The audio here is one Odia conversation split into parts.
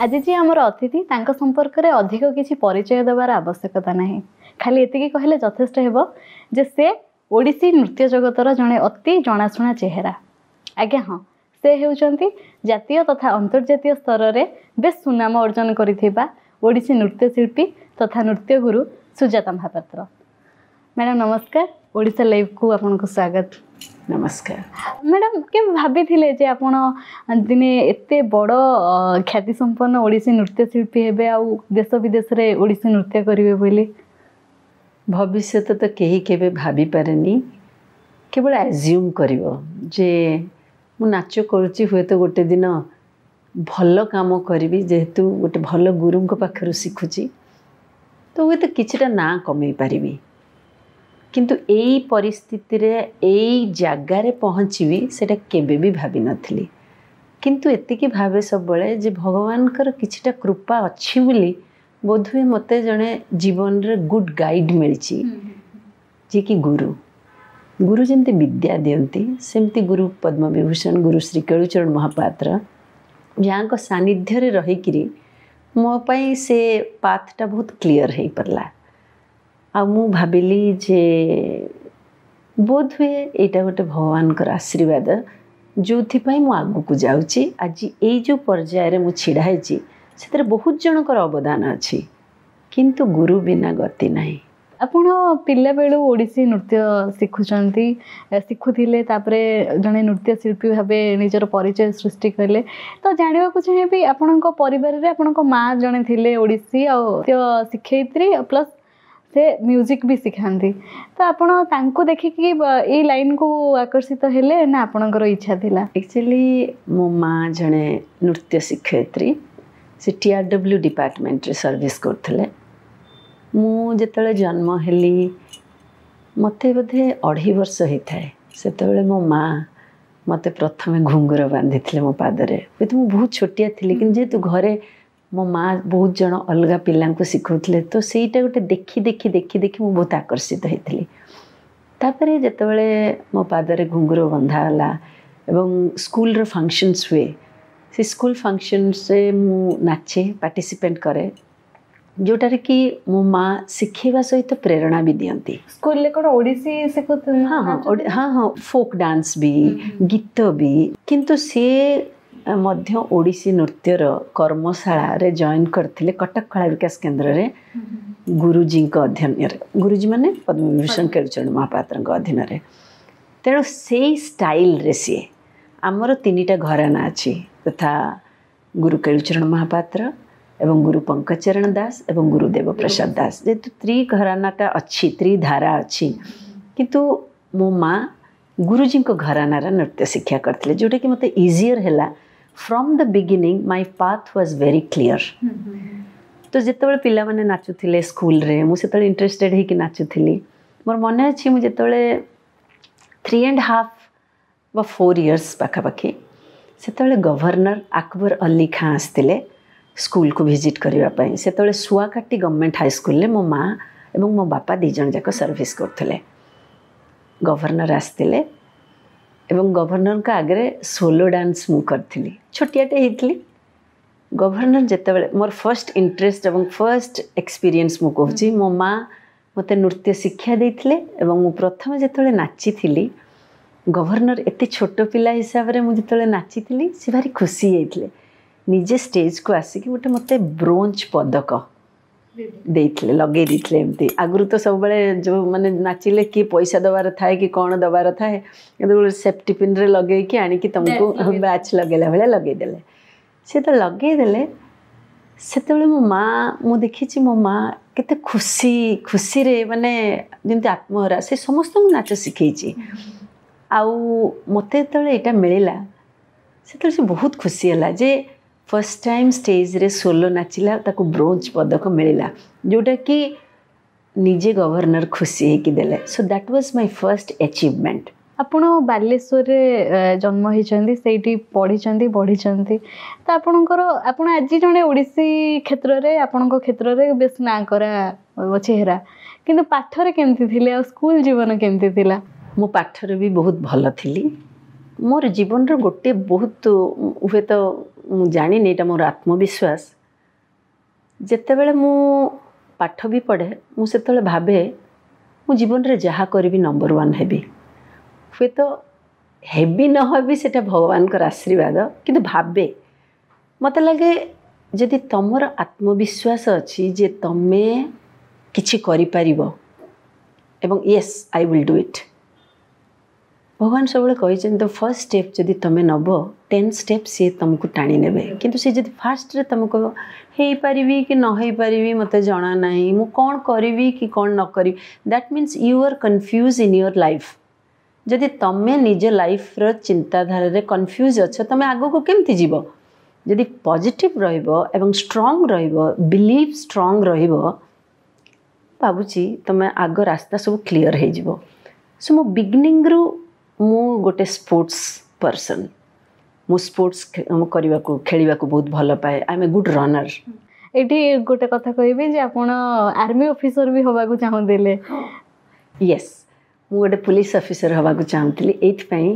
ଆଜି ଯିଏ ଆମର ଅତିଥି, ତାଙ୍କ ସମ୍ପର୍କରେ ଅଧିକ କିଛି ପରିଚୟ ଦେବାର ଆବଶ୍ୟକତା ନାହିଁ। ଖାଲି ଏତିକି କହିଲେ ଯଥେଷ୍ଟ ହେବ ଯେ ସେ ଓଡ଼ିଶୀ ନୃତ୍ୟ ଜଗତର ଜଣେ ଅତି ଜଣାଶୁଣା ଚେହେରା। ଆଜ୍ଞା ହଁ, ସେ ହେଉଛନ୍ତି ଜାତୀୟ ତଥା ଅନ୍ତର୍ଜାତୀୟ ସ୍ତରରେ ବେଶ ସୁନାମ ଅର୍ଜନ କରିଥିବା ଓଡ଼ିଶୀ ନୃତ୍ୟଶିଳ୍ପୀ ତଥା ନୃତ୍ୟଗୁରୁ ସୁଜାତା ମହାପାତ୍ର। ମ୍ୟାଡ଼ାମ୍, ନମସ୍କାର। ଓଡ଼ିଶା ଲାଇଭ୍କୁ ଆପଣଙ୍କୁ ସ୍ୱାଗତ। ନମସ୍କାର। ମ୍ୟାଡ଼ାମ୍, କେବେ ଭାବିଥିଲେ ଯେ ଆପଣ ଦିନେ ଏତେ ବଡ଼ ଖ୍ୟାତିସମ୍ପନ୍ନ ଓଡ଼ିଶୀ ନୃତ୍ୟଶିଳ୍ପୀ ହେବେ ଆଉ ଦେଶ ବିଦେଶରେ ଓଡ଼ିଶୀ ନୃତ୍ୟ କରିବେ ବୋଲି? ଭବିଷ୍ୟତ ତ କେହି କେବେ ଭାବିପାରେନି, କେବଳ ଆଜ୍ୟୁମ୍ କରିବ ଯେ ମୁଁ ନାଚ କରୁଛି, ହୁଏତ ଗୋଟେ ଦିନ ଭଲ କାମ କରିବି, ଯେହେତୁ ଗୋଟେ ଭଲ ଗୁରୁଙ୍କ ପାଖରୁ ଶିଖୁଛି ତ ହୁଏତ କିଛିଟା ନାଁ କମେଇ ପାରିବି। କିନ୍ତୁ ଏଇ ପରିସ୍ଥିତିରେ, ଏଇ ଜାଗାରେ ପହଞ୍ଚିବି, ସେଇଟା କେବେ ବି ଭାବିନଥିଲି। କିନ୍ତୁ ଏତିକି ଭାବେ ସବୁବେଳେ ଯେ ଭଗବାନଙ୍କର କିଛିଟା କୃପା ଅଛି ବୋଲି ବୋଧହୁଏ ମୋତେ ଜଣେ ଜୀବନରେ ଗୁଡ୍ ଗାଇଡ଼ ମିଳିଛି, ଯିଏକି ଗୁରୁ। ଗୁରୁ ଯେମିତି ବିଦ୍ୟା ଦିଅନ୍ତି, ସେମିତି ଗୁରୁ ପଦ୍ମବିଭୂଷଣ ଗୁରୁ ଶ୍ରୀ କେଳୁଚରଣ ମହାପାତ୍ର, ଯାହାଙ୍କ ସାନ୍ନିଧ୍ୟରେ ରହିକିରି ମୋ ପାଇଁ ସେ ପାଥଟା ବହୁତ କ୍ଲିଅର୍ ହେଇପାରିଲା। ଆଉ ମୁଁ ଭାବିଲି ଯେ ବୋଧହୁଏ ଏଇଟା ଗୋଟେ ଭଗବାନଙ୍କର ଆଶୀର୍ବାଦ, ଯେଉଁଥିପାଇଁ ମୁଁ ଆଗକୁ ଯାଉଛି। ଆଜି ଏଇ ଯେଉଁ ପର୍ଯ୍ୟାୟରେ ମୁଁ ଛିଡ଼ା ହେଇଛି, ସେଥିରେ ବହୁତ ଜଣଙ୍କର ଅବଦାନ ଅଛି, କିନ୍ତୁ ଗୁରୁ ବିନା ଗତି ନାହିଁ। ଆପଣ ପିଲାବେଳୁ ଓଡ଼ିଶୀ ନୃତ୍ୟ ଶିଖୁଛନ୍ତି, ଶିଖୁଥିଲେ, ତାପରେ ଜଣେ ନୃତ୍ୟଶିଳ୍ପୀ ଭାବେ ନିଜର ପରିଚୟ ସୃଷ୍ଟି କଲେ। ତ ଜାଣିବାକୁ ଚାହିଁବି, ଆପଣଙ୍କ ପରିବାରରେ ଆପଣଙ୍କ ମା ଜଣେ ଥିଲେ ଓଡ଼ିଶୀ ଆଉ ନୃତ୍ୟ ଶିକ୍ଷୟିତ୍ରୀ, ପ୍ଲସ୍ ସେ ମ୍ୟୁଜିକ୍ ବି ଶିଖାନ୍ତି। ତ ଆପଣ ତାଙ୍କୁ ଦେଖିକି ଏଇ ଲାଇନ୍କୁ ଆକର୍ଷିତ ହେଲେ ନା ଆପଣଙ୍କର ଇଚ୍ଛା ଥିଲା? ଆକ୍ଚୁଆଲି ମୋ ମା ଜଣେ ନୃତ୍ୟ ଶିକ୍ଷୟିତ୍ରୀ। ସେ TRW ଡିପାର୍ଟମେଣ୍ଟରେ ସର୍ଭିସ୍ କରୁଥିଲେ। ମୁଁ ଯେତେବେଳେ ଜନ୍ମ ହେଲି, ମୋତେ ବୋଧେ 2.5 ବର୍ଷ ହେଇଥାଏ, ସେତେବେଳେ ମୋ ମା ମୋତେ ପ୍ରଥମେ ଘୁଙ୍ଗୁର ବାନ୍ଧିଥିଲେ ମୋ ପାଦରେ। ହୁଏତ ମୁଁ ବହୁତ ଛୋଟିଆ ଥିଲି, କିନ୍ତୁ ଯେହେତୁ ଘରେ ମୋ ମା ବହୁତ ଜଣ ଅଲଗା ପିଲାଙ୍କୁ ଶିଖଉଥିଲେ, ତ ସେଇଟା ଗୋଟେ ଦେଖି ଦେଖି ଦେଖି ଦେଖି ମୁଁ ବହୁତ ଆକର୍ଷିତ ହେଇଥିଲି। ତାପରେ ଯେତେବେଳେ ମୋ ପାଦରେ ଘୁଙ୍ଗୁର ବନ୍ଧା ହେଲା ଏବଂ ସ୍କୁଲର ଫଙ୍କସନ୍ସ ହୁଏ, ସେ ସ୍କୁଲ ଫଙ୍କସନ୍ସରେ ମୁଁ ନାଚେ, ପାର୍ଟିସିପେଟ୍ କରେ, ଯେଉଁଟାରେ କି ମୋ ମା ଶିଖେଇବା ସହିତ ପ୍ରେରଣା ବି ଦିଅନ୍ତି। ସ୍କୁଲରେ କ'ଣ ଓଡ଼ିଶୀ ଶିଖୁଥିଲେ? ହଁ, ଫୋକ୍ ଡାନ୍ସ ବି, ଗୀତ ବି। କିନ୍ତୁ ସିଏ ମଧ୍ୟ ଓଡ଼ିଶୀ ନୃତ୍ୟର କର୍ମଶାଳାରେ ଜଏନ୍ କରିଥିଲେ କଟକ କଳା ବିକାଶ କେନ୍ଦ୍ରରେ ଗୁରୁଜୀଙ୍କ ଅଧୀନରେ। ଗୁରୁଜୀ ମାନେ ପଦ୍ମବିଭୂଷଣ କେଳୁଚରଣ ମହାପାତ୍ରଙ୍କ ଅଧୀନରେ। ତେଣୁ ସେଇ ଷ୍ଟାଇଲରେ ସିଏ, ଆମର ତିନିଟା ଘରାନା ଅଛି, ତଥା ଗୁରୁ କେଳୁଚରଣ ମହାପାତ୍ର ଏବଂ ଗୁରୁ ପଙ୍କଜଚରଣ ଦାସ ଏବଂ ଗୁରୁ ଦେବପ୍ରସାଦ ଦାସ। ଯେହେତୁ ତ୍ରିଘରାନାଟା ଅଛି, ତ୍ରିଧାରା ଅଛି, କିନ୍ତୁ ମୋ ମା ଗୁରୁଜୀଙ୍କ ଘରାନାର ନୃତ୍ୟ ଶିକ୍ଷା କରିଥିଲେ, ଯେଉଁଟାକି ମୋତେ ଇଜିଅର୍ ହେଲା। From the beginning my path was very clear. ତ ଯେତେବେଳେ ପିଲାମାନେ ନାଚୁଥିଲେ ସ୍କୁଲରେ, ମୁଁ ସେତେବେଳେ ଇଣ୍ଟରେଷ୍ଟେଡ଼ ହେଇକି ନାଚୁଥିଲି। ମୋର ମନେ ଅଛି, ମୁଁ ଯେତେବେଳେ 3.5 ବା 4 ଇୟର୍ସ ପାଖାପାଖି, ସେତେବେଳେ ଗଭର୍ଣ୍ଣର ଆକବର ଅଲ୍ଲୀ ଖାଁ ଆସିଥିଲେ ସ୍କୁଲକୁ ଭିଜିଟ୍ କରିବା ପାଇଁ। ସେତେବେଳେ ଶୁଆକାଟି ଗଭର୍ଣ୍ଣମେଣ୍ଟ ହାଇସ୍କୁଲରେ ମୋ ମା ଏବଂ ମୋ ବାପା ଦୁଇ ଜଣ ଯାକ ସର୍ଭିସ୍ କରୁଥିଲେ। ଗଭର୍ଣ୍ଣର ଆସିଥିଲେ ଏବଂ ଗଭର୍ଣ୍ଣରଙ୍କ ଆଗରେ ସୋଲୋ ଡାନ୍ସ ମୁଁ କରିଥିଲି। ଛୋଟିଆଟେ ହେଇଥିଲି। ଗଭର୍ଣ୍ଣର ଯେତେବେଳେ, ମୋର ଫର୍ଷ୍ଟ ଇଣ୍ଟରେଷ୍ଟ ଏବଂ ଫର୍ଷ୍ଟ ଏକ୍ସପିରିଏନ୍ସ ମୁଁ କହୁଛି, ମୋ ମା ମୋତେ ନୃତ୍ୟ ଶିକ୍ଷା ଦେଇଥିଲେ ଏବଂ ମୁଁ ପ୍ରଥମେ ଯେତେବେଳେ ନାଚିଥିଲି, ଗଭର୍ଣ୍ଣର ଏତେ ଛୋଟ ପିଲା ହିସାବରେ ମୁଁ ଯେତେବେଳେ ନାଚିଥିଲି, ସେ ଭାରି ଖୁସି ହେଇଥିଲେ। ନିଜେ ଷ୍ଟେଜକୁ ଆସିକି ଗୋଟେ ମୋତେ ବ୍ରୋଞ୍ଜ ପଦକ ଦେଇଥିଲେ, ଲଗେଇ ଦେଇଥିଲେ ଏମିତି। ଆଗରୁ ତ ସବୁବେଳେ ଯେଉଁ ମାନେ ନାଚିଲେ କିଏ ପଇସା ଦେବାର ଥାଏ କି କ'ଣ ଦେବାର ଥାଏ, କିନ୍ତୁ ଗୋଟେ ସେଫ୍ଟି ପିନ୍ରେ ଲଗେଇକି ଆଣିକି ତୁମକୁ ବ୍ୟାଚ୍ ଲଗେଇଲା ଭଳିଆ ଲଗେଇଦେଲେ। ସେ ତ ଲଗେଇଦେଲେ, ସେତେବେଳେ ମୋ ମା, ମୁଁ ଦେଖିଛି ମୋ ମା କେତେ ଖୁସି ଖୁସିରେ, ମାନେ ଯେମିତି ଆତ୍ମହରା। ସେ ସମସ୍ତଙ୍କୁ ନାଚ ଶିଖେଇଛି ଆଉ ମୋତେ ଯେତେବେଳେ ଏଇଟା ମିଳିଲା, ସେତେବେଳେ ସେ ବହୁତ ଖୁସି ହେଲା ଯେ ଫର୍ଷ୍ଟ ଟାଇମ୍ ଷ୍ଟେଜ୍ରେ ସୋଲୋ ନାଚିଲା, ତାକୁ ବ୍ରୋଞ୍ଜ ପଦକ ମିଳିଲା, ଯେଉଁଟାକି ନିଜେ ଗଭର୍ଣ୍ଣର ଖୁସି ହେଇକି ଦେଲେ। So that was my first achievement. ଆପଣ ବାଲେଶ୍ୱରରେ ଜନ୍ମ ହେଇଛନ୍ତି, ସେଇଠି ପଢ଼ିଛନ୍ତି, ବଢ଼ିଛନ୍ତି। ତ ଆପଣଙ୍କର, ଆପଣ ଆଜି ଜଣେ ଓଡ଼ିଶୀ କ୍ଷେତ୍ରରେ, ଆପଣଙ୍କ କ୍ଷେତ୍ରରେ ବେଶ ନାଁ କରା ଚେହେରା। କିନ୍ତୁ ପାଠରେ କେମିତି ଥିଲେ ଆଉ ସ୍କୁଲ ଜୀବନ କେମିତି ଥିଲା? ମୁଁ ପାଠରେ ବି ବହୁତ ଭଲ ଥିଲି। ମୋର ଜୀବନର ଗୋଟେ ବହୁତ, ହୁଏତ ମୁଁ ଜାଣିନି, ଏଇଟା ମୋର ଆତ୍ମବିଶ୍ୱାସ। ଯେତେବେଳେ ମୁଁ ପାଠ ବି ପଢ଼େ, ମୁଁ ସେତେବେଳେ ଭାବେ ମୁଁ ଜୀବନରେ ଯାହା କରିବି ନମ୍ବର ୱାନ୍ ହେବି। ହୁଏତ ହେବି ନ ହେବି, ସେଟା ଭଗବାନଙ୍କର ଆଶୀର୍ବାଦ, କିନ୍ତୁ ଭାବେ। ମୋତେ ଲାଗେ ଯଦି ତମର ଆତ୍ମବିଶ୍ୱାସ ଅଛି ଯେ ତମେ କିଛି କରିପାରିବ ଏବଂ yes, I will do it, ଭଗବାନ ସବୁବେଳେ କହିଛନ୍ତି ତ ଫର୍ଷ୍ଟ ଷ୍ଟେପ୍ ଯଦି ତମେ ନେବ, 10 ଷ୍ଟେପ୍ ସିଏ ତୁମକୁ ଟାଣି ନେବେ। କିନ୍ତୁ ସେ ଯଦି ଫାର୍ଷ୍ଟରେ ତୁମେ କହିବ ହେଇପାରିବି କି ନ ହେଇପାରିବି, ମୋତେ ଜଣା ନାହିଁ, ମୁଁ କ'ଣ କରିବି କି କ'ଣ ନ କରିବି, that means you are confuse in your life. ଯଦି ତମେ ନିଜ ଲାଇଫ୍ର ଚିନ୍ତାଧାରାରେ କନଫ୍ୟୁଜ୍ ଅଛ, ତମେ ଆଗକୁ କେମିତି ଯିବ? ଯଦି ପଜିଟିଭ୍ ରହିବ ଏବଂ ଷ୍ଟ୍ରଙ୍ଗ ରହିବ, ବିଲିଭ୍ ଷ୍ଟ୍ରଙ୍ଗ ରହିବ, ଭାବୁଛି ତମେ ଆଗ ରାସ୍ତା ସବୁ କ୍ଲିଅର୍ ହେଇଯିବ। ସୋ ମୁଁ ବିଗିନିଂରୁ ମୁଁ ଗୋଟେ ସ୍ପୋର୍ଟସ୍ ପର୍ସନ୍। ମୁଁ ସ୍ପୋର୍ଟସ୍ କରିବାକୁ, ଖେଳିବାକୁ ବହୁତ ଭଲ ପାଏ। I am a good runner. ଏଇଠି ଗୋଟେ କଥା କହିବି ଯେ ଆପଣ ଆର୍ମି ଅଫିସର ବି ହେବାକୁ ଚାହୁଁଥିଲେ। ୟେସ୍, ମୁଁ ଗୋଟେ ପୋଲିସ ଅଫିସର ହେବାକୁ ଚାହୁଁଥିଲି, ଏଇଥିପାଇଁ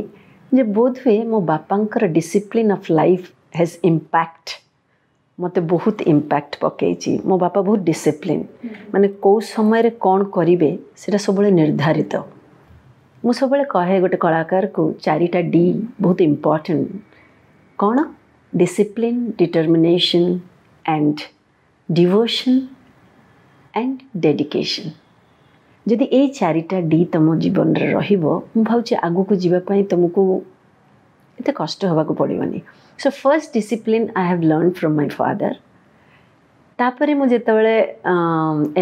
ଯେ ବୋଧହୁଏ ମୋ ବାପାଙ୍କର discipline of life has impact, ମୋତେ ବହୁତ ଇମ୍ପାକ୍ଟ ପକେଇଛି। ମୋ ବାପା ବହୁତ ଡିସିପ୍ଲିନ୍, ମାନେ କେଉଁ ସମୟରେ କ'ଣ କରିବେ ସେଇଟା ସବୁବେଳେ ନିର୍ଦ୍ଧାରିତ। ମୁଁ ସବୁବେଳେ କହେ, ଗୋଟେ କଳାକାରକୁ ଚାରିଟା ଡି ବହୁତ ଇମ୍ପର୍ଟାଣ୍ଟ। କ'ଣ? Discipline, determination and devotion and dedication. ଯଦି ଏଇ ଚାରିଟା ଡି ତୁମ ଜୀବନରେ ରହିବ, ମୁଁ ଭାବୁଛି ଆଗକୁ ଯିବା ପାଇଁ ତୁମକୁ ଏତେ କଷ୍ଟ ହେବାକୁ ପଡ଼ିବନି। So first discipline I have learn from my father. ତାପରେ ମୁଁ ଯେତେବେଳେ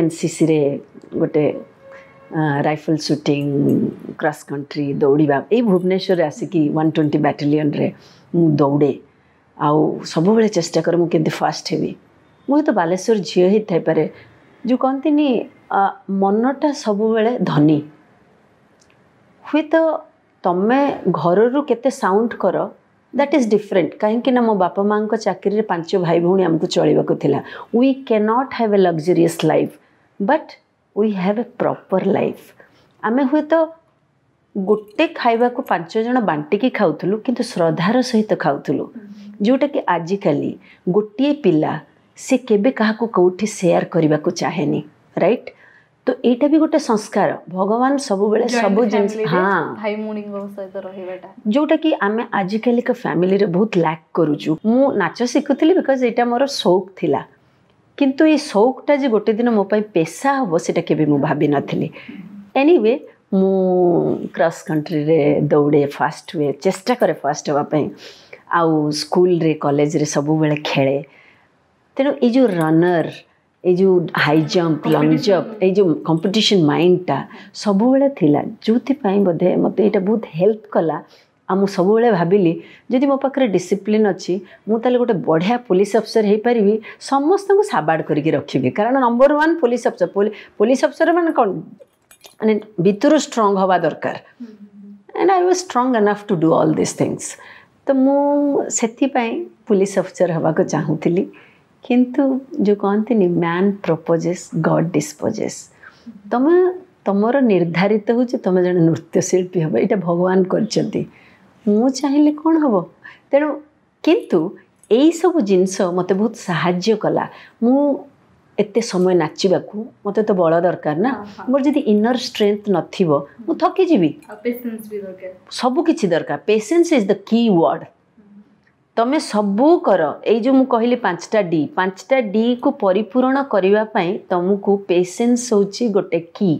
ଏନ୍ସିସିରେ ଗୋଟେ ରାଇଫଲ୍ ସୁଟିଂ, କ୍ରସ୍ କଣ୍ଟ୍ରି ଦୌଡ଼ିବା, ଏଇ ଭୁବନେଶ୍ୱରରେ ଆସିକି 120 ବାଟାଲିୟନରେ ମୁଁ ଦୌଡ଼େ ଆଉ ସବୁବେଳେ ଚେଷ୍ଟା କରେ ମୁଁ କେମିତି ଫାଷ୍ଟ ହେବି। ମୁଁ ହୁଏତ ବାଲେଶ୍ୱର ଝିଅ ହେଇଥାଇପାରେ, ଯେଉଁ କହନ୍ତିନି ମନଟା ସବୁବେଳେ ଧନୀ। ହୁଏତ ତମେ ଘରରୁ କେତେ ସାଉଣ୍ଡ କର, that is different. କାହିଁକି ନା ମୋ ବାପା ମାଆଙ୍କ ଚାକିରିରେ ପାଞ୍ଚ ଭାଇ ଭଉଣୀ ଆମକୁ ଚଳିବାକୁ ଥିଲା। We can't have A luxurious life, but we have a proper life. ଆମେ ହୁଏତ ଗୋଟେ ଖାଇବାକୁ ପାଞ୍ଚ ଜଣ ବାଣ୍ଟିକି ଖାଉଥିଲୁ, କିନ୍ତୁ ଶ୍ରଦ୍ଧାର ସହିତ ଖାଉଥିଲୁ, ଯେଉଁଟାକି ଆଜିକାଲି ଗୋଟିଏ ପିଲା ସେ କେବେ କାହାକୁ କେଉଁଠି ସେୟାର କରିବାକୁ ଚାହେଁନି, ରାଇଟ୍? ତ ଏଇଟା ବି ଗୋଟେ ସଂସ୍କାର। ଭଗବାନ ସବୁବେଳେ ସବୁ ଜିନିଷ, ହଁ, ଭାଇ ଭଉଣୀଙ୍କ ସହିତ ରହିବାଟା, ଯେଉଁଟାକି ଆମେ ଆଜିକାଲିକା ଫ୍ୟାମିଲିରେ ବହୁତ ଲ୍ୟାକ୍ କରୁଛୁ। ମୁଁ ନାଚ ଶିଖୁଥିଲି because ଏଇଟା ମୋର ସଉକ ଥିଲା, କିନ୍ତୁ ଏଇ ସଉକଟା ଯେ ଗୋଟେ ଦିନ ମୋ ପାଇଁ ପେସା ହେବ, ସେଇଟା କେବେ ମୁଁ ଭାବିନଥିଲି। ଏନିୱେ, ମୁଁ କ୍ରସ୍ କଣ୍ଟ୍ରିରେ ଦୌଡ଼େ, ଫାଷ୍ଟ ହୁଏ, ଚେଷ୍ଟା କରେ ଫାଷ୍ଟ ହେବା ପାଇଁ, ଆଉ ସ୍କୁଲରେ କଲେଜରେ ସବୁବେଳେ ଖେଳେ। ତେଣୁ ଏଇ ଯେଉଁ ରନର୍, ଏଇ ଯେଉଁ ହାଇ ଜମ୍ପ, ଲଙ୍ଗ ଜମ୍ପ, ଏଇ ଯେଉଁ କମ୍ପିଟିସନ୍ ମାଇଣ୍ଡଟା ସବୁବେଳେ ଥିଲା, ଯେଉଁଥିପାଇଁ ବୋଧେ ମୋତେ ଏଇଟା ବହୁତ ହେଲ୍ପ କଲା। ଆଉ ମୁଁ ସବୁବେଳେ ଭାବିଲି ଯଦି ମୋ ପାଖରେ ଡିସିପ୍ଲିନ୍ ଅଛି, ମୁଁ ତାହେଲେ ଗୋଟେ ବଢ଼ିଆ ପୋଲିସ ଅଫିସର ହେଇପାରିବି, ସମସ୍ତଙ୍କୁ ସାବାଡ଼ କରିକି ରଖିବି। କାରଣ number one police officer, police officer ମାନେ କ'ଣ? ମାନେ ଭିତରୁ ଷ୍ଟ୍ରଙ୍ଗ ହେବା ଦରକାର, and I was strong enough to do all this things. ତ ମୁଁ ସେଥିପାଇଁ ପୋଲିସ ଅଫିସର ହେବାକୁ ଚାହୁଁଥିଲି। କିନ୍ତୁ ଯେଉଁ କହନ୍ତିନି, man proposes, God disposes. ତମେ ତମର ନିର୍ଦ୍ଧାରିତ ହେଉଛି ତମେ ଜଣେ ନୃତ୍ୟଶିଳ୍ପୀ ହେବ, ଏଇଟା ଭଗବାନ କରିଛନ୍ତି। ମୁଁ ଚାହିଁଲେ କ'ଣ ହେବ? ତେଣୁ କିନ୍ତୁ ଏଇସବୁ ଜିନିଷ ମୋତେ ବହୁତ ସାହାଯ୍ୟ କଲା। ମୁଁ ଏତେ ସମୟ ନାଚିବାକୁ ମୋତେ ତ ବଳ ଦରକାର ନା। ମୋର ଯଦି ଇନର ଷ୍ଟ୍ରେନ୍ଥ ନଥିବ, ମୁଁ ଥକିଯିବି। ସବୁ କିଛି ଦରକାର। Patience is the key word. ତମେ ସବୁ କର, ଏଇ ଯେଉଁ ମୁଁ କହିଲି ପାଞ୍ଚଟା ଡି, ପାଞ୍ଚଟା ଡିକୁ ପରିପୂରଣ କରିବା ପାଇଁ ତମକୁ ପେସେନ୍ସ ହେଉଛି ଗୋଟେ କି।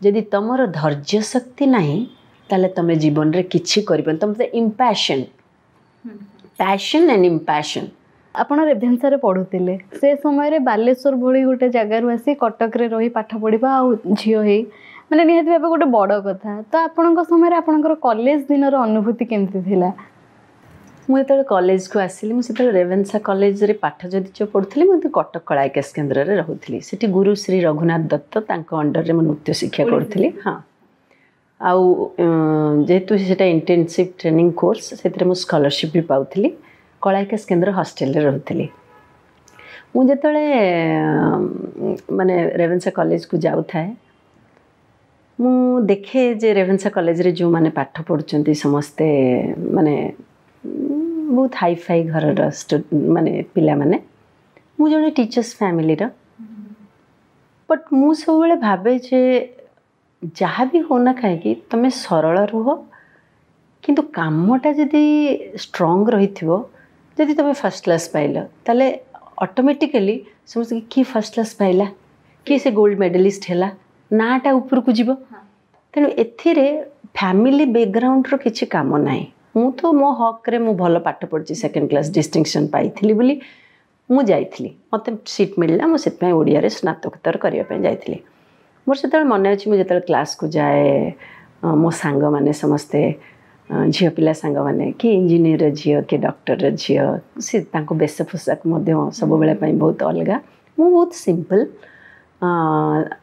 ଯଦି ତମର ଧୈର୍ଯ୍ୟ ଶକ୍ତି ନାହିଁ, ତାହେଲେ ତମେ ଜୀବନରେ କିଛି କରିବନି। ତମେ ଇମ୍ପାସନ୍, ପ୍ୟାସନ୍ ଆଣ୍ଡ ଇମ୍ପାସନ୍। ଆପଣ ରେଭେନ୍ସାରେ ପଢ଼ୁଥିଲେ, ସେ ସମୟରେ ବାଲେଶ୍ୱର ଭଳି ଗୋଟେ ଜାଗାରୁ ଆସି କଟକରେ ରହି ପାଠ ପଢ଼ିବା ଆଉ ଝିଅ ହେଇ ମାନେ ନିହାତି ଭାବେ ଗୋଟେ ବଡ଼ କଥା। ତ ଆପଣଙ୍କ ସମୟରେ ଆପଣଙ୍କର କଲେଜ ଦିନର ଅନୁଭୂତି କେମିତି ଥିଲା? ମୁଁ ଯେତେବେଳେ କଲେଜକୁ ଆସିଲି, ମୁଁ ସେତେବେଳେ ରେଭେନ୍ସା କଲେଜରେ ପାଠ ଯଦି ପଢ଼ୁଥିଲି, ମୁଁ କିନ୍ତୁ କଟକ କଳା ବିକାଶ କେନ୍ଦ୍ରରେ ରହୁଥିଲି। ସେଠି ଗୁରୁ ଶ୍ରୀ ରଘୁନାଥ ଦତ୍ତ, ତାଙ୍କ ଅଣ୍ଡରରେ ମୁଁ ନୃତ୍ୟ ଶିକ୍ଷା କରୁଥିଲି। ହଁ, ଆଉ ଯେହେତୁ ସେଇଟା ଇଣ୍ଟର୍ନସିପ୍ ଟ୍ରେନିଂ କୋର୍ସ, ସେଥିରେ ମୁଁ ସ୍କଲାରସିପ୍ ବି ପାଉଥିଲି। କଳା ବିକାଶ କେନ୍ଦ୍ର ହଷ୍ଟେଲରେ ରହୁଥିଲି। ମୁଁ ଯେତେବେଳେ ମାନେ ରେଭେନ୍ସା କଲେଜକୁ ଯାଉଥାଏ, ମୁଁ ଦେଖେ ଯେ ରେଭେନ୍ସା କଲେଜରେ ଯେଉଁମାନେ ପାଠ ପଢ଼ୁଛନ୍ତି ସମସ୍ତେ ମାନେ ବହୁତ ହାଇଫାଇ ଘରର ମାନେ ପିଲାମାନେ। ମୁଁ ଜଣେ ଟିଚର୍ସ ଫ୍ୟାମିଲିର, ବଟ୍ ମୁଁ ସବୁବେଳେ ଭାବେ ଯେ ଯାହା ବି ହଉନା କାହିଁକି ତୁମେ ସରଳ ରୁହ, କିନ୍ତୁ କାମଟା ଯଦି ଷ୍ଟ୍ରଙ୍ଗ ରହିଥିବ, ଯଦି ତୁମେ ଫାର୍ଷ୍ଟ କ୍ଲାସ୍ ପାଇଲ ତାହେଲେ ଅଟୋମେଟିକାଲି ସମସ୍ତେ କିଏ ଫାର୍ଷ୍ଟ କ୍ଲାସ୍ ପାଇଲା, କିଏ ସେ ଗୋଲ୍ଡ ମେଡ଼ାଲିଷ୍ଟ ହେଲା, ନାଁଟା ଉପରକୁ ଯିବ। ତେଣୁ ଏଥିରେ ଫ୍ୟାମିଲି ବ୍ୟାକଗ୍ରାଉଣ୍ଡର କିଛି କାମ ନାହିଁ। ମୁଁ ତ ମୋ ହକ୍ରେ ମୁଁ ଭଲ ପାଠ ପଢ଼ିଛି, ସେକେଣ୍ଡ କ୍ଲାସ୍ ଡିଷ୍ଟିଙ୍କସନ୍ ପାଇଥିଲି ବୋଲି ମୁଁ ଯାଇଥିଲି, ମୋତେ ସିଟ୍ ମିଳିଲା, ମୁଁ ସେଥିପାଇଁ ଓଡ଼ିଆରେ ସ୍ନାତକୋତ୍ତର କରିବା ପାଇଁ ଯାଇଥିଲି। ମୋର ସେତେବେଳେ ମନେ ଅଛି, ମୁଁ ଯେତେବେଳେ କ୍ଲାସ୍କୁ ଯାଏ, ମୋ ସାଙ୍ଗମାନେ ସମସ୍ତେ ଝିଅ ପିଲା ସାଙ୍ଗମାନେ, କିଏ ଇଞ୍ଜିନିୟରର ଝିଅ, କିଏ ଡକ୍ଟରର ଝିଅ, ସେ ତାଙ୍କ ବେଶ ପୋଷାକ ମଧ୍ୟ ସବୁବେଳେ ପାଇଁ ବହୁତ ଅଲଗା। ମୁଁ ବହୁତ ସିମ୍ପଲ୍,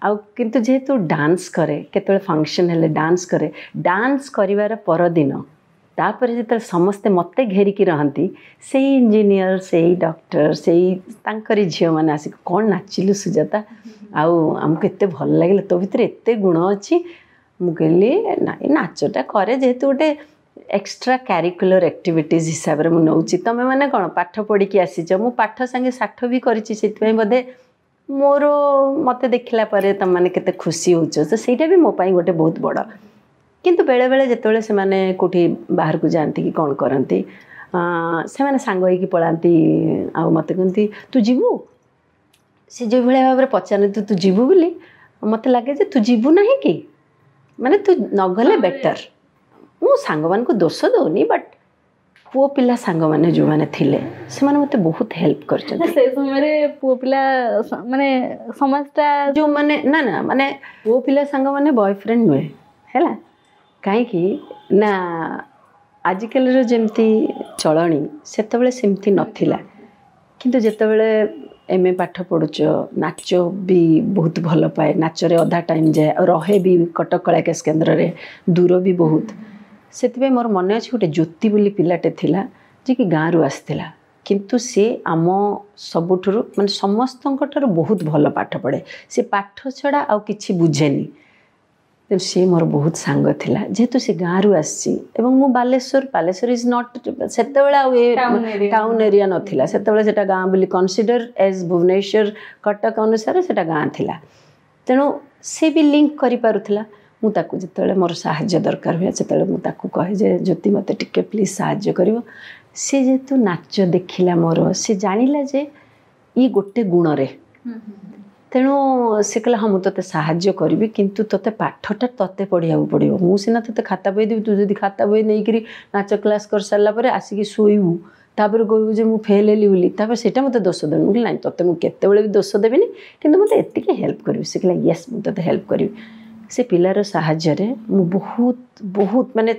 ଆଉ କିନ୍ତୁ ଯେହେତୁ ଡାନ୍ସ କରେ, କେତେବେଳେ ଫଙ୍କସନ୍ ହେଲେ ଡାନ୍ସ କରେ, ଡାନ୍ସ କରିବାର ପରଦିନ ତାପରେ ଯେତେବେଳେ ସମସ୍ତେ ମୋତେ ଘେରିକି ରହନ୍ତି, ସେଇ ଇଞ୍ଜିନିୟର, ସେଇ ଡକ୍ଟର, ସେଇ ତାଙ୍କରି ଝିଅମାନେ ଆସିକି କ'ଣ ନାଚିଲୁ ସୁଜାତା, ଆଉ ଆମକୁ ଏତେ ଭଲ ଲାଗିଲା, ତୋ ଭିତରେ ଏତେ ଗୁଣ ଅଛି। ମୁଁ କହିଲି ନାଇଁ, ନାଚଟା କରେ ଯେହେତୁ ଗୋଟେ ଏକ୍ସଟ୍ରା କ୍ୟାରିକୁଲର ଆକ୍ଟିଭିଟିଜ୍ ହିସାବରେ ମୁଁ ନେଉଛି। ତୁମେମାନେ କ'ଣ ପାଠ ପଢ଼ିକି ଆସିଛ, ମୁଁ ପାଠ ସାଙ୍ଗେ ସାଠ ବି କରିଛି, ସେଥିପାଇଁ ବୋଧେ ମୋର ମୋତେ ଦେଖିଲା ପରେ ତୁମେମାନେ କେତେ ଖୁସି ହେଉଛ, ତ ସେଇଟା ବି ମୋ ପାଇଁ ଗୋଟେ ବହୁତ ବଡ଼। କିନ୍ତୁ ବେଳେବେଳେ ଯେତେବେଳେ ସେମାନେ କେଉଁଠି ବାହାରକୁ ଯାଆନ୍ତି କି କ'ଣ କରନ୍ତି, ସେମାନେ ସାଙ୍ଗ ହେଇକି ପଳାନ୍ତି ଆଉ ମୋତେ କୁହନ୍ତି ତୁ ଯିବୁ। ସେ ଯେଉଁଭଳିଆ ଭାବରେ ପଚାରନ୍ତି ତୁ ଯିବୁ ବୋଲି, ମୋତେ ଲାଗେ ଯେ ତୁ ଯିବୁ ନାହିଁ କି, ମାନେ ତୁ ନଗଲେ ବେଟର୍। ମୁଁ ସାଙ୍ଗମାନଙ୍କୁ ଦୋଷ ଦେଉନି, ବଟ୍ ପୁଅ ପିଲା ସାଙ୍ଗମାନେ ଯେଉଁମାନେ ଥିଲେ ସେମାନେ ମୋତେ ବହୁତ ହେଲ୍ପ କରିଛନ୍ତି। ସେ ସମୟରେ ପୁଅ ପିଲା ମାନେ ସମାଜଟା ଯେଉଁମାନେ ନା ନା ମାନେ ପୁଅ ପିଲା ସାଙ୍ଗମାନେ ବୟଫ୍ରେଣ୍ଡ ନୁହେଁ, ହେଲା। କାହିଁକି ନା ଆଜିକାଲିର ଯେମିତି ଚଳଣି ସେତେବେଳେ ସେମିତି ନଥିଲା। କିନ୍ତୁ ଯେତେବେଳେ ଏମ୍ ଏ ପାଠ ପଢ଼ୁଛ, ନାଚ ବି ବହୁତ ଭଲ ପାଏ, ନାଚରେ ଅଧା ଟାଇମ୍ ଯାଏ, ଆଉ ରହେ ବି କଟକ କଳାକେଶ କେନ୍ଦ୍ରରେ, ଦୂର ବି ବହୁତ। ସେଥିପାଇଁ ମୋର ମନେ ଅଛି ଗୋଟେ ଜ୍ୟୋତି ବୋଲି ପିଲାଟେ ଥିଲା, ଯିଏକି ଗାଁରୁ ଆସିଥିଲା, କିନ୍ତୁ ସିଏ ଆମ ସବୁଠାରୁ ମାନେ ସମସ୍ତଙ୍କ ଠାରୁ ବହୁତ ଭଲ ପାଠ ପଢ଼େ। ସେ ପାଠ ଛଡ଼ା ଆଉ କିଛି ବୁଝେନି। ତେଣୁ ସିଏ ମୋର ବହୁତ ସାଙ୍ଗ ଥିଲା, ଯେହେତୁ ସେ ଗାଁରୁ ଆସିଛି ଏବଂ ମୁଁ ବାଲେଶ୍ୱର, ବାଲେଶ୍ୱର is not, ସେତେବେଳେ ଆଉ ଏ ଟାଉନ୍ ଏରିଆ ନଥିଲା, ସେତେବେଳେ ସେଇଟା ଗାଁ ବୋଲି କନସିଡର ଏଜ୍ ଭୁବନେଶ୍ୱର କଟକ ଅନୁସାରେ ସେଇଟା ଗାଁ ଥିଲା। ତେଣୁ ସେ ବି ଲିଙ୍କ କରିପାରୁଥିଲା। ମୁଁ ତାକୁ ଯେତେବେଳେ ମୋର ସାହାଯ୍ୟ ଦରକାର ହୁଏ ସେତେବେଳେ ମୁଁ ତାକୁ କହେ ଯେ ଜ୍ୟୋତି ମୋତେ ଟିକେ ପ୍ଲିଜ୍ ସାହାଯ୍ୟ କରିବ। ସେ ଯେହେତୁ ନାଚ ଦେଖିଲା ମୋର, ସେ ଜାଣିଲା ଯେ ଇଏ ଗୋଟେ ଗୁଣରେ, ତେଣୁ ସେ କହିଲା ହଁ ମୁଁ ତୋତେ ସାହାଯ୍ୟ କରିବି, କିନ୍ତୁ ତୋତେ ପାଠଟା ତୋତେ ପଢ଼ିବାକୁ ପଡ଼ିବ। ମୁଁ ସିନା ତୋତେ ଖାତା ବହି ଦେବି, ତୁ ଯଦି ଖାତା ବହି ନେଇକରି ନାଚ କ୍ଲାସ୍ କରିସାରିଲା ପରେ ଆସିକି ଶୋଇବୁ, ତାପରେ କହିବୁ ଯେ ମୁଁ ଫେଲ୍ ହେଲି ବୋଲି, ତାପରେ ସେଇଟା ମୋତେ ଦୋଷ ଦେବୁ। ମୁଁ କହିଲି ନାଇଁ, ତୋତେ ମୁଁ କେତେବେଳେ ବି ଦୋଷ ଦେବିନି, କିନ୍ତୁ ମୋତେ ଏତିକି ହେଲ୍ପ କରିବି। ସେ କହିଲା ୟେସ୍, ମୁଁ ତୋତେ ହେଲ୍ପ କରିବି। ସେ ପିଲାର ସାହାଯ୍ୟରେ ମୁଁ ବହୁତ ବହୁତ ମାନେ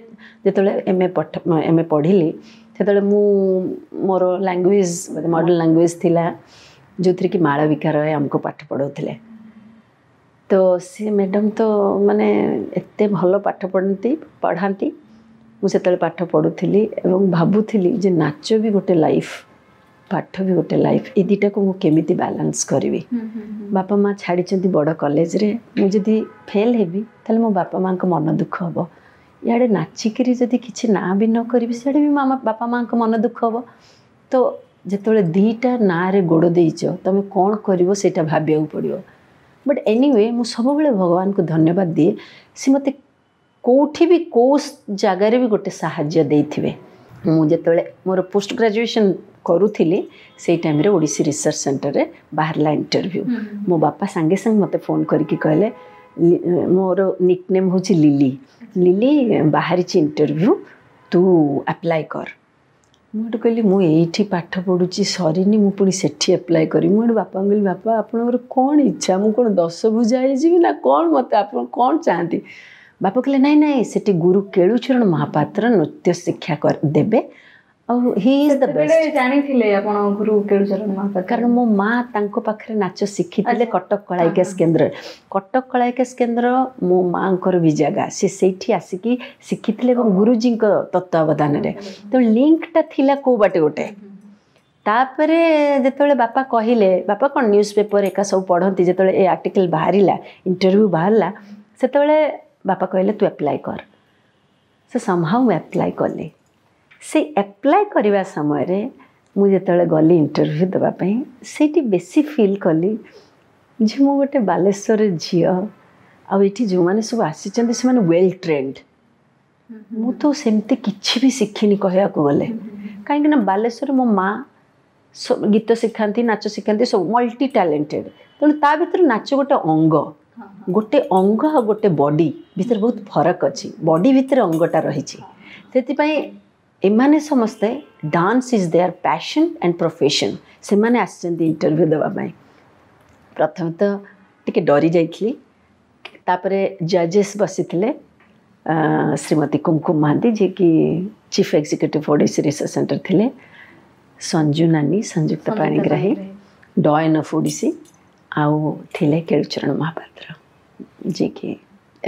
ଯେତେବେଳେ ଏମ୍ ଏ ପଢ଼ିଲି, ସେତେବେଳେ ମୁଁ ମୋର ଲାଙ୍ଗୁଏଜ୍ ମଡ଼ର୍ଣ୍ଣ ଲାଙ୍ଗୁଏଜ୍ ଥିଲା, ଯେଉଁଥିରେ କି ମାଳବିକା ରୟ ଆମକୁ ପାଠ ପଢ଼ାଉଥିଲେ। ତ ସେ ମ୍ୟାଡ଼ାମ୍ ତ ମାନେ ଏତେ ଭଲ ପାଠ ପଢ଼ାନ୍ତି। ମୁଁ ସେତେବେଳେ ପାଠ ପଢ଼ୁଥିଲି ଏବଂ ଭାବୁଥିଲି ଯେ ନାଚ ବି ଗୋଟେ ଲାଇଫ୍, ପାଠ ବି ଗୋଟେ ଲାଇଫ୍, ଏ ଦୁଇଟାକୁ ମୁଁ କେମିତି ବାଲାନ୍ସ କରିବି। ବାପା ମା' ଛାଡ଼ିଛନ୍ତି ବଡ଼ କଲେଜରେ, ମୁଁ ଯଦି ଫେଲ୍ ହେବି ତାହେଲେ ମୋ ବାପା ମାଆଙ୍କ ମନ ଦୁଃଖ ହେବ। ଇଆଡ଼େ ନାଚିକିରି ଯଦି କିଛି ନାଁ ବି ନ କରିବି, ସିଆଡ଼େ ବି ବାପା ମାଆଙ୍କ ମନ ଦୁଃଖ ହେବ। ତ ଯେତେବେଳେ ଦୁଇଟା ନାଁରେ ଗୋଡ଼ ଦେଇଛ, ତୁମେ କ'ଣ କରିବ ସେଇଟା ଭାବିବାକୁ ପଡ଼ିବ। ବଟ୍ ଏନିୱେ ମୁଁ ସବୁବେଳେ ଭଗବାନଙ୍କୁ ଧନ୍ୟବାଦ ଦିଏ, ସେ ମୋତେ କେଉଁଠି ବି କେଉଁ ଜାଗାରେ ବି ଗୋଟେ ସାହାଯ୍ୟ ଦେଇଥିବେ। ମୁଁ ଯେତେବେଳେ ମୋର ପୋଷ୍ଟ ଗ୍ରାଜୁଏସନ୍ କରୁଥିଲି, ସେଇ ଟାଇମ୍ରେ ଓଡ଼ିଶୀ ରିସର୍ଚ୍ଚ ସେଣ୍ଟରରେ ବାହାରିଲା ଇଣ୍ଟରଭ୍ୟୁ। ମୋ ବାପା ସାଙ୍ଗେ ସାଙ୍ଗେ ମୋତେ ଫୋନ୍ କରିକି କହିଲେ, ମୋର ନିକ୍ ନେମ୍ ହେଉଛି ଲିଲି, ଲିଲି ବାହାରିଛି ଇଣ୍ଟରଭ୍ୟୁ, ତୁ ଆପ୍ଲାଏ କର। ମୁଁ ଏଠୁ କହିଲି ମୁଁ ଏଇଠି ପାଠ ପଢ଼ୁଛି ସରିନି, ମୁଁ ପୁଣି ସେଠି ଆପ୍ଲାଏ କରିବି। ମୁଁ ଏଠୁ ବାପାଙ୍କୁ କହିଲି ବାପା ଆପଣଙ୍କର କ'ଣ ଇଚ୍ଛା, ମୁଁ କ'ଣ ଦଶଭୁଜା ହେଇଯିବି ନା କ'ଣ, ମୋତେ ଆପଣ କ'ଣ ଚାହାନ୍ତି? ବାପା କହିଲେ ନାଇଁ ନାଇଁ, ସେଠି ଗୁରୁ କେଳୁଚରଣ ମହାପାତ୍ର ନୃତ୍ୟ ଶିକ୍ଷା ଦେବେ, ଆଉ he is the best. ଜାଣିଥିଲେ ଆପଣ ଗୁରୁ କେଳୁଚରଣ ମହାପାତ୍ର? କାରଣ ମୋ ମା ତାଙ୍କ ପାଖରେ ନାଚ ଶିଖିଥିଲେ କଟକ କଳାବିକାଶ କେନ୍ଦ୍ରରେ। କଟକ କଳାବିକାଶ କେନ୍ଦ୍ର ମୋ ମାଆଙ୍କର ବି ଜାଗା, ସେ ସେଇଠି ଆସିକି ଶିଖିଥିଲେ ଏବଂ ଗୁରୁଜୀଙ୍କ ତତ୍ତ୍ୱାବଧାନରେ। ତେଣୁ ଲିଙ୍କଟା ଥିଲା କେଉଁ ବାଟେ ଗୋଟେ। ତାପରେ ଯେତେବେଳେ ବାପା କହିଲେ, ବାପା କ'ଣ ନ୍ୟୁଜ୍ ପେପର ଏକା ସବୁ ପଢ଼ନ୍ତି, ଯେତେବେଳେ ଏ ଆର୍ଟିକଲ୍ ବାହାରିଲା, ଇଣ୍ଟରଭ୍ୟୁ ବାହାରିଲା, ସେତେବେଳେ ବାପା କହିଲେ ତୁ ଆପ୍ଲାଏ କର। ସେ ସମହାଉ ମୁଁ ଆପ୍ଲାଏ କଲି। ସେ ଆପ୍ଲାଏ କରିବା ସମୟରେ ମୁଁ ଯେତେବେଳେ ଗଲି ଇଣ୍ଟରଭ୍ୟୁ ଦେବା ପାଇଁ, ସେଇଠି ବେଶୀ ଫିଲ୍ କଲି ଯେ ମୁଁ ଗୋଟେ ବାଲେଶ୍ୱର ଝିଅ, ଆଉ ଏଠି ଯେଉଁମାନେ ସବୁ ଆସିଛନ୍ତି ସେମାନେ ୱେଲ୍ ଟ୍ରେଣ୍ଡ। ମୁଁ ତ ସେମିତି କିଛି ବି ଶିଖିନି କହିବାକୁ ଗଲେ, କାହିଁକିନା ବାଲେଶ୍ୱରରେ ମୋ ମା ଗୀତ ଶିଖାନ୍ତି, ନାଚ ଶିଖାନ୍ତି, ସବୁ ମଲ୍ଟି ଟ୍ୟାଲେଣ୍ଟେଡ଼। ତେଣୁ ତା ଭିତରେ ନାଚ ଗୋଟେ ଅଙ୍ଗ, ଗୋଟେ ଅଙ୍ଗ ଆଉ ଗୋଟେ ବଡି ଭିତରେ ବହୁତ ଫରକ ଅଛି। ବଡି ଭିତରେ ଅଙ୍ଗଟା ରହିଛି। ସେଥିପାଇଁ ଏମାନେ ସମସ୍ତେ dance is their passion and profession. ସେମାନେ ଆସିଛନ୍ତି ଇଣ୍ଟରଭ୍ୟୁ ଦେବା ପାଇଁ। ପ୍ରଥମେ ତ ଟିକେ ଡରି ଯାଇଥିଲି। ତାପରେ ଜଜେସ୍ ବସିଥିଲେ, ଶ୍ରୀମତୀ କୁମକୁମ ମହାନ୍ତି, ଯିଏକି chief executive Odissi research centre ଥିଲେ, ସଞ୍ଜୁ ନାନୀ, ସଂଯୁକ୍ତା ପାଣିଗ୍ରାହୀ, ଡଏନ୍ ଅଫ୍ ଓଡ଼ିଶୀ, ଆଉ ଥିଲେ କେଳୁଚରଣ ମହାପାତ୍ର, ଯିଏକି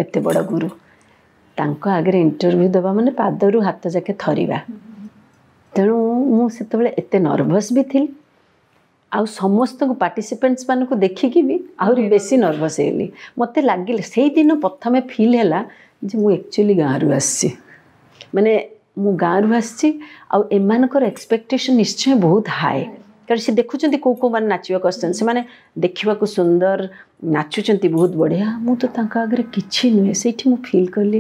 ଏତେ ବଡ଼ ଗୁରୁ। ତାଙ୍କ ଆଗରେ ଇଣ୍ଟରଭ୍ୟୁ ଦେବା ମାନେ ପାଦରୁ ହାତ ଯାକେ ଥରିବା। ତେଣୁ ମୁଁ ସେତେବେଳେ ଏତେ ନର୍ଭସ୍ ବି ଥିଲି, ଆଉ ସମସ୍ତଙ୍କୁ ପାର୍ଟିସିପେଣ୍ଟସ୍ ମାନଙ୍କୁ ଦେଖିକି ବି ଆହୁରି ବେଶୀ ନର୍ଭସ୍ ହେଇଗଲି। ମୋତେ ଲାଗିଲା ସେଇଦିନ ପ୍ରଥମେ ଫିଲ୍ ହେଲା ଯେ ମୁଁ ଆକ୍ଚୁଆଲି ଗାଁରୁ ଆସିଛି, ମାନେ ମୁଁ ଗାଁରୁ ଆସିଛି, ଆଉ ଏମାନଙ୍କର ଏକ୍ସପେକ୍ଟେସନ୍ ନିଶ୍ଚୟ ବହୁତ ହାଇ, କାରଣ ସେ ଦେଖୁଛନ୍ତି କେଉଁ କେଉଁମାନେ ନାଚିବାକୁ ଆସୁଛନ୍ତି, ସେମାନେ ଦେଖିବାକୁ ସୁନ୍ଦର, ନାଚୁଛନ୍ତି ବହୁତ ବଢ଼ିଆ, ମୁଁ ତ ତାଙ୍କ ଆଗରେ କିଛି ନୁହେଁ। ସେଇଠି ମୁଁ ଫିଲ୍ କଲି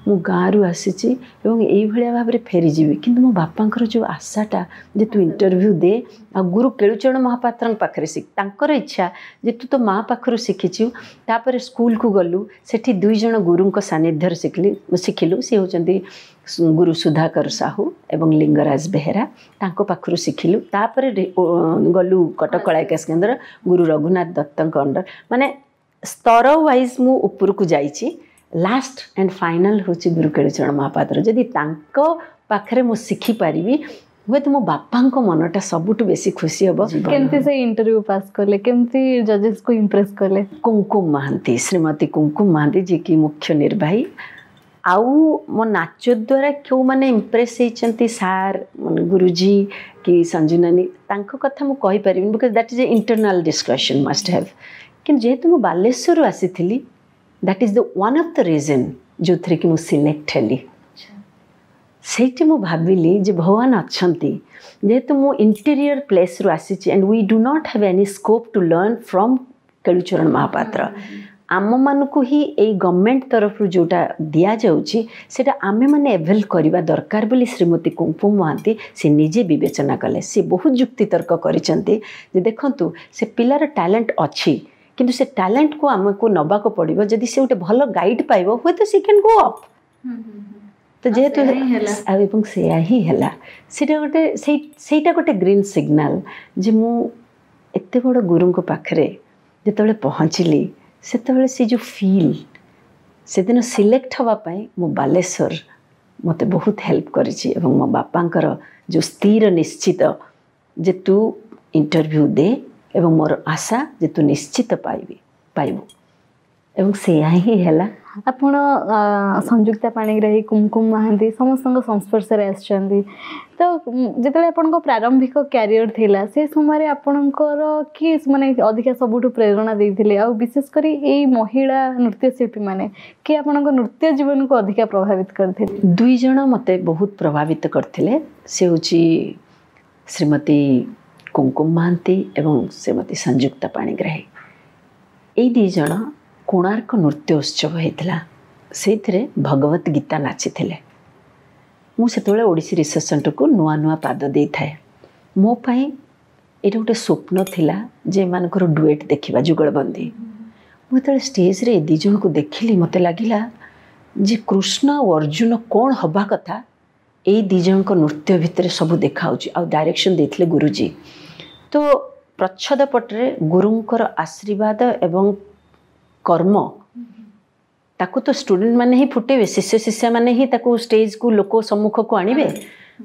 ମୁଁ ଗାଁରୁ ଆସିଛି ଏବଂ ଏଇଭଳିଆ ଭାବରେ ଫେରିଯିବି। କିନ୍ତୁ ମୋ ବାପାଙ୍କର ଯେଉଁ ଆଶାଟା ଯେ ତୁ ଇଣ୍ଟରଭ୍ୟୁ ଦେ, ଆଉ ଗୁରୁ କେଳୁଚରଣ ମହାପାତ୍ରଙ୍କ ପାଖରେ ଶିଖ, ତାଙ୍କର ଇଚ୍ଛା ଯେ ତୁ ତୋ ମା ପାଖରୁ ଶିଖିଛୁ। ତାପରେ ସ୍କୁଲକୁ ଗଲୁ, ସେଠି ଦୁଇ ଜଣ ଗୁରୁଙ୍କ ସାନ୍ନିଧ୍ୟରେ ଶିଖିଲୁ। ସେ ହେଉଛନ୍ତି ଗୁରୁ ସୁଧାକର ସାହୁ ଏବଂ ଲିଙ୍ଗରାଜ ବେହେରା, ତାଙ୍କ ପାଖରୁ ଶିଖିଲୁ। ତାପରେ ଗଲୁ କଟକ କଳା ବିକାଶ କେନ୍ଦ୍ର ଗୁରୁ ରଘୁନାଥ ଦତ୍ତଙ୍କ ଅଣ୍ଡର, ମାନେ ସ୍ତର ୱାଇଜ୍ ମୁଁ ଉପରକୁ ଯାଇଛି। ଲାଷ୍ଟ ଆଣ୍ଡ ଫାଇନାଲ୍ ହେଉଛି ଗୁରୁ କେଳୁଚରଣ ମହାପାତ୍ର। ଯଦି ତାଙ୍କ ପାଖରେ ମୁଁ ଶିଖିପାରିବି, ହୁଏତ ମୋ ବାପାଙ୍କ ମନଟା ସବୁଠୁ ବେଶୀ ଖୁସି ହେବ। କେମିତି ସେ ଇଣ୍ଟରଭ୍ୟୁ ପାସ୍ କଲେ, କେମିତି ଜଜେସକୁ ଇମ୍ପ୍ରେସ୍ କଲେ? କୁମକୁମ ମହାନ୍ତି, ଶ୍ରୀମତୀ କୁମକୁମ ମହାନ୍ତି, ଯିଏକି ମୁଖ୍ୟ ନିର୍ବାହୀ। ଆଉ ମୋ ନାଚ ଦ୍ୱାରା କେଉଁମାନେ ଇମ୍ପ୍ରେସ୍ ହେଇଛନ୍ତି, ସାର୍, ଗୁରୁଜୀ କି ସଞ୍ଜୁ ନାନୀ, ତାଙ୍କ କଥା ମୁଁ କହିପାରିବିନି, because that is a internal discussion must have. କିନ୍ତୁ ଯେହେତୁ ମୁଁ ବାଲେଶ୍ୱରରୁ ଆସିଥିଲି, that is the one of the reason ଯେଉଁଥିରେ କି ମୁଁ ସିଲେକ୍ଟ ହେଲି। ସେଇଠି ମୁଁ ଭାବିଲି ଯେ ଭଗବାନ ଅଛନ୍ତି। ଯେହେତୁ ମୁଁ ଇଣ୍ଟେରିୟର ପ୍ଲେସ୍ରୁ ଆସିଛି, and we do not have any scope to learn from Kelucharan Mohapatra, ଆମମାନଙ୍କୁ ହିଁ ଏଇ ଗଭର୍ଣ୍ଣମେଣ୍ଟ ତରଫରୁ ଯେଉଁଟା ଦିଆଯାଉଛି ସେଇଟା ଆମେମାନେ ଏଭେଲ୍ କରିବା ଦରକାର ବୋଲି ଶ୍ରୀମତୀ କୁମକୁମ ମହାନ୍ତି ସେ ନିଜେ ବିବେଚନା କଲେ। ସେ ବହୁତ ଯୁକ୍ତିତର୍କ କରିଛନ୍ତି ଯେ ଦେଖନ୍ତୁ, ସେ ପିଲାର ଟ୍ୟାଲେଣ୍ଟ ଅଛି, କିନ୍ତୁ ସେ ଟ୍ୟାଲେଣ୍ଟକୁ ଆମକୁ ନେବାକୁ ପଡ଼ିବ। ଯଦି ସେ ଗୋଟେ ଭଲ ଗାଇଡ଼ ପାଇବ, ହୁଏତ ସେ can go up. ତ ଯେହେତୁ ଆଉ ଏବଂ ସେୟା ହିଁ ହେଲା। ସେଇଟା ଗୋଟେ ସେଇଟା ଗୋଟେ ଗ୍ରୀନ୍ ସିଗ୍ନାଲ ଯେ ମୁଁ ଏତେ ବଡ଼ ଗୁରୁଙ୍କ ପାଖରେ ଯେତେବେଳେ ପହଞ୍ଚିଲି, ସେତେବେଳେ ସେ ଯେଉଁ ଫିଲ୍, ସେଦିନ ସିଲେକ୍ଟ ହେବା ପାଇଁ ମୁଁ ବାଲେଶ୍ୱର ମୋତେ ବହୁତ ହେଲ୍ପ କରିଛି। ଏବଂ ମୋ ବାପାଙ୍କର ଯେଉଁ ସ୍ଥିର ନିଶ୍ଚିତ ଯେ ତୁ ଇଣ୍ଟରଭ୍ୟୁ ଦେ, ଏବଂ ମୋର ଆଶା ଯେ ତୁ ନିଶ୍ଚିତ ପାଇବୁ, ଏବଂ ସେୟା ହିଁ ହେଲା। ଆପଣ ସଂଯୁକ୍ତା ପାଣିଗ୍ରାହୀ, କୁମକୁମ ମହାନ୍ତି ସମସ୍ତଙ୍କ ସଂସ୍ପର୍ଶରେ ଆସିଛନ୍ତି। ତ ଯେତେବେଳେ ଆପଣଙ୍କ ପ୍ରାରମ୍ଭିକ କ୍ୟାରିୟର ଥିଲା, ସେ ସମୟରେ ଆପଣଙ୍କର କିଏ ମାନେ ଅଧିକା ସବୁଠୁ ପ୍ରେରଣା ଦେଇଥିଲେ, ଆଉ ବିଶେଷ କରି ଏଇ ମହିଳା ନୃତ୍ୟଶିଳ୍ପୀମାନେ କିଏ ଆପଣଙ୍କ ନୃତ୍ୟ ଜୀବନକୁ ଅଧିକା ପ୍ରଭାବିତ କରିଥିଲେ? ଦୁଇ ଜଣ ମୋତେ ବହୁତ ପ୍ରଭାବିତ କରିଥିଲେ। ସେ ହେଉଛି ଶ୍ରୀମତୀ କୁମକୁମ ମହାନ୍ତି ଏବଂ ଶ୍ରୀମତୀ ସଂଯୁକ୍ତା ପାଣିଗ୍ରାହୀ। ଏଇ ଦୁଇ ଜଣ କୋଣାର୍କ ନୃତ୍ୟ ଉତ୍ସବ ହେଇଥିଲା, ସେଇଥିରେ ଭଗବତ ଗୀତା ନାଚିଥିଲେ। ମୁଁ ସେତେବେଳେ ଓଡ଼ିଶୀ ରିସର୍ଚ୍ଚ ସେଣ୍ଟରକୁ ନୂଆ ନୂଆ ପାଦ ଦେଇଥାଏ। ମୋ ପାଇଁ ଏଇଟା ଗୋଟେ ସ୍ୱପ୍ନ ଥିଲା ଯେ ଏମାନଙ୍କର ଡୁଏଟ୍ ଦେଖିବା, ଯୁଗଳବନ୍ଦୀ। ମୁଁ ଯେତେବେଳେ ଷ୍ଟେଜ୍ରେ ଏ ଦୁଇ ଜଣଙ୍କୁ ଦେଖିଲି, ମୋତେ ଲାଗିଲା ଯେ କୃଷ୍ଣ ଆଉ ଅର୍ଜୁନ କ'ଣ ହେବା କଥା, ଏଇ ଦୁଇ ଜଣଙ୍କ ନୃତ୍ୟ ଭିତରେ ସବୁ ଦେଖାହେଉଛି। ଆଉ ଡାଇରେକ୍ସନ୍ ଦେଇଥିଲେ ଗୁରୁଜୀ। ତ ପ୍ରଚ୍ଛଦ ପଟରେ ଗୁରୁଙ୍କର ଆଶୀର୍ବାଦ ଏବଂ କର୍ମ, ତାକୁ ତ ଷ୍ଟୁଡେଣ୍ଟ ମାନେ ହିଁ ଫୁଟେଇବେ, ଶିଷ୍ୟ ଶିଷ୍ୟାମାନେ ହିଁ ତାକୁ ଷ୍ଟେଜ୍କୁ ଲୋକ ସମ୍ମୁଖକୁ ଆଣିବେ।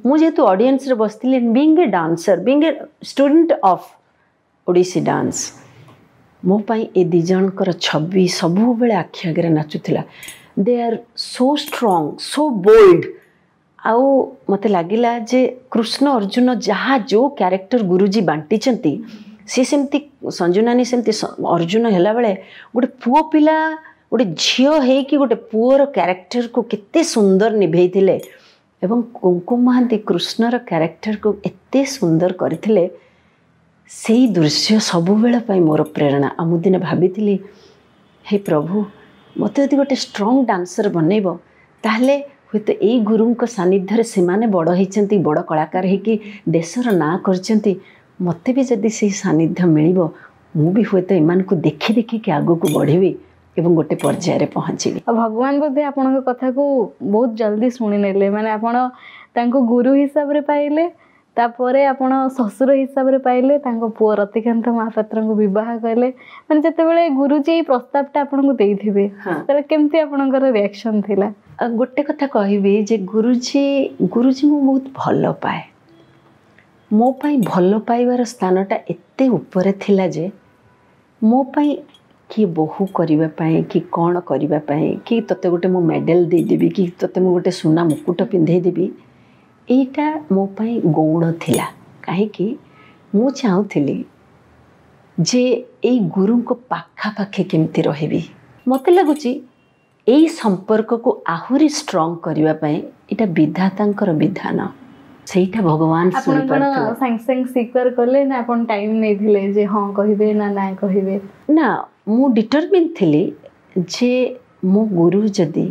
ମୁଁ ଯେହେତୁ ଅଡ଼ିଏନ୍ସରେ ବସିଥିଲି, being a dancer, being a student of Odissi dance, ମୋ ପାଇଁ ଏ ଦୁଇ ଜଣଙ୍କର ଛବି ସବୁବେଳେ ଆଖି ଆଗରେ ନାଚୁଥିଲା। They are so strong, so bold. ଆଉ ମୋତେ ଲାଗିଲା ଯେ କୃଷ୍ଣ ଅର୍ଜୁନ ଯାହା ଯେଉଁ କ୍ୟାରେକ୍ଟର ଗୁରୁଜୀ ବାଣ୍ଟିଛନ୍ତି, ସିଏ ସେମିତି ସଞ୍ଜୁ ନାନୀ ସେମିତି ଅର୍ଜୁନ ହେଲାବେଳେ ଗୋଟେ ପୁଅ ପିଲା ଗୋଟେ ଝିଅ ହେଇକି ଗୋଟେ ପୁଅର କ୍ୟାରେକ୍ଟରକୁ କେତେ ସୁନ୍ଦର ନିଭେଇଥିଲେ। ଏବଂ କୁଙ୍କୁମ ମହାନ୍ତି କୃଷ୍ଣର କ୍ୟାରେକ୍ଟରକୁ ଏତେ ସୁନ୍ଦର କରିଥିଲେ, ସେଇ ଦୃଶ୍ୟ ସବୁବେଳ ପାଇଁ ମୋର ପ୍ରେରଣା। ଆଉ ମୁଁ ଦିନେ ଭାବିଥିଲି, ହେ ପ୍ରଭୁ, ମୋତେ ଯଦି ଗୋଟେ ଷ୍ଟ୍ରଙ୍ଗ ଡାନ୍ସର ବନେଇବ, ତାହେଲେ ହୁଏତ ଏଇ ଗୁରୁଙ୍କ ସାନ୍ନିଧ୍ୟରେ ସେମାନେ ବଡ଼ ହେଇଛନ୍ତି, ବଡ଼ କଳାକାର ହେଇକି ଦେଶର ନାଁ କରିଛନ୍ତି, ମୋତେ ବି ଯଦି ସେଇ ସାନ୍ନିଧ୍ୟ ମିଳିବ, ମୁଁ ବି ହୁଏତ ଏମାନଙ୍କୁ ଦେଖି ଦେଖିକି ଆଗକୁ ବଢ଼ିବି ଏବଂ ଗୋଟେ ପର୍ଯ୍ୟାୟରେ ପହଞ୍ଚିବି। ଆଉ ଭଗବାନ ବୋଧେ ଆପଣଙ୍କ କଥାକୁ ବହୁତ ଜଲ୍ଦି ଶୁଣିନେଲେ। ମାନେ ଆପଣ ତାଙ୍କୁ ଗୁରୁ ହିସାବରେ ପାଇଲେ, ତାପରେ ଆପଣ ଶ୍ୱଶୁର ହିସାବରେ ପାଇଲେ, ତାଙ୍କ ପୁଅ ରତିକାନ୍ତ ମହାପାତ୍ରଙ୍କୁ ବିବାହ କଲେ। ମାନେ ଯେତେବେଳେ ଗୁରୁଜୀ ଏଇ ପ୍ରସ୍ତାବଟା ଆପଣଙ୍କୁ ଦେଇଥିବେ, ସେତେବେଳେ କେମିତି ଆପଣଙ୍କର ରିଆକ୍ସନ ଥିଲା? ଗୋଟେ କଥା କହିବି ଯେ ଗୁରୁଜୀ ମୁଁ ବହୁତ ଭଲ ପାଏ। ମୋ ପାଇଁ ଭଲ ପାଇବାର ସ୍ଥାନଟା ଏତେ ଉପରେ ଥିଲା ଯେ ମୋ ପାଇଁ କିଏ ବୋହୂ କରିବା ପାଇଁ କି କ'ଣ କରିବା ପାଇଁ କି ତୋତେ ଗୋଟେ ମୁଁ ମେଡ଼ାଲ ଦେଇଦେବି କି ତୋତେ ମୁଁ ଗୋଟେ ସୁନା ମୁକୁଟ ପିନ୍ଧେଇ ଦେବି, ଏଇଟା ମୋ ପାଇଁ ଗୌଣ ଥିଲା। କାହିଁକି ମୁଁ ଚାହୁଁଥିଲି ଯେ ଏଇ ଗୁରୁଙ୍କ ପାଖାପାଖି କେମିତି ରହିବି। ମୋତେ ଲାଗୁଛି ଏଇ ସମ୍ପର୍କକୁ ଆହୁରି ଷ୍ଟ୍ରଙ୍ଗ କରିବା ପାଇଁ ଏଇଟା ବିଧାତାଙ୍କର ବିଧାନ, ସେଇଟା ଭଗବାନ ଆପଣ କ'ଣ ସାଙ୍ଗେ ସାଙ୍ଗେ ସ୍ୱୀକାର କଲେ ନା ଆପଣ ଟାଇମ୍ ନେଇଥିଲେ ଯେ ହଁ କହିବେ ନା ନା କହିବେ? ନା, ମୁଁ ଡିଟରମିନ୍ ଥିଲି ଯେ ମୋ ଗୁରୁ ଯଦି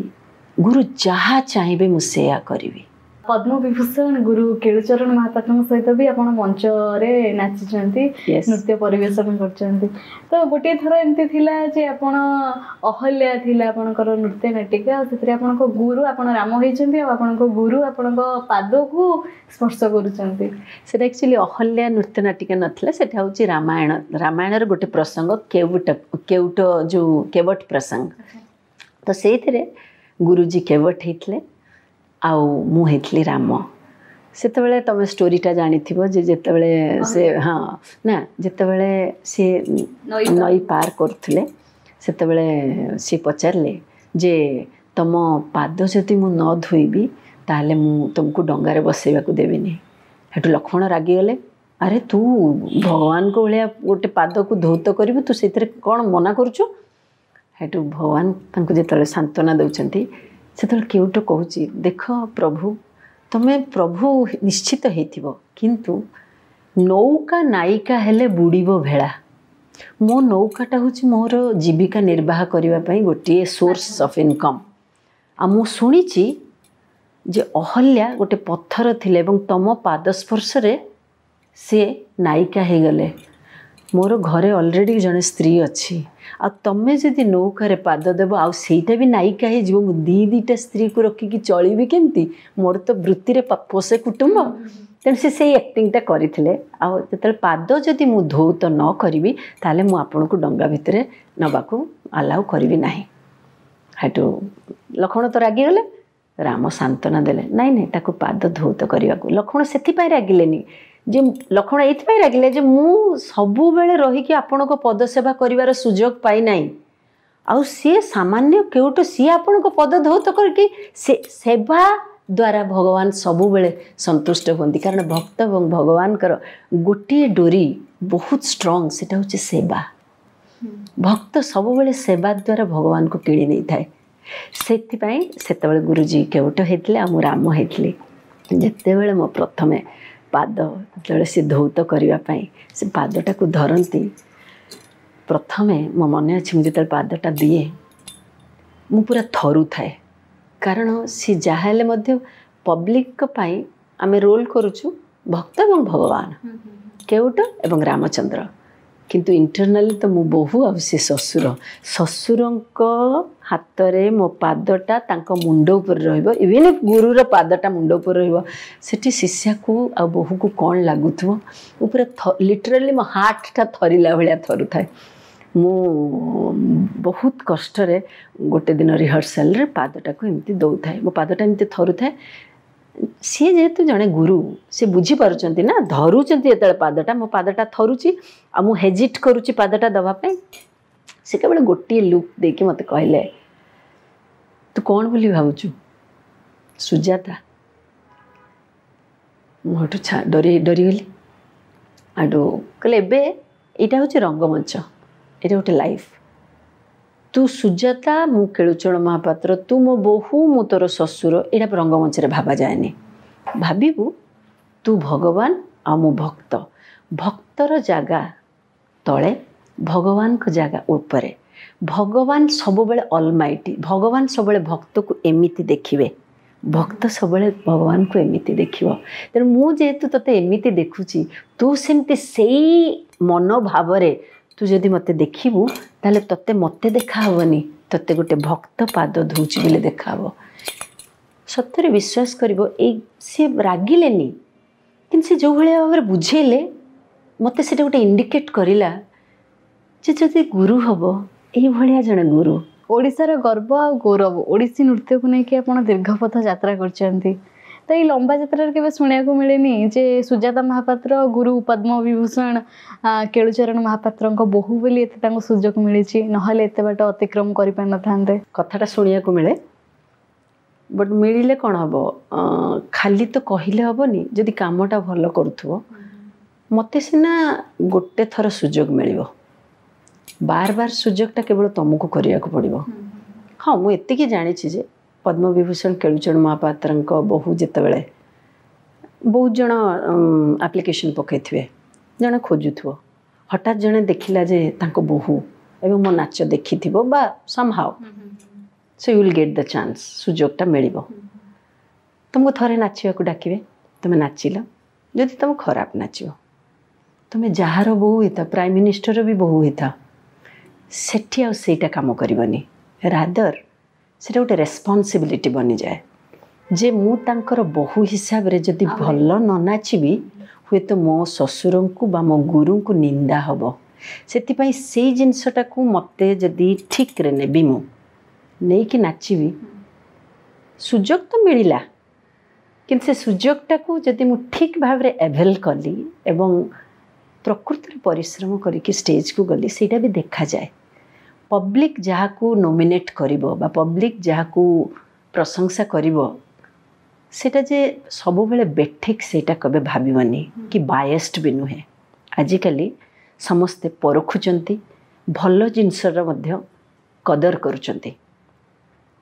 ଗୁରୁ ଯାହା ଚାହିଁବେ ମୁଁ ସେୟା କରିବି। ପଦ୍ମବିଭୂଷଣ ଗୁରୁ କେଳୁଚରଣ ମହାପାତ୍ରଙ୍କ ସହିତ ବି ଆପଣ ମଞ୍ଚରେ ନାଚିଛନ୍ତି, ନୃତ୍ୟ ପରିବେଷଣ କରିଛନ୍ତି। ତ ଗୋଟିଏ ଥର ଏମିତି ଥିଲା ଯେ ଆପଣ ଅହଲ୍ୟା ଥିଲା ଆପଣଙ୍କର ନୃତ୍ୟ ନାଟିକା, ଆଉ ସେଥିରେ ଆପଣଙ୍କ ଗୁରୁ, ଆପଣ ରାମ ହେଇଛନ୍ତି ଆଉ ଆପଣଙ୍କ ଗୁରୁ ଆପଣଙ୍କ ପାଦକୁ ସ୍ପର୍ଶ କରୁଛନ୍ତି। ସେଟା ଆକ୍ଚୁଆଲି ଅହଲ୍ୟା ନୃତ୍ୟ ନାଟିକା ନଥିଲା, ସେଟା ହେଉଛି ରାମାୟଣ, ରାମାୟଣର ଗୋଟେ ପ୍ରସଙ୍ଗ, କେଉଟ, କେଉଟ ଯେଉଁ କେବଟ ପ୍ରସଙ୍ଗ। ତ ସେଇଥିରେ ଗୁରୁଜୀ କେବଟ ହେଇଥିଲେ ଆଉ ମୁଁ ହେଇଥିଲି ରାମ। ସେତେବେଳେ ତମେ ଷ୍ଟୋରିଟା ଜାଣିଥିବ ଯେ ଯେତେବେଳେ ସେ ହଁ ନା ଯେତେବେଳେ ସିଏ ନଈ ପାର କରୁଥିଲେ, ସେତେବେଳେ ସିଏ ପଚାରିଲେ ଯେ ତମ ପାଦ ଯଦି ମୁଁ ନ ଧୋଇବି ତାହେଲେ ମୁଁ ତୁମକୁ ଡଙ୍ଗାରେ ବସେଇବାକୁ ଦେବିନି। ସେଠୁ ଲକ୍ଷ୍ମଣ ରାଗିଗଲେ, ଆରେ ତୁ ଭଗବାନଙ୍କ ଭଳିଆ ଗୋଟେ ପାଦକୁ ଧୌତ କରିବୁ, ତୁ ସେଇଥିରେ କ'ଣ ମନା କରୁଛୁ? ସେଠୁ ଭଗବାନ ତାଙ୍କୁ ଯେତେବେଳେ ସାନ୍ତ୍ୱନା ଦେଉଛନ୍ତି, ସେତେବେଳେ କେଉଟ କହୁଛି, ଦେଖ ପ୍ରଭୁ, ତମେ ପ୍ରଭୁ ନିଶ୍ଚିତ ହେଇଥିବ, କିନ୍ତୁ ନୌକା ନାୟିକା ହେଲେ ବୁଡ଼ିବ ଭେଳା। ମୋ ନୌକାଟା ହେଉଛି ମୋର ଜୀବିକା ନିର୍ବାହ କରିବା ପାଇଁ ଗୋଟିଏ ସୋର୍ସ ଅଫ୍ ଇନକମ୍। ଆଉ ମୁଁ ଶୁଣିଛି ଯେ ଅହଲ୍ୟା ଗୋଟେ ପଥର ଥିଲେ ଏବଂ ତମ ପାଦ ସ୍ପର୍ଶରେ ସେ ନାୟିକା ହେଇଗଲେ। ମୋର ଘରେ ଅଲରେଡ଼ି ଜଣେ ସ୍ତ୍ରୀ ଅଛି, ଆଉ ତମେ ଯଦି ନୌକାରେ ପାଦ ଦେବ ଆଉ ସେଇଟା ବି ନାୟିକା ହେଇଯିବ, ମୁଁ ଦୁଇ ଦୁଇଟା ସ୍ତ୍ରୀକୁ ରଖିକି ଚଳିବି କେମିତି? ମୋର ତ ବୃତ୍ତିରେ ପୋଷେ କୁଟୁମ୍ବ। ତେଣୁ ସେ ସେଇ ଆକ୍ଟିଂଟା କରିଥିଲେ। ଆଉ ଯେତେବେଳେ ପାଦ ଯଦି ମୁଁ ଧୌତ ନ କରିବି ତାହେଲେ ମୁଁ ଆପଣଙ୍କୁ ଡଙ୍ଗା ଭିତରେ ନେବାକୁ ଆଲାଉ କରିବି ନାହିଁ। ସେଠୁ ଲକ୍ଷ୍ମଣ ତ ରାଗିଗଲେ, ରାମ ସାନ୍ତ୍ୱନା ଦେଲେ, ନାଇଁ ନାଇଁ ତାକୁ ପାଦ ଧୌତ କରିବାକୁ। ଲକ୍ଷ୍ମଣ ସେଥିପାଇଁ ରାଗିଲେନି ଯେ, ଲକ୍ଷ୍ମଣ ଏଇଥିପାଇଁ ରାଗିଲେ ଯେ ମୁଁ ସବୁବେଳେ ରହିକି ଆପଣଙ୍କ ପଦସେବା କରିବାର ସୁଯୋଗ ପାଇନାହିଁ, ଆଉ ସିଏ ସାମାନ୍ୟ କେଉଁଠୁ ସିଏ ଆପଣଙ୍କ ପଦ ଧୌତ କରିକି ସେ ସେବା ଦ୍ୱାରା ଭଗବାନ ସବୁବେଳେ ସନ୍ତୁଷ୍ଟ ହୁଅନ୍ତି। କାରଣ ଭକ୍ତ ଏବଂ ଭଗବାନଙ୍କର ଗୋଟିଏ ଡୋରି ବହୁତ ଷ୍ଟ୍ରଙ୍ଗ, ସେଟା ହେଉଛି ସେବା। ଭକ୍ତ ସବୁବେଳେ ସେବା ଦ୍ୱାରା ଭଗବାନଙ୍କୁ କିଣି ନେଇଥାଏ। ସେଥିପାଇଁ ସେତେବେଳେ ଗୁରୁଜୀ କେଉଟ ହେଇଥିଲେ ଆଉ ମୁଁ ରାମ ହେଇଥିଲି। ଯେତେବେଳେ ମୋ ପ୍ରଥମେ ପାଦ ଯେତେବେଳେ ସେ ଧୌତ କରିବା ପାଇଁ ସେ ପାଦଟାକୁ ଧରନ୍ତି, ପ୍ରଥମେ ମୋ ମନେ ଅଛି ମୁଁ ଯେତେବେଳେ ପାଦଟା ଦିଏ ମୁଁ ପୁରା ଥରୁଥାଏ। କାରଣ ସେ ଯାହା ହେଲେ ମଧ୍ୟ ପବ୍ଲିକଙ୍କ ପାଇଁ ଆମେ ରୋଲ୍ କରୁଛୁ ଭକ୍ତ ଏବଂ ଭଗବାନ, କେଉଟ ଏବଂ ରାମଚନ୍ଦ୍ର। କିନ୍ତୁ ଇଣ୍ଟରନାଲି ତ ମୁଁ ବୋହୂ ଆଉ ସେ ଶ୍ୱଶୁର। ଶ୍ୱଶୁରଙ୍କ ହାତରେ ମୋ ପାଦଟା ତାଙ୍କ ମୁଣ୍ଡ ଉପରେ ରହିବ, ଇଭିନ୍ if ଗୁରୁର ପାଦଟା ମୁଣ୍ଡ ଉପରେ ରହିବ, ସେଠି ଶିଷ୍ୟାକୁ ଆଉ ବୋହୂକୁ କ'ଣ ଲାଗୁଥିବ? ମୁଁ ପୁରା ଲିଟରାଲି ମୋ ହାର୍ଟଟା ଥରିଲା ଭଳିଆ ଥରୁଥାଏ। ମୁଁ ବହୁତ କଷ୍ଟରେ ଗୋଟେ ଦିନ ରିହର୍ସାଲରେ ପାଦଟାକୁ ଏମିତି ଦେଉଥାଏ, ମୋ ପାଦଟା ଏମିତି ଥରୁଥାଏ। ସିଏ ଯେହେତୁ ଜଣେ ଗୁରୁ, ସେ ବୁଝିପାରୁଛନ୍ତି ନା, ଧରୁଛନ୍ତି ଯେତେବେଳେ ପାଦଟା, ମୋ ପାଦଟା ଥରୁଛି ଆଉ ମୁଁ ହେଜିଟ୍ କରୁଛି ପାଦଟା ଦେବା ପାଇଁ। ସେ କେବଳ ଗୋଟିଏ ଲୁକ୍ ଦେଇକି ମୋତେ କହିଲେ, ତୁ କ'ଣ ବୋଲି ଭାବୁଛୁ ସୁଜାତା? ମୁଁ ହେଠୁ ଡରିଗଲି। ହେଠୁ କହିଲେ, ଏବେ ଏଇଟା ହେଉଛି ରଙ୍ଗମଞ୍ଚ, ଏଇଟା ଗୋଟେ ଲାଇଫ୍, ତୁ ସୁଜାତା, ମୁଁ କେଳୁଚରଣ ମହାପାତ୍ର, ତୁ ମୋ ବୋହୂ, ମୁଁ ତୋର ଶ୍ୱଶୁର, ଏଇଟା ରଙ୍ଗମଞ୍ଚରେ ଭାବାଯାଏନି। ଭାବିବୁ ତୁ ଭଗବାନ ଆଉ ମୁଁ ଭକ୍ତ। ଭକ୍ତର ଜାଗା ତଳେ, ଭଗବାନଙ୍କ ଜାଗା ଉପରେ। ଭଗବାନ ସବୁବେଳେ ଅଲମାଇଟି, ଭଗବାନ ସବୁବେଳେ ଭକ୍ତକୁ ଏମିତି ଦେଖିବେ, ଭକ୍ତ ସବୁବେଳେ ଭଗବାନଙ୍କୁ ଏମିତି ଦେଖିବ। ତେଣୁ ମୁଁ ଯେହେତୁ ତୋତେ ଏମିତି ଦେଖୁଛି, ତୁ ସେମିତି ସେଇ ମନୋଭାବରେ ତୁ ଯଦି ମୋତେ ଦେଖିବୁ, ତାହେଲେ ତୋତେ ମୋତେ ଦେଖାହେବନି, ତୋତେ ଗୋଟେ ଭକ୍ତ ପାଦ ଧୋଉଛି ବୋଲି ଦେଖାହେବ। ସତରେ ବିଶ୍ୱାସ କରିବ, ଏଇ ସିଏ ରାଗିଲେନି, କିନ୍ତୁ ସେ ଯେଉଁ ଭଳିଆ ଭାବରେ ବୁଝେଇଲେ ମୋତେ ସେଇଟା ଗୋଟେ ଇଣ୍ଡିକେଟ୍ କରିଲା ଯେ ଯଦି ଗୁରୁ ହେବ ଏଇଭଳିଆ ଜଣେ ଗୁରୁ। ଓଡ଼ିଶାର ଗର୍ବ ଆଉ ଗୌରବ ଓଡ଼ିଶୀ ନୃତ୍ୟକୁ ନେଇକି ଆପଣ ଦୀର୍ଘ ପଥ ଯାତ୍ରା କରିଛନ୍ତି। ତ ଏଇ ଲମ୍ବା ଯାତ୍ରାରେ କେବେ ଶୁଣିବାକୁ ମିଳେନି ଯେ ସୁଜାତା ମହାପାତ୍ର ଗୁରୁ ପଦ୍ମ ବିଭୂଷଣ କେଳୁଚରଣ ମହାପାତ୍ରଙ୍କ ବୋହୂ ବୋଲି ଏତେ ତାଙ୍କୁ ସୁଯୋଗ ମିଳିଛି, ନହେଲେ ଏତେ ବାଟ ଅତିକ୍ରମ କରିପାରିନଥାନ୍ତେ? କଥାଟା ଶୁଣିବାକୁ ମିଳେ, ବଟ୍ ମିଳିଲେ କ'ଣ ହେବ, ଖାଲି ତ କହିଲେ ହେବନି, ଯଦି କାମଟା ଭଲ କରୁଥିବ। ମୋତେ ସିନା ଗୋଟେ ଥର ସୁଯୋଗ ମିଳିବ, ବାର ବାର ସୁଯୋଗଟା କେବଳ ତୁମକୁ କରିବାକୁ ପଡ଼ିବ। ହଁ, ମୁଁ ଏତିକି ଜାଣିଛି ଯେ ପଦ୍ମବିଭୂଷଣ କେଳୁଚରଣ ମହାପାତ୍ରଙ୍କ ବୋହୂ ଯେତେବେଳେ ବହୁତ ଜଣ ଆପ୍ଲିକେସନ୍ ପକାଇଥିବେ, ଜଣେ ଖୋଜୁଥିବ, ହଠାତ୍ ଜଣେ ଦେଖିଲା ଯେ ତାଙ୍କ ବୋହୂ ଏବଂ ମୋ ନାଚ ଦେଖିଥିବ ବା somehow, so you will get the chance, ସୁଯୋଗଟା ମିଳିବ। ତୁମକୁ ଥରେ ନାଚିବାକୁ ଡାକିବେ, ତୁମେ ନାଚିଲ, ଯଦି ତୁମେ ଖରାପ ନାଚିବ, ତୁମେ ଯାହାର ବୋହୂ ହେଇଥାଅ, ପ୍ରାଇମ୍ ମିନିଷ୍ଟର ବି ବୋହୂ ହେଇଥାଅ, ସେଠି ଆଉ ସେଇଟା କାମ କରିବନି। ରାଦର ସେଇଟା ଗୋଟେ ରେସ୍ପନ୍ସିବିଲିଟି ବନିଯାଏ ଯେ ମୁଁ ତାଙ୍କର ବୋହୂ ହିସାବରେ ଯଦି ଭଲ ନ ନାଚିବି, ହୁଏତ ମୋ ଶ୍ୱଶୁରଙ୍କୁ ବା ମୋ ଗୁରୁଙ୍କୁ ନିନ୍ଦା ହେବ। ସେଥିପାଇଁ ସେଇ ଜିନିଷଟାକୁ ମୋତେ ଯଦି ଠିକ୍ରେ ନେବି, ମୁଁ ନେଇକି ନାଚିବି, ସୁଯୋଗ ତ ମିଳିଲା, କିନ୍ତୁ ସେ ସୁଯୋଗଟାକୁ ଯଦି ମୁଁ ଠିକ୍ ଭାବରେ ଆଭେଲ୍ କଲି ଏବଂ ପ୍ରକୃତରେ ପରିଶ୍ରମ କରିକି ଷ୍ଟେଜ୍କୁ ଗଲି, ସେଇଟା ବି ଦେଖାଯାଏ। ପବ୍ଲିକ୍ ଯାହାକୁ ନୋମିନେଟ୍ କରିବ ବା ପବ୍ଲିକ୍ ଯାହାକୁ ପ୍ରଶଂସା କରିବ, ସେଇଟା ଯେ ସବୁବେଳେ ବେଠିକ୍ ସେଇଟା କେବେ ଭାବିବନି କି ବାୟସ୍ଡ ବି ନୁହେଁ। ଆଜିକାଲି ସମସ୍ତେ ପରଖୁଛନ୍ତି, ଭଲ ଜିନିଷର ମଧ୍ୟ କଦର କରୁଛନ୍ତି।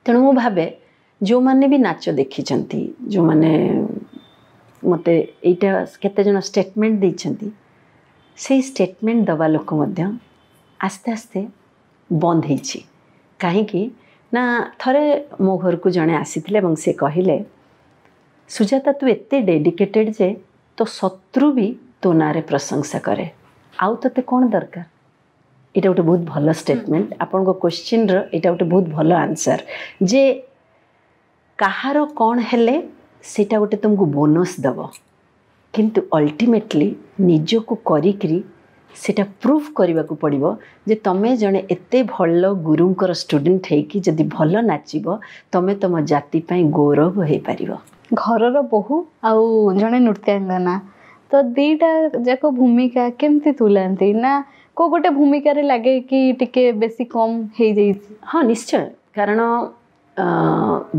ତେଣୁ ମୁଁ ଭାବେ ଯେଉଁମାନେ ବି ନାଚ ଦେଖିଛନ୍ତି, ଯେଉଁମାନେ ମୋତେ ଏଇଟା କେତେଜଣ ଷ୍ଟେଟମେଣ୍ଟ ଦେଇଛନ୍ତି, ସେଇ ଷ୍ଟେଟମେଣ୍ଟ ଦେବା ଲୋକ ମଧ୍ୟ ଆସ୍ତେ ଆସ୍ତେ ବନ୍ଦ ହେଇଛି। କାହିଁକି ନା ଥରେ ମୋ ଘରକୁ ଜଣେ ଆସିଥିଲେ ଏବଂ ସେ କହିଲେ, ସୁଜାତା ତୁ ଏତେ ଡେଡିକେଟେଡ଼ ଯେ ତୋ ଶତ୍ରୁ ବି ତୋ ନାଁରେ ପ୍ରଶଂସା କରେ, ଆଉ ତୋତେ କ'ଣ ଦରକାର? ଏଇଟା ଗୋଟେ ବହୁତ ଭଲ ଷ୍ଟେଟମେଣ୍ଟ। ଆପଣଙ୍କ କ୍ୱେଶ୍ଚିନ୍ର ଏଇଟା ଗୋଟେ ବହୁତ ଭଲ ଆନ୍ସର୍ ଯେ କାହାର କ'ଣ ହେଲେ ସେଇଟା ଗୋଟେ ତୁମକୁ ବୋନସ୍ ଦେବ, କିନ୍ତୁ ଅଲ୍ଟିମେଟଲି ନିଜକୁ କରିକିରି ସେଇଟା ପ୍ରୁଭ୍ କରିବାକୁ ପଡ଼ିବ ଯେ ତୁମେ ଜଣେ ଏତେ ଭଲ ଗୁରୁଙ୍କର ଷ୍ଟୁଡେଣ୍ଟ ହେଇକି ଯଦି ଭଲ ନାଚିବ, ତୁମେ ତୁମ ଜାତି ପାଇଁ ଗୌରବ ହେଇପାରିବ। ଘରର ବୋହୂ ଆଉ ଜଣେ ନୃତ୍ୟାଙ୍ଗନା, ତ ଦୁଇଟା ଯାକ ଭୂମିକା କେମିତି ତୁଲାନ୍ତି? ନା କେଉଁ ଗୋଟେ ଭୂମିକାରେ ଲାଗେ କି ଟିକେ ବେଶୀ କମ୍ ହେଇଯାଇଛି? ହଁ ନିଶ୍ଚୟ, କାରଣ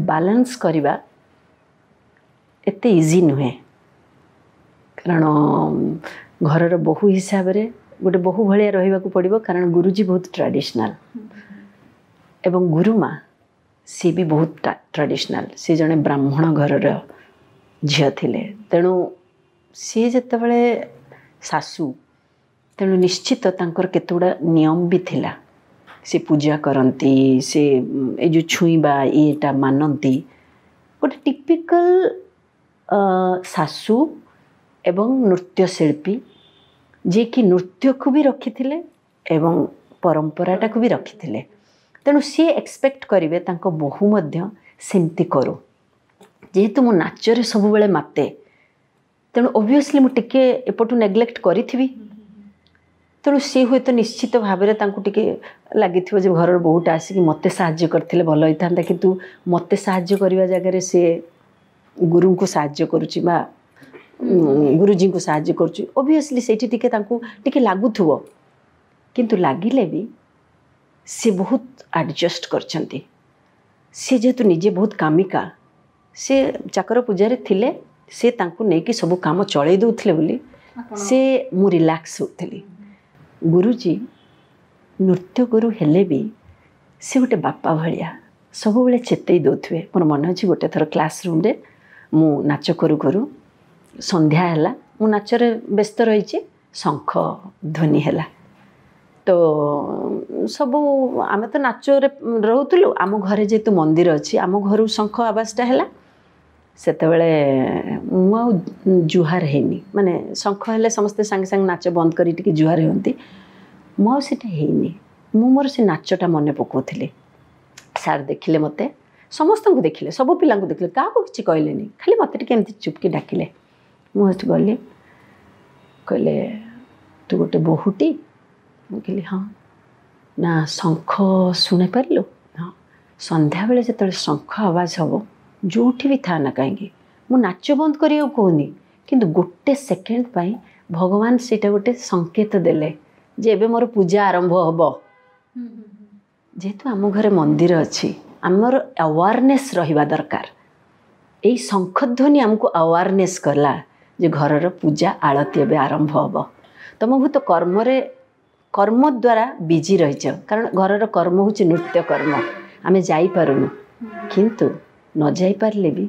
ବାଲାନ୍ସ କରିବା ଏତେ ଇଜି ନୁହେଁ। କାରଣ ଘରର ବୋହୂ ହିସାବରେ ଗୋଟେ ବୋହୂ ଭଳିଆ ରହିବାକୁ ପଡ଼ିବ, କାରଣ ଗୁରୁଜୀ ବହୁତ ଟ୍ରାଡ଼ିସନାଲ୍ ଏବଂ ଗୁରୁମା ସିଏ ବି ବହୁତ ଟ୍ରାଡ଼ିସନାଲ୍। ସିଏ ଜଣେ ବ୍ରାହ୍ମଣ ଘରର ଝିଅ ଥିଲେ, ତେଣୁ ସିଏ ଯେତେବେଳେ ଶାଶୁ, ତେଣୁ ନିଶ୍ଚିତ ତାଙ୍କର କେତେଗୁଡ଼ା ନିୟମ ବି ଥିଲା। ସେ ପୂଜା କରନ୍ତି, ସେ ଏ ଯେଉଁ ଛୁଇଁବା ଇଏଟା ମାନନ୍ତି। ଗୋଟେ ଟିପିକାଲ ଶାଶୁ ଏବଂ ନୃତ୍ୟଶିଳ୍ପୀ, ଯିଏକି ନୃତ୍ୟକୁ ବି ରଖିଥିଲେ ଏବଂ ପରମ୍ପରାଟାକୁ ବି ରଖିଥିଲେ। ତେଣୁ ସିଏ ଏକ୍ସପେକ୍ଟ କରିବେ ତାଙ୍କ ବୋହୂ ମଧ୍ୟ ସେମିତି କରୁ। ଯେହେତୁ ମୁଁ ନାଚରେ ସବୁବେଳେ ମାତେ, ତେଣୁ ଅବଭିୟସଲି ମୁଁ ଟିକେ ଏପଟୁ ନେଗ୍ଲେକ୍ଟ କରିଥିବି। ତେଣୁ ସିଏ ହୁଏତ ନିଶ୍ଚିତ ଭାବରେ ତାଙ୍କୁ ଟିକେ ଲାଗିଥିବ ଯେ ଘରର ବୋହୂଟା ଆସିକି ମୋତେ ସାହାଯ୍ୟ କରିଥିଲେ ଭଲ ହେଇଥାନ୍ତା, କିନ୍ତୁ ମୋତେ ସାହାଯ୍ୟ କରିବା ଜାଗାରେ ସିଏ ଗୁରୁଙ୍କୁ ସାହାଯ୍ୟ କରୁଛି ବା ଗୁରୁଜୀଙ୍କୁ ସାହାଯ୍ୟ କରୁଛି। ଅବଭିୟସଲି ସେଇଠି ଟିକେ ତାଙ୍କୁ ଟିକେ ଲାଗୁଥିବ, କିନ୍ତୁ ଲାଗିଲେ ବି ସେ ବହୁତ ଆଡ଼ଜଷ୍ଟ କରିଛନ୍ତି। ସେ ଯେହେତୁ ନିଜେ ବହୁତ କାମିକା, ସେ ଚାକର ପୂଜାରେ ଥିଲେ, ସେ ତାଙ୍କୁ ନେଇକି ସବୁ କାମ ଚଳେଇ ଦେଉଥିଲେ ବୋଲି ସେ ମୁଁ ରିଲାକ୍ସ ହେଉଥିଲି। ଗୁରୁଜୀ ନୃତ୍ୟ ଗୁରୁ ହେଲେ ବି ସେ ଗୋଟେ ବାପା ଭଳିଆ ସବୁବେଳେ ଚେତେଇ ଦେଉଥିବେ। ମୋର ମନେ ଅଛି ଗୋଟେ ଥର କ୍ଲାସ୍ ରୁମ୍ରେ ମୁଁ ନାଚ କରୁ କରୁ ସନ୍ଧ୍ୟା ହେଲା, ମୁଁ ନାଚରେ ବ୍ୟସ୍ତ ରହିଛି, ଶଙ୍ଖ ଧ୍ୱନି ହେଲା। ତ ସବୁ ଆମେ ତ ନାଚରେ ରହୁଥିଲୁ, ଆମ ଘରେ ଯେହେତୁ ମନ୍ଦିର ଅଛି, ଆମ ଘରୁ ଶଙ୍ଖ ଆବାଜଟା ହେଲା। ସେତେବେଳେ ମୁଁ ଆଉ ଜୁହାର ହେଇନି, ମାନେ ଶଙ୍ଖ ହେଲେ ସମସ୍ତେ ସାଙ୍ଗେ ସାଙ୍ଗେ ନାଚ ବନ୍ଦ କରି ଟିକେ ଜୁହାର ହୁଅନ୍ତି, ମୁଁ ଆଉ ସେଇଟା ହେଇନି। ମୁଁ ମୋର ସେ ନାଚଟା ମନେ ପକାଉଥିଲି। ସାର୍ ଦେଖିଲେ ମୋତେ, ସମସ୍ତଙ୍କୁ ଦେଖିଲେ, ସବୁ ପିଲାଙ୍କୁ ଦେଖିଲେ, କାହାକୁ କିଛି କହିଲେନି, ଖାଲି ମୋତେ ଟିକେ ଏମିତି ଚୁପକି ଡାକିଲେ। ମୁଁ ସେଠି ଗଲି, କହିଲେ ତୁ ଗୋଟେ ବୋହୂଟି? ମୁଁ କହିଲି ହଁ। ନା ଶଙ୍ଖ ଶୁଣିପାରିଲୁ? ହଁ। ସନ୍ଧ୍ୟାବେଳେ ଯେତେବେଳେ ଶଙ୍ଖ ଆବାଜ ହେବ, ଯେଉଁଠି ବି ଥା ନା କାହିଁକି, ମୁଁ ନାଚ ବନ୍ଦ କରିବାକୁ କହୁନି, କିନ୍ତୁ ଗୋଟେ ସେକେଣ୍ଡ ପାଇଁ ଭଗବାନ ସେଇଟା ଗୋଟେ ସଂକେତ ଦେଲେ ଯେ ଏବେ ମୋର ପୂଜା ଆରମ୍ଭ ହେବ। ଯେହେତୁ ଆମ ଘରେ ମନ୍ଦିର ଅଛି, ଆମର ଆୱାରନେସ୍ ରହିବା ଦରକାର। ଏଇ ଶଙ୍ଖଧ୍ୱନି ଆମକୁ ଆୱାରନେସ୍ କଲା ଯେ ଘରର ପୂଜା ଆଳତି ଏବେ ଆରମ୍ଭ ହେବ। ତମ ବହୁତ କର୍ମରେ, କର୍ମ ଦ୍ୱାରା ବିଜି ରହିଛ, କାରଣ ଘରର କର୍ମ ହେଉଛି ନୃତ୍ୟ କର୍ମ, ଆମେ ଯାଇପାରୁନୁ, କିନ୍ତୁ ନ ଯାଇପାରିଲେ ବି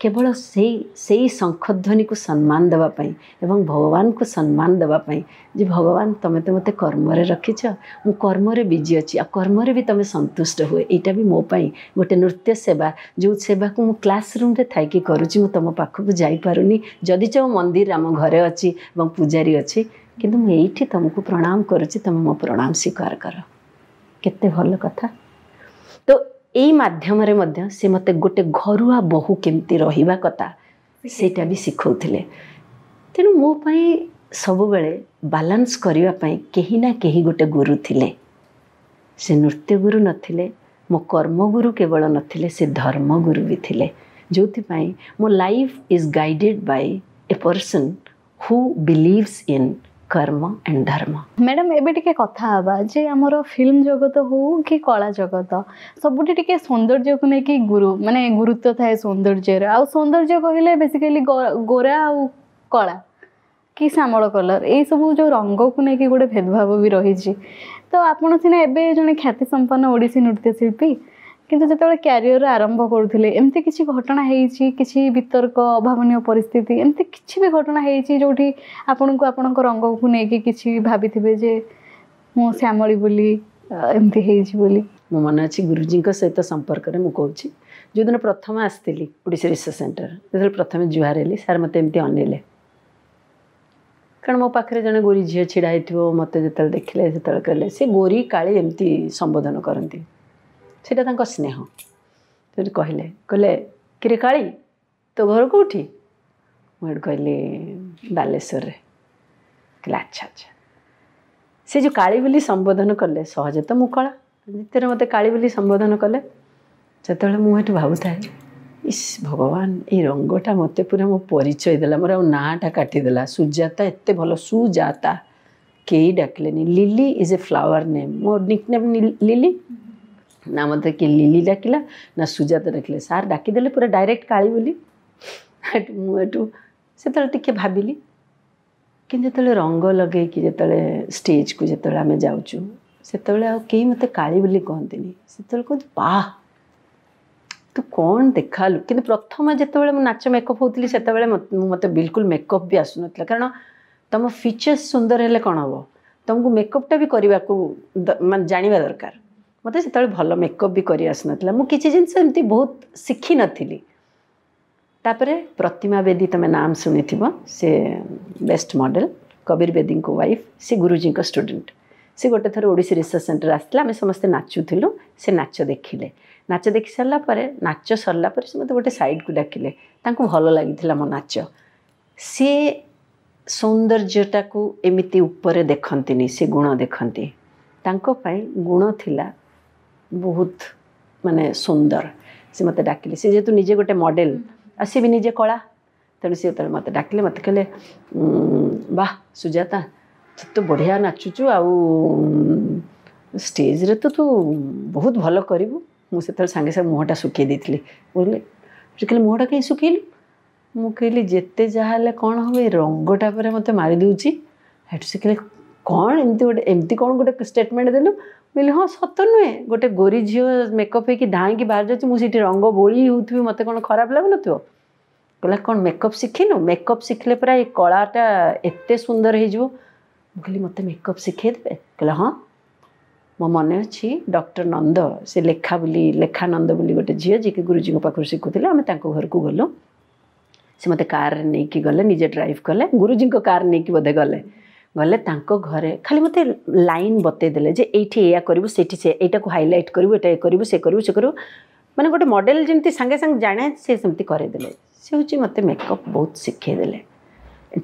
କେବଳ ସେଇ ସେଇ ଶଙ୍ଖଧ୍ୱନିକୁ ସମ୍ମାନ ଦେବା ପାଇଁ ଏବଂ ଭଗବାନଙ୍କୁ ସମ୍ମାନ ଦେବା ପାଇଁ ଯେ ଭଗବାନ ତମେ ତ ମୋତେ କର୍ମରେ ରଖିଛ, ମୁଁ କର୍ମରେ ବିଜି ଅଛି, ଆଉ କର୍ମରେ ବି ତମେ ସନ୍ତୁଷ୍ଟ ହୁଏ, ଏଇଟା ବି ମୋ ପାଇଁ ଗୋଟେ ନୃତ୍ୟ ସେବା, ଯେଉଁ ସେବାକୁ ମୁଁ କ୍ଲାସ୍ ରୁମ୍ରେ ଥାଇକି କରୁଛି, ମୁଁ ତୁମ ପାଖକୁ ଯାଇପାରୁନି, ଯଦି ଯେଉଁ ମନ୍ଦିର ଆମ ଘରେ ଅଛି ଏବଂ ପୂଜାରୀ ଅଛି, କିନ୍ତୁ ମୁଁ ଏଇଠି ତୁମକୁ ପ୍ରଣାମ କରୁଛି, ତୁମେ ମୋ ପ୍ରଣାମ ସ୍ୱୀକାର କର। କେତେ ଭଲ କଥା। ତ ଏଇ ମାଧ୍ୟମରେ ମଧ୍ୟ ସେ ମୋତେ ଗୋଟେ ଘରୁଆ ବୋହୂ କେମିତି ରହିବା କଥା ସେଇଟା ବି ଶିଖଉଥିଲେ। ତେଣୁ ମୋ ପାଇଁ ସବୁବେଳେ ବାଲାନ୍ସ କରିବା ପାଇଁ କେହି ନା କେହି ଗୋଟେ ଗୁରୁ ଥିଲେ। ସେ ନୃତ୍ୟ ଗୁରୁ ନଥିଲେ, ମୋ କର୍ମଗୁରୁ କେବଳ ନଥିଲେ, ସେ ଧର୍ମଗୁରୁ ବି ଥିଲେ, ଯେଉଁଥିପାଇଁ ମୋ life is guided by a person who believes in karma and dharma. Madam ଏବେ ଟିକେ କଥା ହେବା ଯେ ଆମର ଫିଲ୍ମ ଜଗତ ହଉ କି କଳା ଜଗତ, ସବୁଠି ଟିକେ ସୌନ୍ଦର୍ଯ୍ୟକୁ ନେଇକି ମାନେ ଗୁରୁତ୍ୱ ଥାଏ ସୌନ୍ଦର୍ଯ୍ୟର। ଆଉ ସୌନ୍ଦର୍ଯ୍ୟ କହିଲେ ବେସିକାଲି ଗୋରା ଆଉ କଳା କି ଶ୍ୟାମଳ କଲର୍, ଏଇସବୁ ଯେଉଁ ରଙ୍ଗକୁ ନେଇକି ଗୋଟେ ଭେଦଭାବ ବି ରହିଛି। ତ ଆପଣ ସିନା ଏବେ ଜଣେ ଖ୍ୟାତି ସମ୍ପନ୍ନ ଓଡ଼ିଶୀ ନୃତ୍ୟଶିଳ୍ପୀ, କିନ୍ତୁ ଯେତେବେଳେ କ୍ୟାରିୟର ଆରମ୍ଭ କରୁଥିଲେ ଏମିତି କିଛି ଘଟଣା ହେଇଛି, କିଛି ବିତର୍କ, ଅଭାବନୀୟ ପରିସ୍ଥିତି, ଏମିତି କିଛି ବି ଘଟଣା ହେଇଛି ଯେଉଁଠି ଆପଣଙ୍କୁ ଆପଣଙ୍କ ରଙ୍ଗକୁ ନେଇକି କିଛି ଭାବିଥିବେ ଯେ ମୁଁ ଶ୍ୟାମଳୀ ବୋଲି ଏମିତି ହେଇଛି ବୋଲି? ମୋ ମନେ ଅଛି ଗୁରୁଜୀଙ୍କ ସହିତ ସମ୍ପର୍କରେ ମୁଁ କହୁଛି, ଯେଉଁଦିନ ପ୍ରଥମେ ଆସିଥିଲି ଓଡ଼ିଶା ରିସର୍ଚ୍ଚ ସେଣ୍ଟର, ଯେତେବେଳେ ପ୍ରଥମେ ଜୁହାର ହେଲି, ସାର୍ ମୋତେ ଏମିତି ଅନେଇଲେ, କାରଣ ମୋ ପାଖରେ ଜଣେ ଗୋରୀ ଝିଅ ଛିଡ଼ା ହେଇଥିବ। ମୋତେ ଯେତେବେଳେ ଦେଖିଲେ ସେତେବେଳେ କହିଲେ, ସେ ଗୋରୀ କାଳି ଏମିତି ସମ୍ବୋଧନ କରନ୍ତି, ସେଇଟା ତାଙ୍କ ସ୍ନେହ। ସେଠି କହିଲେ, କହିଲେ କିରେ କାଳି ତୋ ଘର କେଉଁଠି? ମୁଁ ଏଠି କହିଲି ବାଲେଶ୍ୱରରେ। କହିଲେ ଆଚ୍ଛା ଆଚ୍ଛା। ସେ ଯେଉଁ କାଳି ବୋଲି ସମ୍ବୋଧନ କଲେ, ସହଜେ ତ ମୁଁ କଳା, ଦ୍ୱିତୀୟରେ ମୋତେ କାଳି ବୋଲି ସମ୍ବୋଧନ କଲେ, ସେତେବେଳେ ମୁଁ ଏଠୁ ଭାବୁଥାଏ, ଇସ୍ ଭଗବାନ, ଏଇ ରଙ୍ଗଟା ମୋତେ ପୁରା ମୋ ପରିଚୟ ଦେଲା, ମୋର ଆଉ ନାଁଟା କାଟିଦେଲା। ସୁଜାତା ଏତେ ଭଲ, ସୁଜାତା କେହି ଡାକିଲେନି। Lily is a flower name, ମୋ ନିକ୍ ନେମ୍ ଲିଲି ନା, ମୋତେ କିଏ ଲିଲି ଡାକିଲା ନା ସୁଜାତା ଡାକିଲେ, ସାର୍ ଡାକିଦେଲେ ପୁରା ଡାଇରେକ୍ଟ କାଳି ବୋଲି। ଏଠୁ ମୁଁ ଏଠୁ ସେତେବେଳେ ଟିକେ ଭାବିଲି, କିନ୍ତୁ ଯେତେବେଳେ ରଙ୍ଗ ଲଗେଇକି ଯେତେବେଳେ ଷ୍ଟେଜ୍କୁ ଯେତେବେଳେ ଆମେ ଯାଉଛୁ, ସେତେବେଳେ ଆଉ କେହି ମୋତେ କାଳି ବୋଲି କହନ୍ତିନି, ସେତେବେଳେ କୁହନ୍ତି ବାଃ ତୁ କ'ଣ ଦେଖାଲୁ। କିନ୍ତୁ ପ୍ରଥମେ ଯେତେବେଳେ ମୁଁ ନାଚ ମେକଅପ୍ ହେଉଥିଲି, ସେତେବେଳେ ମୋତେ ବିଲକୁଲ ମେକଅପ୍ ବି ଆସୁନଥିଲା, କାରଣ ତୁମ ଫିଚର୍ସ ସୁନ୍ଦର ହେଲେ କ'ଣ ହେବ, ତୁମକୁ ମେକଅପ୍ଟା ବି କରିବାକୁ ମାନେ ଜାଣିବା ଦରକାର। ମୋତେ ସେତେବେଳେ ଭଲ ମେକଅପ୍ ବି କରି ଆସୁନଥିଲା, ମୁଁ କିଛି ଜିନିଷ ଏମିତି ବହୁତ ଶିଖିନଥିଲି। ତାପରେ ପ୍ରତିମା ବେଦୀ, ତୁମେ ନାମ ଶୁଣିଥିବ, ସେ ବେଷ୍ଟ ମଡ଼େଲ, କବୀର ବେଦୀଙ୍କ ୱାଇଫ୍, ସେ ଗୁରୁଜୀଙ୍କ ଷ୍ଟୁଡେଣ୍ଟ। ସେ ଗୋଟେ ଥର ଓଡ଼ିଶୀ ରିସର୍ଚ୍ଚ ସେଣ୍ଟର ଆସିଥିଲା, ଆମେ ସମସ୍ତେ ନାଚୁଥିଲୁ, ସେ ନାଚ ଦେଖିଲେ। ନାଚ ଦେଖି ସାରିଲା ପରେ, ନାଚ ସରିଲା ପରେ ସେ ମୋତେ ଗୋଟେ ସାଇଡ଼କୁ ଡାକିଲେ, ତାଙ୍କୁ ଭଲ ଲାଗିଥିଲା ମୋ ନାଚ। ସେ ସୌନ୍ଦର୍ଯ୍ୟଟାକୁ ଏମିତି ଉପରେ ଦେଖନ୍ତିନି, ସେ ଗୁଣ ଦେଖନ୍ତି। ତାଙ୍କ ପାଇଁ ଗୁଣ ଥିଲା ବହୁତ ମାନେ ସୁନ୍ଦର। ସେ ମୋତେ ଡାକିଲେ, ସେ ଯେହେତୁ ନିଜେ ଗୋଟେ ମଡ଼େଲ ଆଉ ସେ ବି ନିଜେ କଳା, ତେଣୁ ସେ ଯେତେବେଳେ ମୋତେ ଡାକିଲେ, ମୋତେ କହିଲେ ବାহ ସୁଜାତା ତୁ ତ ବଢ଼ିଆ ନାଚୁଛୁ, ଆଉ ଷ୍ଟେଜ୍ରେ ତ ତୁ ବହୁତ ଭଲ କରିବୁ। ମୁଁ ସେତେବେଳେ ସାଙ୍ଗେ ସାଙ୍ଗେ ମୁହଁଟା ଶୁଖେଇ ଦେଇଥିଲି। କହିଲେ, ସେ କହିଲେ ମୁହଁଟା କାହିଁ ଶୁଖେଇଲୁ? ମୁଁ କହିଲି ଯେତେ ଯାହା ହେଲେ କ'ଣ ହେବ, ଏ ରଙ୍ଗଟା ପରେ ମୋତେ ମାରିଦେଉଛି। ସେଠୁ ସେ କହିଲେ କ'ଣ ଏମିତି ଗୋଟେ, ଏମିତି କ'ଣ ଗୋଟେ ଷ୍ଟେଟମେଣ୍ଟ ଦେଲୁ? କହିଲି ହଁ ସତ ନୁହେଁ, ଗୋଟେ ଗୋରି ଝିଅ ମେକଅପ୍ ହେଇକି ଧାଇଁକି ବାହାରି ଯାଉଛି, ମୁଁ ସେଇଠି ରଙ୍ଗ ବୋଳି ହେଉଥିବି, ମୋତେ କ'ଣ ଖରାପ ଲାଗୁନଥିବ? କହିଲା କ'ଣ ମେକଅପ୍ ଶିଖିନୁ? ମେକଅପ୍ ଶିଖିଲେ ପରା ଏ କଳାଟା ଏତେ ସୁନ୍ଦର ହେଇଯିବ। ମୁଁ କହିଲି ମୋତେ ମେକଅପ୍ ଶିଖେଇ ଦେବେ? କହିଲା ହଁ। ମୋ ମନେ ଅଛି ଡକ୍ଟର ନନ୍ଦ, ସେ ଲେଖା ବୋଲି, ଲେଖା ନନ୍ଦ ବୋଲି ଗୋଟେ ଝିଅ ଯିଏକି ଗୁରୁଜୀଙ୍କ ପାଖରୁ ଶିଖୁଥିଲେ, ଆମେ ତାଙ୍କ ଘରକୁ ଗଲୁ। ସେ ମୋତେ କାରରେ ନେଇକି ଗଲେ, ନିଜେ ଡ୍ରାଇଭ୍ କଲେ, ଗୁରୁଜୀଙ୍କ କାର୍ ନେଇକି ବୋଧେ ଗଲେ। ଗଲେ ତାଙ୍କ ଘରେ ଖାଲି ମୋତେ ଲାଇନ୍ ବତେଇ ଦେଲେ ଯେ ଏଇଠି ଏଇଆ କରିବୁ, ସେଇଠି ସେ ଏଇଟାକୁ ହାଇଲାଇଟ୍ କରିବୁ, ଏଇଟା ଏ କରିବୁ, ସେ କରିବୁ, ସେ କରିବୁ, ମାନେ ଗୋଟେ ମଡ଼େଲ ଯେମିତି ସାଙ୍ଗେ ସାଙ୍ଗେ ଜାଣେ ସେ ସେମିତି କରେଇଦେଲେ। ସେ ହେଉଛି ମୋତେ ମେକଅପ୍ ବହୁତ ଶିଖେଇ ଦେଲେ।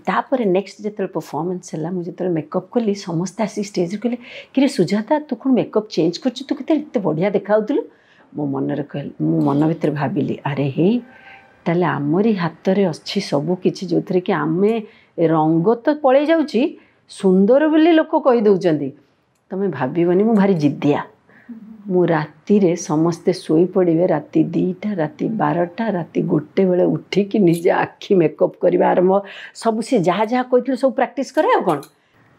ତାପରେ ନେକ୍ସଟ ଯେତେବେଳେ ପରଫର୍ମାନ୍ସ ହେଲା, ମୁଁ ଯେତେବେଳେ ମେକଅପ୍ କଲି, ସମସ୍ତେ ଆସିକି ଷ୍ଟେଜ୍ରେ କହିଲେ କିରେ ସୁଜାତା, ତୁ କ'ଣ ମେକଅପ୍ ଚେଞ୍ଜ କରୁଛୁ, ତୁ କେତେ ଏତେ ବଢ଼ିଆ ଦେଖାଯାଉଥିଲୁ। ମୋ ମନରେ କହିଲି, ମୁଁ ମନ ଭିତରେ ଭାବିଲି ଆରେ ହେଇ, ତାହେଲେ ଆମରି ହାତରେ ଅଛି ସବୁ କିଛି, ଯେଉଁଥିରେ କି ଆମେ ରଙ୍ଗ ତ ପଳେଇ ଯାଉଛି, ସୁନ୍ଦର ବୋଲି ଲୋକ କହିଦେଉଛନ୍ତି। ତମେ ଭାବିବନି, ମୁଁ ଭାରି ଜିଦ୍ଦିଆ। ମୁଁ ରାତିରେ ସମସ୍ତେ ଶୋଇପଡ଼ିବେ, ରାତି 2ଟା, ରାତି 12ଟା, ରାତି 1 ବେଳେ ଉଠିକି ନିଜେ ଆଖି ମେକଅପ୍ କରିବା ଆରମ୍ଭ। ସବୁ ସେ ଯାହା ଯାହା କହିଥିଲେ ସବୁ ପ୍ରାକ୍ଟିସ୍ କରେ। ଆଉ କ'ଣ,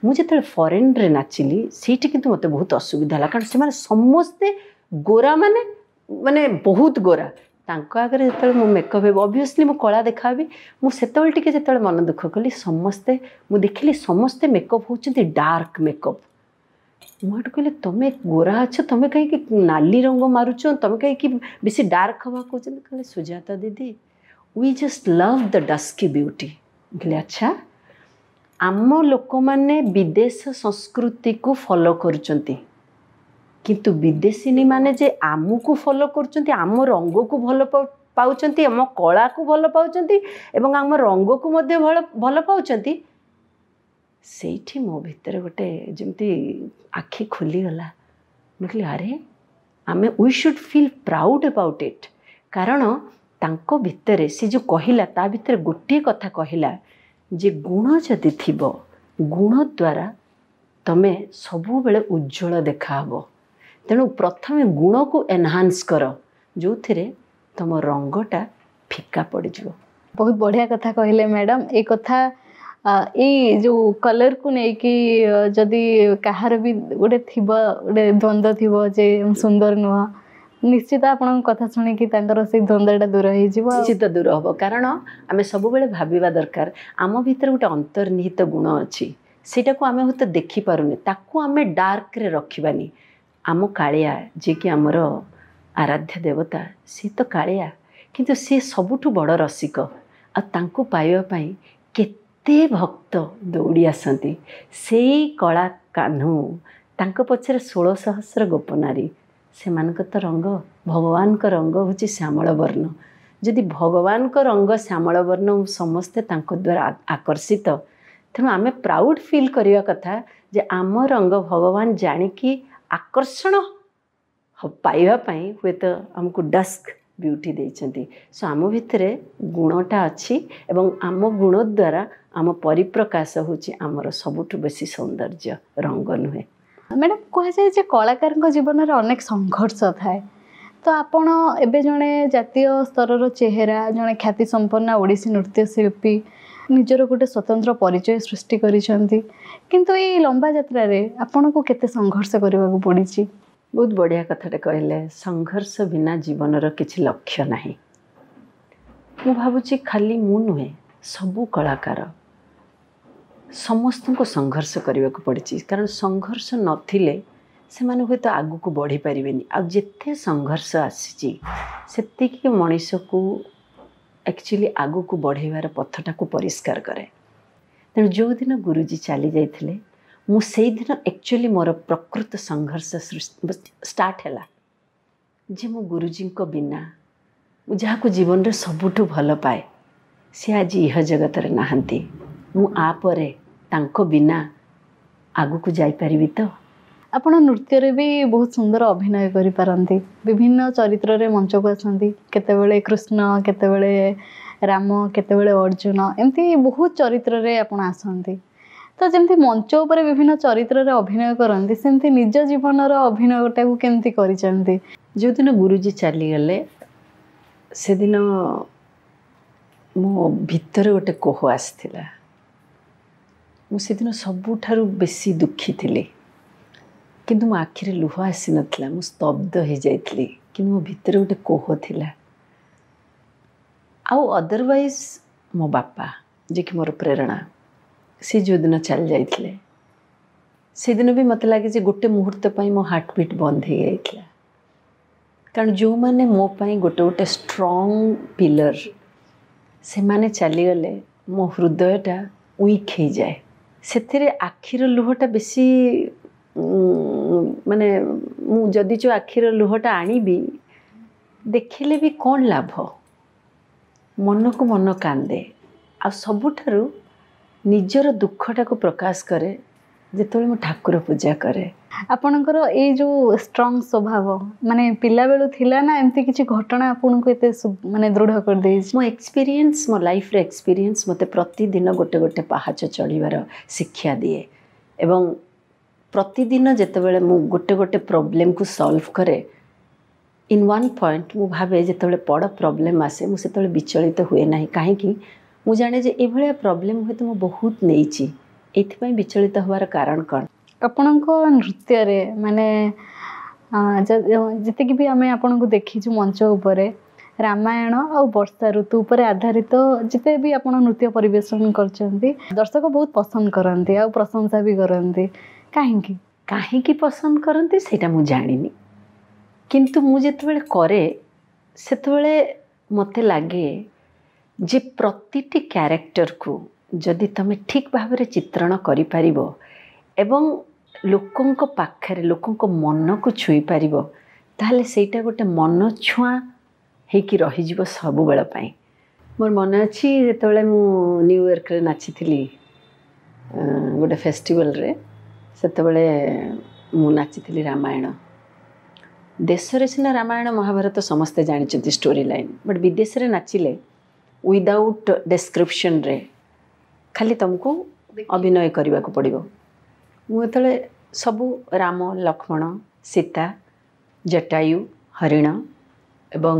ମୁଁ ଯେତେବେଳେ ଫରେନ୍ରେ ନାଚିଲି ସେଇଠି କିନ୍ତୁ ମୋତେ ବହୁତ ଅସୁବିଧା ହେଲା, କାରଣ ସେମାନେ ସମସ୍ତେ ଗୋରା, ମାନେ ମାନେ ବହୁତ ଗୋରା। ତାଙ୍କ ଆଗରେ ଯେତେବେଳେ ମୁଁ ମେକଅପ୍ ହେବି, ଅବଭିୟସଲି ମୁଁ କଳା ଦେଖାହେବି। ମୁଁ ସେତେବେଳେ ଟିକେ ଯେତେବେଳେ ମନ ଦୁଃଖ କଲି, ସମସ୍ତେ ମୁଁ ଦେଖିଲି ସମସ୍ତେ ମେକଅପ୍ ହେଉଛନ୍ତି ଡାର୍କ ମେକଅପ୍। ମୁଁ ଏଠୁ କହିଲି ତମେ ଗୋରା ଅଛ, ତମେ କାହିଁକି ନାଲି ରଙ୍ଗ ମାରୁଛ, ତମେ କାହିଁକି ବେଶୀ ଡାର୍କ ହେବାକୁ କହୁଛନ୍ତି? କହିଲେ ସୁଜାତା ଦିଦି, we just love the dusky beauty. ମୁଁ କହିଲି ଆଚ୍ଛା, ଆମ ଲୋକମାନେ ବିଦେଶ ସଂସ୍କୃତିକୁ ଫଲୋ କରୁଛନ୍ତି, କିନ୍ତୁ ବିଦେଶିନୀ ମାନେ ଯେ ଆମକୁ ଫଲୋ କରୁଛନ୍ତି, ଆମ ରଙ୍ଗକୁ ଭଲ ପାଉଛନ୍ତି, ଆମ କଳାକୁ ଭଲ ପାଉଛନ୍ତି ଏବଂ ଆମ ରଙ୍ଗକୁ ମଧ୍ୟ ଭଲ ପାଉଛନ୍ତି। ସେଇଠି ମୋ ଭିତରେ ଗୋଟେ ଯେମିତି ଆଖି ଖୋଲିଗଲା। ମୁଁ କହିଲି ଆରେ ଆମେ we should feel proud about it. କାରଣ ତାଙ୍କ ଭିତରେ ସେ ଯେଉଁ କହିଲା, ତା ଭିତରେ ଗୋଟିଏ କଥା କହିଲା ଯେ ଗୁଣ ଯଦି ଥିବ, ଗୁଣ ଦ୍ୱାରା ତମେ ସବୁବେଳେ ଉଜ୍ଜଳ ଦେଖାହବ। ତେଣୁ ପ୍ରଥମେ ଗୁଣକୁ ଏନହାନ୍ସ କର, ଯେଉଁଥିରେ ତମ ରଙ୍ଗଟା ଫିକା ପଡ଼ିଯିବ। ବହୁତ ବଢ଼ିଆ କଥା କହିଲେ ମ୍ୟାଡ଼ାମ୍। ଏଇ କଥା, ଏଇ ଯେଉଁ କଲର୍କୁ ନେଇକି ଯଦି କାହାର ବି ଗୋଟେ ଥିବ, ଗୋଟେ ଦ୍ୱନ୍ଦ୍ୱ ଥିବ ଯେ ସୁନ୍ଦର ନୁହଁ, ନିଶ୍ଚିତ ଆପଣଙ୍କ କଥା ଶୁଣିକି ତାଙ୍କର ସେଇ ଦ୍ୱନ୍ଦ୍ୱଟା ଦୂର ହେଇଯିବ। ନିଶ୍ଚିତ ଦୂର ହେବ, କାରଣ ଆମେ ସବୁବେଳେ ଭାବିବା ଦରକାର ଆମ ଭିତରେ ଗୋଟେ ଅନ୍ତର୍ନିହିତ ଗୁଣ ଅଛି, ସେଇଟାକୁ ଆମେ ହୁଏତ ଦେଖିପାରୁନେ, ତାକୁ ଆମେ ଡାର୍କରେ ରଖିବାନି। ଆମ କାଳିଆ ଯିଏକି ଆମର ଆରାଧ୍ୟ ଦେବତା, ସିଏ ତ କାଳିଆ, କିନ୍ତୁ ସିଏ ସବୁଠୁ ବଡ଼ ରସିକ। ଆଉ ତାଙ୍କୁ ପାଇବା ପାଇଁ କେତେ ଭକ୍ତ ଦୌଡ଼ି ଆସନ୍ତି। ସେଇ କଳା କାହ୍ନୁ, ତାଙ୍କ ପଛରେ 16 ସହସ୍ର ଗୋପନାରୀ, ସେମାନଙ୍କ ତ ରଙ୍ଗ, ଭଗବାନଙ୍କ ରଙ୍ଗ ହେଉଛି ଶ୍ୟାମଳ ବର୍ଣ୍ଣ। ଯଦି ଭଗବାନଙ୍କ ରଙ୍ଗ ଶ୍ୟାମଳ ବର୍ଣ୍ଣ, ସମସ୍ତେ ତାଙ୍କ ଦ୍ୱାରା ଆକର୍ଷିତ। ତେଣୁ ଆମେ ପ୍ରାଉଡ଼ ଫିଲ୍ କରିବା କଥା ଯେ ଆମ ରଙ୍ଗ ଭଗବାନ ଜାଣିକି ଆକର୍ଷଣ ପାଇବା ପାଇଁ ହୁଏତ ଆମକୁ ଡସ୍କ ବିୟୁଟି ଦେଇଛନ୍ତି। ସୋ ଆମ ଭିତରେ ଗୁଣଟା ଅଛି ଏବଂ ଆମ ଗୁଣ ଦ୍ୱାରା ଆମ ପରିପ୍ରକାଶ ହେଉଛି ଆମର ସବୁଠୁ ବେଶୀ ସୌନ୍ଦର୍ଯ୍ୟ, ରଙ୍ଗ ନୁହେଁ। ମ୍ୟାଡ଼ାମ୍, କୁହାଯାଏ ଯେ କଳାକାରଙ୍କ ଜୀବନରେ ଅନେକ ସଂଘର୍ଷ ଥାଏ। ତ ଆପଣ ଏବେ ଜଣେ ଜାତୀୟ ସ୍ତରର ଚେହେରା, ଜଣେ ଖ୍ୟାତିସମ୍ପନ୍ନ ଓଡ଼ିଶୀ ନୃତ୍ୟଶିଳ୍ପୀ, ନିଜର ଗୋଟେ ସ୍ୱତନ୍ତ୍ର ପରିଚୟ ସୃଷ୍ଟି କରିଛନ୍ତି, କିନ୍ତୁ ଏଇ ଲମ୍ବା ଯାତ୍ରାରେ ଆପଣଙ୍କୁ କେତେ ସଂଘର୍ଷ କରିବାକୁ ପଡ଼ିଛି? ବହୁତ ବଢ଼ିଆ କଥାଟେ କହିଲେ। ସଂଘର୍ଷ ବିନା ଜୀବନର କିଛି ଲକ୍ଷ୍ୟ ନାହିଁ। ମୁଁ ଭାବୁଛି ଖାଲି ମୁଁ ନୁହେଁ, ସବୁ କଳାକାର ସମସ୍ତଙ୍କୁ ସଂଘର୍ଷ କରିବାକୁ ପଡ଼ିଛି, କାରଣ ସଂଘର୍ଷ ନଥିଲେ ସେମାନେ ହୁଏତ ଆଗକୁ ବଢ଼ିପାରିବେନି। ଆଉ ଯେତେ ସଂଘର୍ଷ ଆସିଛି ସେତିକି ମଣିଷକୁ ଆକ୍ଚୁଆଲି ଆଗକୁ ବଢ଼େଇବାର ପଥଟାକୁ ପରିଷ୍କାର କରେ। ତେଣୁ ଯେଉଁଦିନ ଗୁରୁଜୀ ଚାଲି ଯାଇଥିଲେ, ମୁଁ ସେଇଦିନ ଆକ୍ଚୁଆଲି ମୋର ପ୍ରକୃତ ସଂଘର୍ଷ ଷ୍ଟାର୍ଟ ହେଲା, ଯେ ମୁଁ ଗୁରୁଜୀଙ୍କ ବିନା, ମୁଁ ଯାହାକୁ ଜୀବନରେ ସବୁଠୁ ଭଲ ପାଏ, ସେ ଆଜି ଇହ ଜଗତରେ ନାହାନ୍ତି। ମୁଁ ଆ ପରେ ତାଙ୍କ ବିନା ଆଗକୁ ଯାଇପାରିବି ତ? ଆପଣ ନୃତ୍ୟରେ ବି ବହୁତ ସୁନ୍ଦର ଅଭିନୟ କରିପାରନ୍ତି, ବିଭିନ୍ନ ଚରିତ୍ରରେ ମଞ୍ଚକୁ ଆସନ୍ତି, କେତେବେଳେ କୃଷ୍ଣ, କେତେବେଳେ ରାମ, କେତେବେଳେ ଅର୍ଜୁନ, ଏମିତି ବହୁତ ଚରିତ୍ରରେ ଆପଣ ଆସନ୍ତି। ତ ଯେମିତି ମଞ୍ଚ ଉପରେ ବିଭିନ୍ନ ଚରିତ୍ରରେ ଅଭିନୟ କରନ୍ତି, ସେମିତି ନିଜ ଜୀବନର ଅଭିନୟଟାକୁ କେମିତି କରିଛନ୍ତି? ଯେଉଁଦିନ ଗୁରୁଜୀ ଚାଲିଗଲେ ସେଦିନ ମୋ ଭିତରେ ଗୋଟେ କୋହ ଆସିଥିଲା। ମୁଁ ସେଦିନ ସବୁଠାରୁ ବେଶୀ ଦୁଃଖୀ ଥିଲି। କିନ୍ତୁ ମୋ ଆଖିରେ ଲୁହ ଆସିନଥିଲା, ମୁଁ ସ୍ତବ୍ଧ ହେଇଯାଇଥିଲି, କିନ୍ତୁ ମୋ ଭିତରେ ଗୋଟେ କୋହ ଥିଲା। ଆଉ ଅଦରୱାଇଜ୍ ମୋ ବାପା, ଯିଏକି ମୋର ପ୍ରେରଣା, ସେ ଯେଉଁଦିନ ଚାଲି ଯାଇଥିଲେ ସେଦିନ ବି ମୋତେ ଲାଗେ ଯେ ଗୋଟେ ମୁହୂର୍ତ୍ତ ପାଇଁ ମୋ ହାର୍ଟବିଟ୍ ବନ୍ଦ ହେଇଯାଇଥିଲା। କାରଣ ଯେଉଁମାନେ ମୋ ପାଇଁ ଗୋଟେ ଗୋଟେ ଷ୍ଟ୍ରଙ୍ଗ ପିଲର, ସେମାନେ ଚାଲିଗଲେ ମୋ ହୃଦୟଟା ୱିକ୍ ହେଇଯାଏ। ସେଥିରେ ଆଖିର ଲୁହଟା ବେଶୀ, ମାନେ ମୁଁ ଯଦି ଯେଉଁ ଆଖିର ଲୁହଟା ଆଣିବି ଦେଖିଲେ ବି କ'ଣ ଲାଭ, ମନକୁ ମନ କାନ୍ଦେ। ଆଉ ସବୁଠାରୁ ନିଜର ଦୁଃଖଟାକୁ ପ୍ରକାଶ କରେ ଯେତେବେଳେ ମୁଁ ଠାକୁର ପୂଜା କରେ। ଆପଣଙ୍କର ଏଇ ଯେଉଁ ଷ୍ଟ୍ରଙ୍ଗ ସ୍ୱଭାବ ମାନେ ପିଲାବେଳୁ ଥିଲା ନା ଏମିତି କିଛି ଘଟଣା ଆପଣଙ୍କୁ ଏତେ ମାନେ ଦୃଢ଼ କରିଦେଇଛି? ମୋ ଏକ୍ସପିରିଏନ୍ସ, ମୋ ଲାଇଫ୍ର ଏକ୍ସପିରିଏନ୍ସ ମୋତେ ପ୍ରତିଦିନ ଗୋଟେ ଗୋଟେ ପାହାଚ ଚଢ଼ିବାର ଶିକ୍ଷା ଦିଏ। ଏବଂ ପ୍ରତିଦିନ ଯେତେବେଳେ ମୁଁ ଗୋଟେ ଗୋଟେ ପ୍ରୋବ୍ଲେମକୁ ସଲ୍ଭ କରେ ଇନ୍ ୱାନ୍ ପଏଣ୍ଟ, ମୁଁ ଭାବେ ଯେତେବେଳେ ବଡ଼ ପ୍ରୋବ୍ଲେମ୍ ଆସେ ମୁଁ ସେତେବେଳେ ବିଚଳିତ ହୁଏ ନାହିଁ। କାହିଁକି? ମୁଁ ଜାଣେ ଯେ ଏଭଳିଆ ପ୍ରୋବ୍ଲେମ୍ ହୁଏତ ମୁଁ ବହୁତ ନେଇଛି, ଏଇଥିପାଇଁ ବିଚଳିତ ହେବାର କାରଣ କ'ଣ? ଆପଣଙ୍କ ନୃତ୍ୟରେ ମାନେ ଯେତିକି ବି ଆମେ ଆପଣଙ୍କୁ ଦେଖିଛୁ ମଞ୍ଚ ଉପରେ, ରାମାୟଣ ଆଉ ବର୍ଷା ଋତୁ ଉପରେ ଆଧାରିତ ଯେତେ ବି ଆପଣ ନୃତ୍ୟ ପରିବେଷଣ କରିଛନ୍ତି, ଦର୍ଶକ ବହୁତ ପସନ୍ଦ କରନ୍ତି ଆଉ ପ୍ରଶଂସା ବି କରନ୍ତି। କାହିଁକି? କାହିଁକି ପସନ୍ଦ କରନ୍ତି ସେଇଟା ମୁଁ ଜାଣିନି, କିନ୍ତୁ ମୁଁ ଯେତେବେଳେ କରେ ସେତେବେଳେ ମୋତେ ଲାଗେ ଯେ ପ୍ରତିଟି କ୍ୟାରେକ୍ଟରକୁ ଯଦି ତୁମେ ଠିକ୍ ଭାବରେ ଚିତ୍ରଣ କରିପାରିବ ଏବଂ ଲୋକଙ୍କ ପାଖରେ ଲୋକଙ୍କ ମନକୁ ଛୁଇଁ ପାରିବ, ତାହେଲେ ସେଇଟା ଗୋଟେ ମନ ଛୁଆଁ ହେଇକି ରହିଯିବ ସବୁବେଳ ପାଇଁ। ମୋର ମନେ ଅଛି ଯେତେବେଳେ ମୁଁ ନ୍ୟୁୟର୍କରେ ନାଚିଥିଲି ଗୋଟେ ଫେଷ୍ଟିଭାଲରେ, ସେତେବେଳେ ମୁଁ ନାଚିଥିଲି ରାମାୟଣ। ଦେଶରେ ସିନା ରାମାୟଣ ମହାଭାରତ ସମସ୍ତେ ଜାଣିଛନ୍ତି ଷ୍ଟୋରି ଲାଇନ୍, ବଟ୍ ବିଦେଶରେ ନାଚିଲେ ୱିଦାଉଟ୍ ଡେସ୍କ୍ରିପସନ୍ରେ ଖାଲି ତୁମକୁ ଅଭିନୟ କରିବାକୁ ପଡ଼ିବ। ମୁଁ ଯେତେବେଳେ ସବୁ ରାମ, ଲକ୍ଷ୍ମଣ, ସୀତା, ଜଟାୟୁ, ହରିଣ ଏବଂ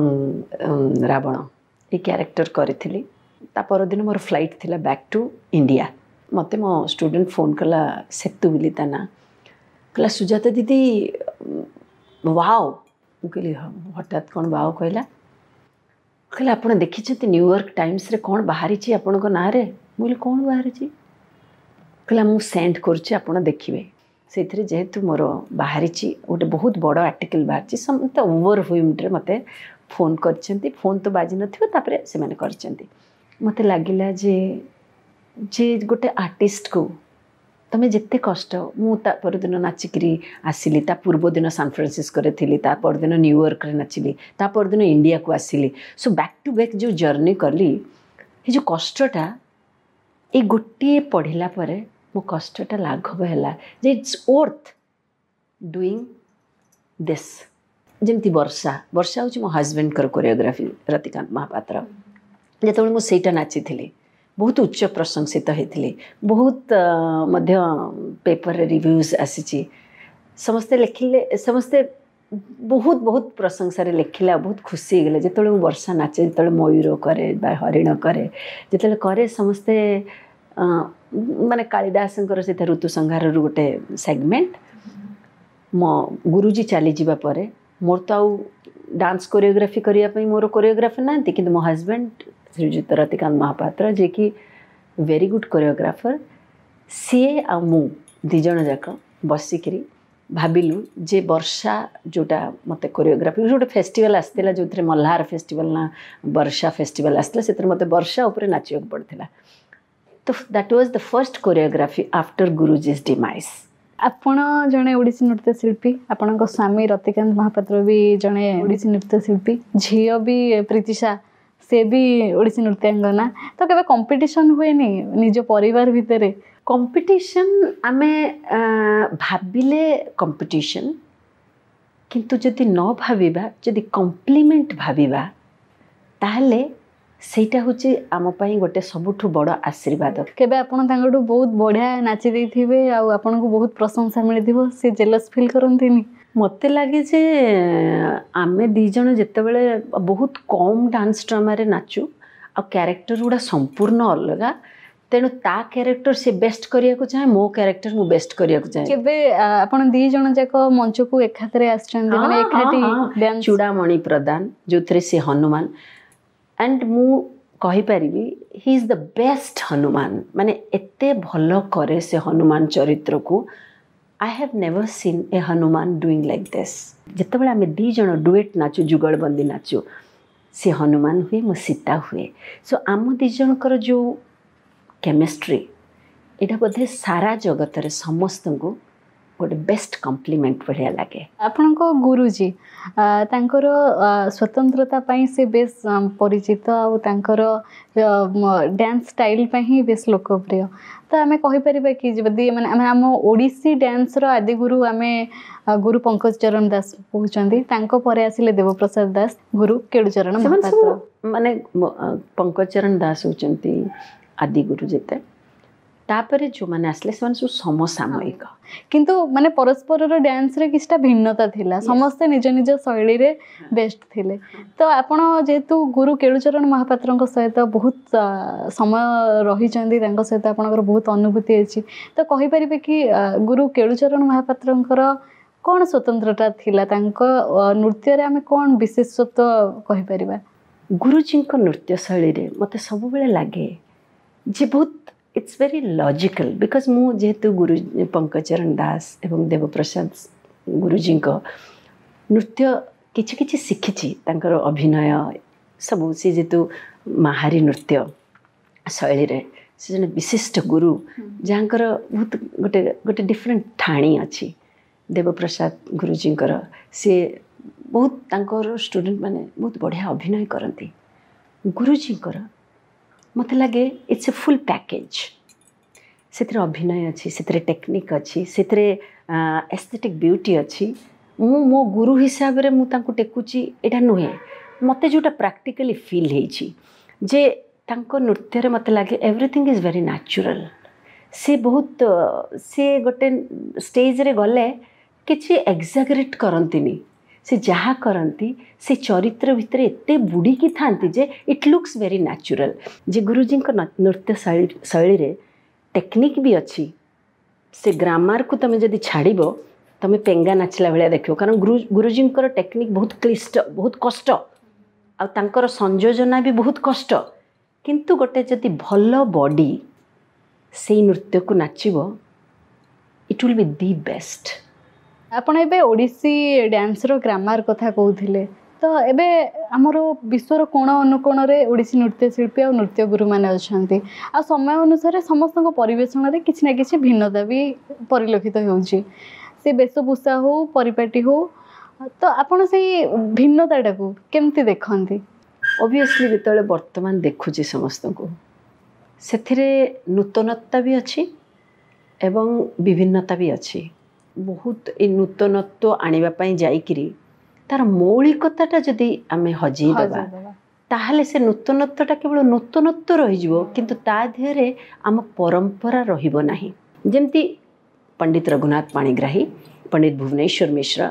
ରାବଣ ଏ କ୍ୟାରେକ୍ଟର କରିଥିଲି। ତା ପରଦିନ ମୋର ଫ୍ଲାଇଟ୍ ଥିଲା ବ୍ୟାକ୍ ଟୁ ଇଣ୍ଡିଆ। ମୋତେ ମୋ ଷ୍ଟୁଡେଣ୍ଟ ଫୋନ୍ କଲା, ସେତୁ ବୋଲି ତା ନାଁ, କହିଲା ସୁଜାତା ଦିଦି ୱାଓ। ମୁଁ କହିଲି ହଠାତ୍ କ'ଣ ୱାଓ କହିଲା? କହିଲା ଆପଣ ଦେଖିଛନ୍ତି ନ୍ୟୁୟର୍କ ଟାଇମ୍ସରେ କ'ଣ ବାହାରିଛି ଆପଣଙ୍କ ନାଁରେ? ମୁଁ କହିଲି କ'ଣ ବାହାରିଛି? କହିଲା ମୁଁ ସେଣ୍ଡ କରୁଛି ଆପଣ ଦେଖିବେ। ସେଇଥିରେ ଯେହେତୁ ମୋର ବାହାରିଛି ଗୋଟେ ବହୁତ ବଡ଼ ଆର୍ଟିକଲ୍ ବାହାରିଛି, ସମସ୍ତେ ଓଭରହ୍ୱିମ୍ଡରେ ମୋତେ ଫୋନ୍ କରିଛନ୍ତି। ଫୋନ୍ ତ ବାଜିନଥିବ, ତାପରେ ସେମାନେ କରିଛନ୍ତି। ମୋତେ ଲାଗିଲା ଯେ ଯେ ଗୋଟେ ଆର୍ଟିଷ୍ଟକୁ ତୁମେ ଯେତେ କଷ୍ଟ, ମୁଁ ତା ପରଦିନ ନାଚିକିରି ଆସିଲି, ତା ପୂର୍ବଦିନ ସାନଫ୍ରାନ୍ସିସ୍କୋରେ ଥିଲି, ତା ପରଦିନ ନ୍ୟୁୟର୍କରେ ନାଚିଲି, ତା ପରଦିନ ଇଣ୍ଡିଆକୁ ଆସିଲି। ସୋ ବ୍ୟାକ୍ ଟୁ ବ୍ୟାକ୍ ଯେଉଁ ଜର୍ଣ୍ଣି କଲି, ଏ ଯେଉଁ କଷ୍ଟଟା ଏଇ ଗୋଟିଏ ପଢ଼ିଲା ପରେ ମୋ କଷ୍ଟଟା ଲାଘବ ହେଲା ଯେ it's worth doing this. ଯେମିତି ବର୍ଷା, ବର୍ଷା ହେଉଛି ମୋ ହଜବେଣ୍ଡଙ୍କର କୋରିଓଗ୍ରାଫି, ରତିକାନ୍ତ ମହାପାତ୍ର। ଯେତେବେଳେ ମୁଁ ସେଇଟା ନାଚିଥିଲି ବହୁତ ଉଚ୍ଚ ପ୍ରଶଂସିତ ହେଇଥିଲି, ବହୁତ ମଧ୍ୟ ପେପରରେ ରିଭ୍ୟୁଜ୍ ଆସିଛି, ସମସ୍ତେ ଲେଖିଲେ, ସମସ୍ତେ ବହୁତ ବହୁତ ପ୍ରଶଂସାରେ ଲେଖିଲେ ଆଉ ବହୁତ ଖୁସି ହେଇଗଲେ। ଯେତେବେଳେ ମୁଁ ବର୍ଷା ନାଚେ, ଯେତେବେଳେ ମୟୂର କରେ ବା ହରିଣ କରେ, ଯେତେବେଳେ କରେ ସମସ୍ତେ ମାନେ କାଳିଦାସଙ୍କର ସେଇଟା ଋତୁ ସଂହାରରୁ ଗୋଟେ ସେଗମେଣ୍ଟ। ମୋ ଗୁରୁଜୀ ଚାଲିଯିବା ପରେ ମୋର ତ ଆଉ ଡାନ୍ସ କୋରିଓଗ୍ରାଫି କରିବା ପାଇଁ ମୋର କୋରିଓଗ୍ରାଫର ନାହାନ୍ତି, କିନ୍ତୁ ମୋ ହଜବେଣ୍ଡ ଶ୍ରୀଯୁକ୍ତ ରତିକାନ୍ତ ମହାପାତ୍ର, ଯିଏକି ଭେରି ଗୁଡ୍ କୋରିଓଗ୍ରାଫର, ସିଏ ଆଉ ମୁଁ ଦୁଇ ଜଣ ଯାକ ବସିକିରି ଭାବିଲୁ ଯେ ବର୍ଷା ଯେଉଁଟା ମୋତେ କୋରିଓଗ୍ରାଫି, ଗୋଟେ ଫେଷ୍ଟିଭାଲ୍ ଆସିଥିଲା ଯେଉଁଥିରେ ମଲ୍ହାର ଫେଷ୍ଟିଭାଲ୍ ନା ବର୍ଷା ଫେଷ୍ଟିଭାଲ୍ ଆସିଥିଲା, ସେଥିରେ ମୋତେ ବର୍ଷା ଉପରେ ନାଚିବାକୁ ପଡ଼ିଥିଲା। ତ that was the first choreography after Guruji's demise. ଆପଣ ଜଣେ ଓଡ଼ିଶୀ ନୃତ୍ୟଶିଳ୍ପୀ, ଆପଣଙ୍କ ସ୍ୱାମୀ ରତିକାନ୍ତ ମହାପାତ୍ର ବି ଜଣେ ଓଡ଼ିଶୀ ନୃତ୍ୟଶିଳ୍ପୀ, ଝିଅ ବି ପ୍ରୀତିଶା ସେ ବି ଓଡ଼ିଶୀ ନୃତ୍ୟାଙ୍ଗନା। ତ କେବେ କମ୍ପିଟିସନ୍ ହୁଏନି ନିଜ ପରିବାର ଭିତରେ? କମ୍ପିଟିସନ୍ ଆମେ ଭାବିଲେ କମ୍ପିଟିସନ୍, କିନ୍ତୁ ଯଦି ନ ଭାବିବା, ଯଦି କମ୍ପ୍ଲିମେଣ୍ଟ ଭାବିବା, ତାହେଲେ ସେଇଟା ହେଉଛି ଆମ ପାଇଁ ଗୋଟେ ସବୁଠୁ ବଡ଼ ଆଶୀର୍ବାଦ। କେବେ ଆପଣ ତାଙ୍କଠୁ ବହୁତ ବଢ଼ିଆ ନାଚି ଦେଇଥିବେ ଆଉ ଆପଣଙ୍କୁ ବହୁତ ପ୍ରଶଂସା ମିଳିଥିବ, ସେ ଜେଲସ୍ ଫିଲ୍ କରନ୍ତିନି? ମୋତେ ଲାଗେ ଯେ ଆମେ ଦୁଇ ଜଣ ଯେତେବେଳେ ବହୁତ କମ୍ ଡାନ୍ସ ଡ୍ରାମାରେ ନାଚୁ ଆଉ କ୍ୟାରେକ୍ଟର ଗୁଡ଼ା ସମ୍ପୂର୍ଣ୍ଣ ଅଲଗା, ତେଣୁ ତା କ୍ୟାରେକ୍ଟର ସେ ବେଷ୍ଟ କରିବାକୁ ଚାହେଁ, ମୋ କ୍ୟାରେକ୍ଟର ମୁଁ ବେଷ୍ଟ କରିବାକୁ ଚାହେଁ। କେବେ ଆପଣ ଦି ଜଣ ଯାକ ମଞ୍ଚକୁ ଏକାଥରେ ଆସିଛନ୍ତି, ମାନେ ଏକାଠି ଡ୍ୟାନ୍ସ? ଚୂଡ଼ାମଣି ପ୍ରଦାନ, ଯେଉଁଥିରେ ସେ ହନୁମାନ, ଆଣ୍ଡ ମୁଁ କହିପାରିବି he is the best Hanuman. ମାନେ ଏତେ ଭଲ କରେ ସେ ହନୁମାନ ଚରିତ୍ରକୁ। I have never seen a Hanuman doing like this. ଯେତେବେଳେ ଆମେ ଦୁଇ ଜଣ ଡୁଏଟ୍ ନାଚୁ, ଯୁଗଳବନ୍ଦୀ ନାଚୁ, ସେ ହନୁମାନ ହୁଏ, ମୁଁ ସୀତା ହୁଏ। ସୋ ଆମ ଦୁଇ ଜଣଙ୍କର ଯେଉଁ କେମିଷ୍ଟ୍ରି, ଏଇଟା ବୋଧେ ସାରା ଜଗତରେ ସମସ୍ତଙ୍କୁ ଗୋଟେ ବେଷ୍ଟ କମ୍ପ୍ଲିମେଣ୍ଟ ଭଳିଆ ଲାଗେ। ଆପଣଙ୍କ ଗୁରୁଜୀ, ତାଙ୍କର ସ୍ୱତନ୍ତ୍ରତା ପାଇଁ ସେ ବେଶ ପରିଚିତ ଆଉ ତାଙ୍କର ଡ୍ୟାନ୍ସ ଷ୍ଟାଇଲ୍ ପାଇଁ ହିଁ ବେଶ ଲୋକପ୍ରିୟ। ତ ଆମେ କହିପାରିବା କି ଯଦି ମାନେ ଆମେ ଆମ ଓଡ଼ିଶୀ ଡ୍ୟାନ୍ସର ଆଦିଗୁରୁ ଆମେ ଗୁରୁ ପଙ୍କଜ ଚରଣ ଦାସ କହୁଛନ୍ତି, ତାଙ୍କ ପରେ ଆସିଲେ ଦେବପ୍ରସାଦ ଦାସ, ଗୁରୁ କେଳୁଚରଣ ସେମାନେ ସବୁ ମହାପାତ୍ର। ମାନେ ପଙ୍କଜ ଚରଣ ଦାସ ହେଉଛନ୍ତି ଆଦିଗୁରୁ ଯେତେ, ତାପରେ ଯେଉଁମାନେ ଆସିଲେ ସେମାନେ ସବୁ ସମସାମୟିକ। କିନ୍ତୁ ମାନେ ପରସ୍ପରର ଡ୍ୟାନ୍ସରେ କିଛିଟା ଭିନ୍ନତା ଥିଲା, ସମସ୍ତେ ନିଜ ନିଜ ଶୈଳୀରେ ବେଷ୍ଟ ଥିଲେ। ତ ଆପଣ ଯେହେତୁ ଗୁରୁ କେଳୁଚରଣ ମହାପାତ୍ରଙ୍କ ସହିତ ବହୁତ ସମୟ ରହିଛନ୍ତି, ତାଙ୍କ ସହିତ ଆପଣଙ୍କର ବହୁତ ଅନୁଭୂତି ଅଛି, ତ କହିପାରିବେ କି ଗୁରୁ କେଳୁଚରଣ ମହାପାତ୍ରଙ୍କର କ'ଣ ସ୍ୱତନ୍ତ୍ରତା ଥିଲା? ତାଙ୍କ ନୃତ୍ୟରେ ଆମେ କ'ଣ ବିଶେଷତ୍ୱ କହିପାରିବା? ଗୁରୁଜୀଙ୍କ ନୃତ୍ୟ ଶୈଳୀରେ ମୋତେ ସବୁବେଳେ ଲାଗେ ଯେ ବହୁତ it's very logical, because ମୁଁ ଯେହେତୁ ଗୁରୁ ପଙ୍କଜ ଚରଣ ଦାସ ଏବଂ ଦେବପ୍ରସାଦ ଗୁରୁଜୀଙ୍କ ନୃତ୍ୟ କିଛି କିଛି ଶିଖିଛି, ତାଙ୍କର ଅଭିନୟ ସବୁ, ସେ ଯେହେତୁ ମାହାରୀ ନୃତ୍ୟ ଶୈଳୀରେ ସେ ଜଣେ ବିଶିଷ୍ଟ ଗୁରୁ, ଯାହାଙ୍କର ବହୁତ ଗୋଟେ ଡିଫରେଣ୍ଟ ଠାଣି ଅଛି। ଦେବପ୍ରସାଦ ଗୁରୁଜୀଙ୍କର ସେ ବହୁତ, ତାଙ୍କର ଷ୍ଟୁଡେଣ୍ଟ ମାନେ ବହୁତ ବଢ଼ିଆ ଅଭିନୟ କରନ୍ତି। ଗୁରୁଜୀଙ୍କର ମୋତେ ଲାଗେ it's a full package. ସେଥିରେ ଅଭିନୟ ଅଛି, ସେଥିରେ ଟେକ୍ନିକ୍ ଅଛି, ସେଥିରେ ଏସ୍ଥେଟିକ୍ ବିୟୁଟି ଅଛି। ମୁଁ ମୋ ଗୁରୁ ହିସାବରେ ମୁଁ ତାଙ୍କୁ ଟେକୁଛି ଏଇଟା ନୁହେଁ, ମୋତେ ଯେଉଁଟା ପ୍ରାକ୍ଟିକାଲି ଫିଲ୍ ହେଇଛି ଯେ ତାଙ୍କ ନୃତ୍ୟରେ ମୋତେ ଲାଗେ ଏଭ୍ରିଥିଙ୍ଗ is very natural. ସେ ବହୁତ, ସେ ଗୋଟେ ଷ୍ଟେଜ୍ରେ ଗଲେ କିଛି ଏକ୍ସାଗରେଟ୍ କରନ୍ତିନି, ସେ ଯାହା କରନ୍ତି ସେ ଚରିତ୍ର ଭିତରେ ଏତେ ବୁଡ଼ିକି ଥାନ୍ତି ଯେ ଇଟ୍ ଲୁକ୍ସ ଭେରି ନ୍ୟାଚୁରାଲ୍। ଯେ ଗୁରୁଜୀଙ୍କ ନୃତ୍ୟ ଶୈଳୀରେ ଟେକ୍ନିକ୍ ବି ଅଛି, ସେ ଗ୍ରାମାରକୁ ତୁମେ ଯଦି ଛାଡ଼ିବ ତୁମେ ପେଙ୍ଗା ନାଚିଲା ଭଳିଆ ଦେଖିବ, କାରଣ ଗୁରୁଜୀଙ୍କର ଟେକ୍ନିକ୍ ବହୁତ କ୍ଲିଷ୍ଟ, ବହୁତ କଷ୍ଟ, ଆଉ ତାଙ୍କର ସଂଯୋଜନା ବି ବହୁତ କଷ୍ଟ। କିନ୍ତୁ ଗୋଟେ ଯଦି ଭଲ ବଡି ସେଇ ନୃତ୍ୟକୁ ନାଚିବ, it will be the best. ଆପଣ ଏବେ ଓଡ଼ିଶୀ ଡ୍ୟାନ୍ସର ଗ୍ରାମାର କଥା କହୁଥିଲେ, ତ ଏବେ ଆମର ବିଶ୍ୱର କୋଣ ଅନୁକୋଣରେ ଓଡ଼ିଶୀ ନୃତ୍ୟଶିଳ୍ପୀ ଆଉ ନୃତ୍ୟ ଗୁରୁମାନେ ଅଛନ୍ତି, ଆଉ ସମୟ ଅନୁସାରେ ସମସ୍ତଙ୍କ ପରିବେଷଣରେ କିଛି ନା କିଛି ଭିନ୍ନତା ବି ପରିଲକ୍ଷିତ ହେଉଛି, ସେ ବେଶଭୂଷା ହଉ, ପରିପାଟି ହଉ, ତ ଆପଣ ସେଇ ଭିନ୍ନତାଟାକୁ କେମିତି ଦେଖନ୍ତି? ଅବଭିୟସଲି ଯେତେବେଳେ ବର୍ତ୍ତମାନ ଦେଖୁଛି ସମସ୍ତଙ୍କୁ, ସେଥିରେ ନୂତନତା ବି ଅଛି ଏବଂ ବିଭିନ୍ନତା ବି ଅଛି। ବହୁତ ଏଇ ନୂତନତ୍ୱ ଆଣିବା ପାଇଁ ଯାଇକିରି ତାର ମୌଳିକତାଟା ଯଦି ଆମେ ହଜେଇ ଦେବା, ତାହେଲେ ସେ ନୂତନତ୍ୱଟା କେବଳ ନୂତନତ୍ୱ ରହିଯିବ, କିନ୍ତୁ ତା ଦେହରେ ଆମ ପରମ୍ପରା ରହିବ ନାହିଁ। ଯେମିତି ପଣ୍ଡିତ ରଘୁନାଥ ପାଣିଗ୍ରାହୀ, ପଣ୍ଡିତ ଭୁବନେଶ୍ୱର ମିଶ୍ର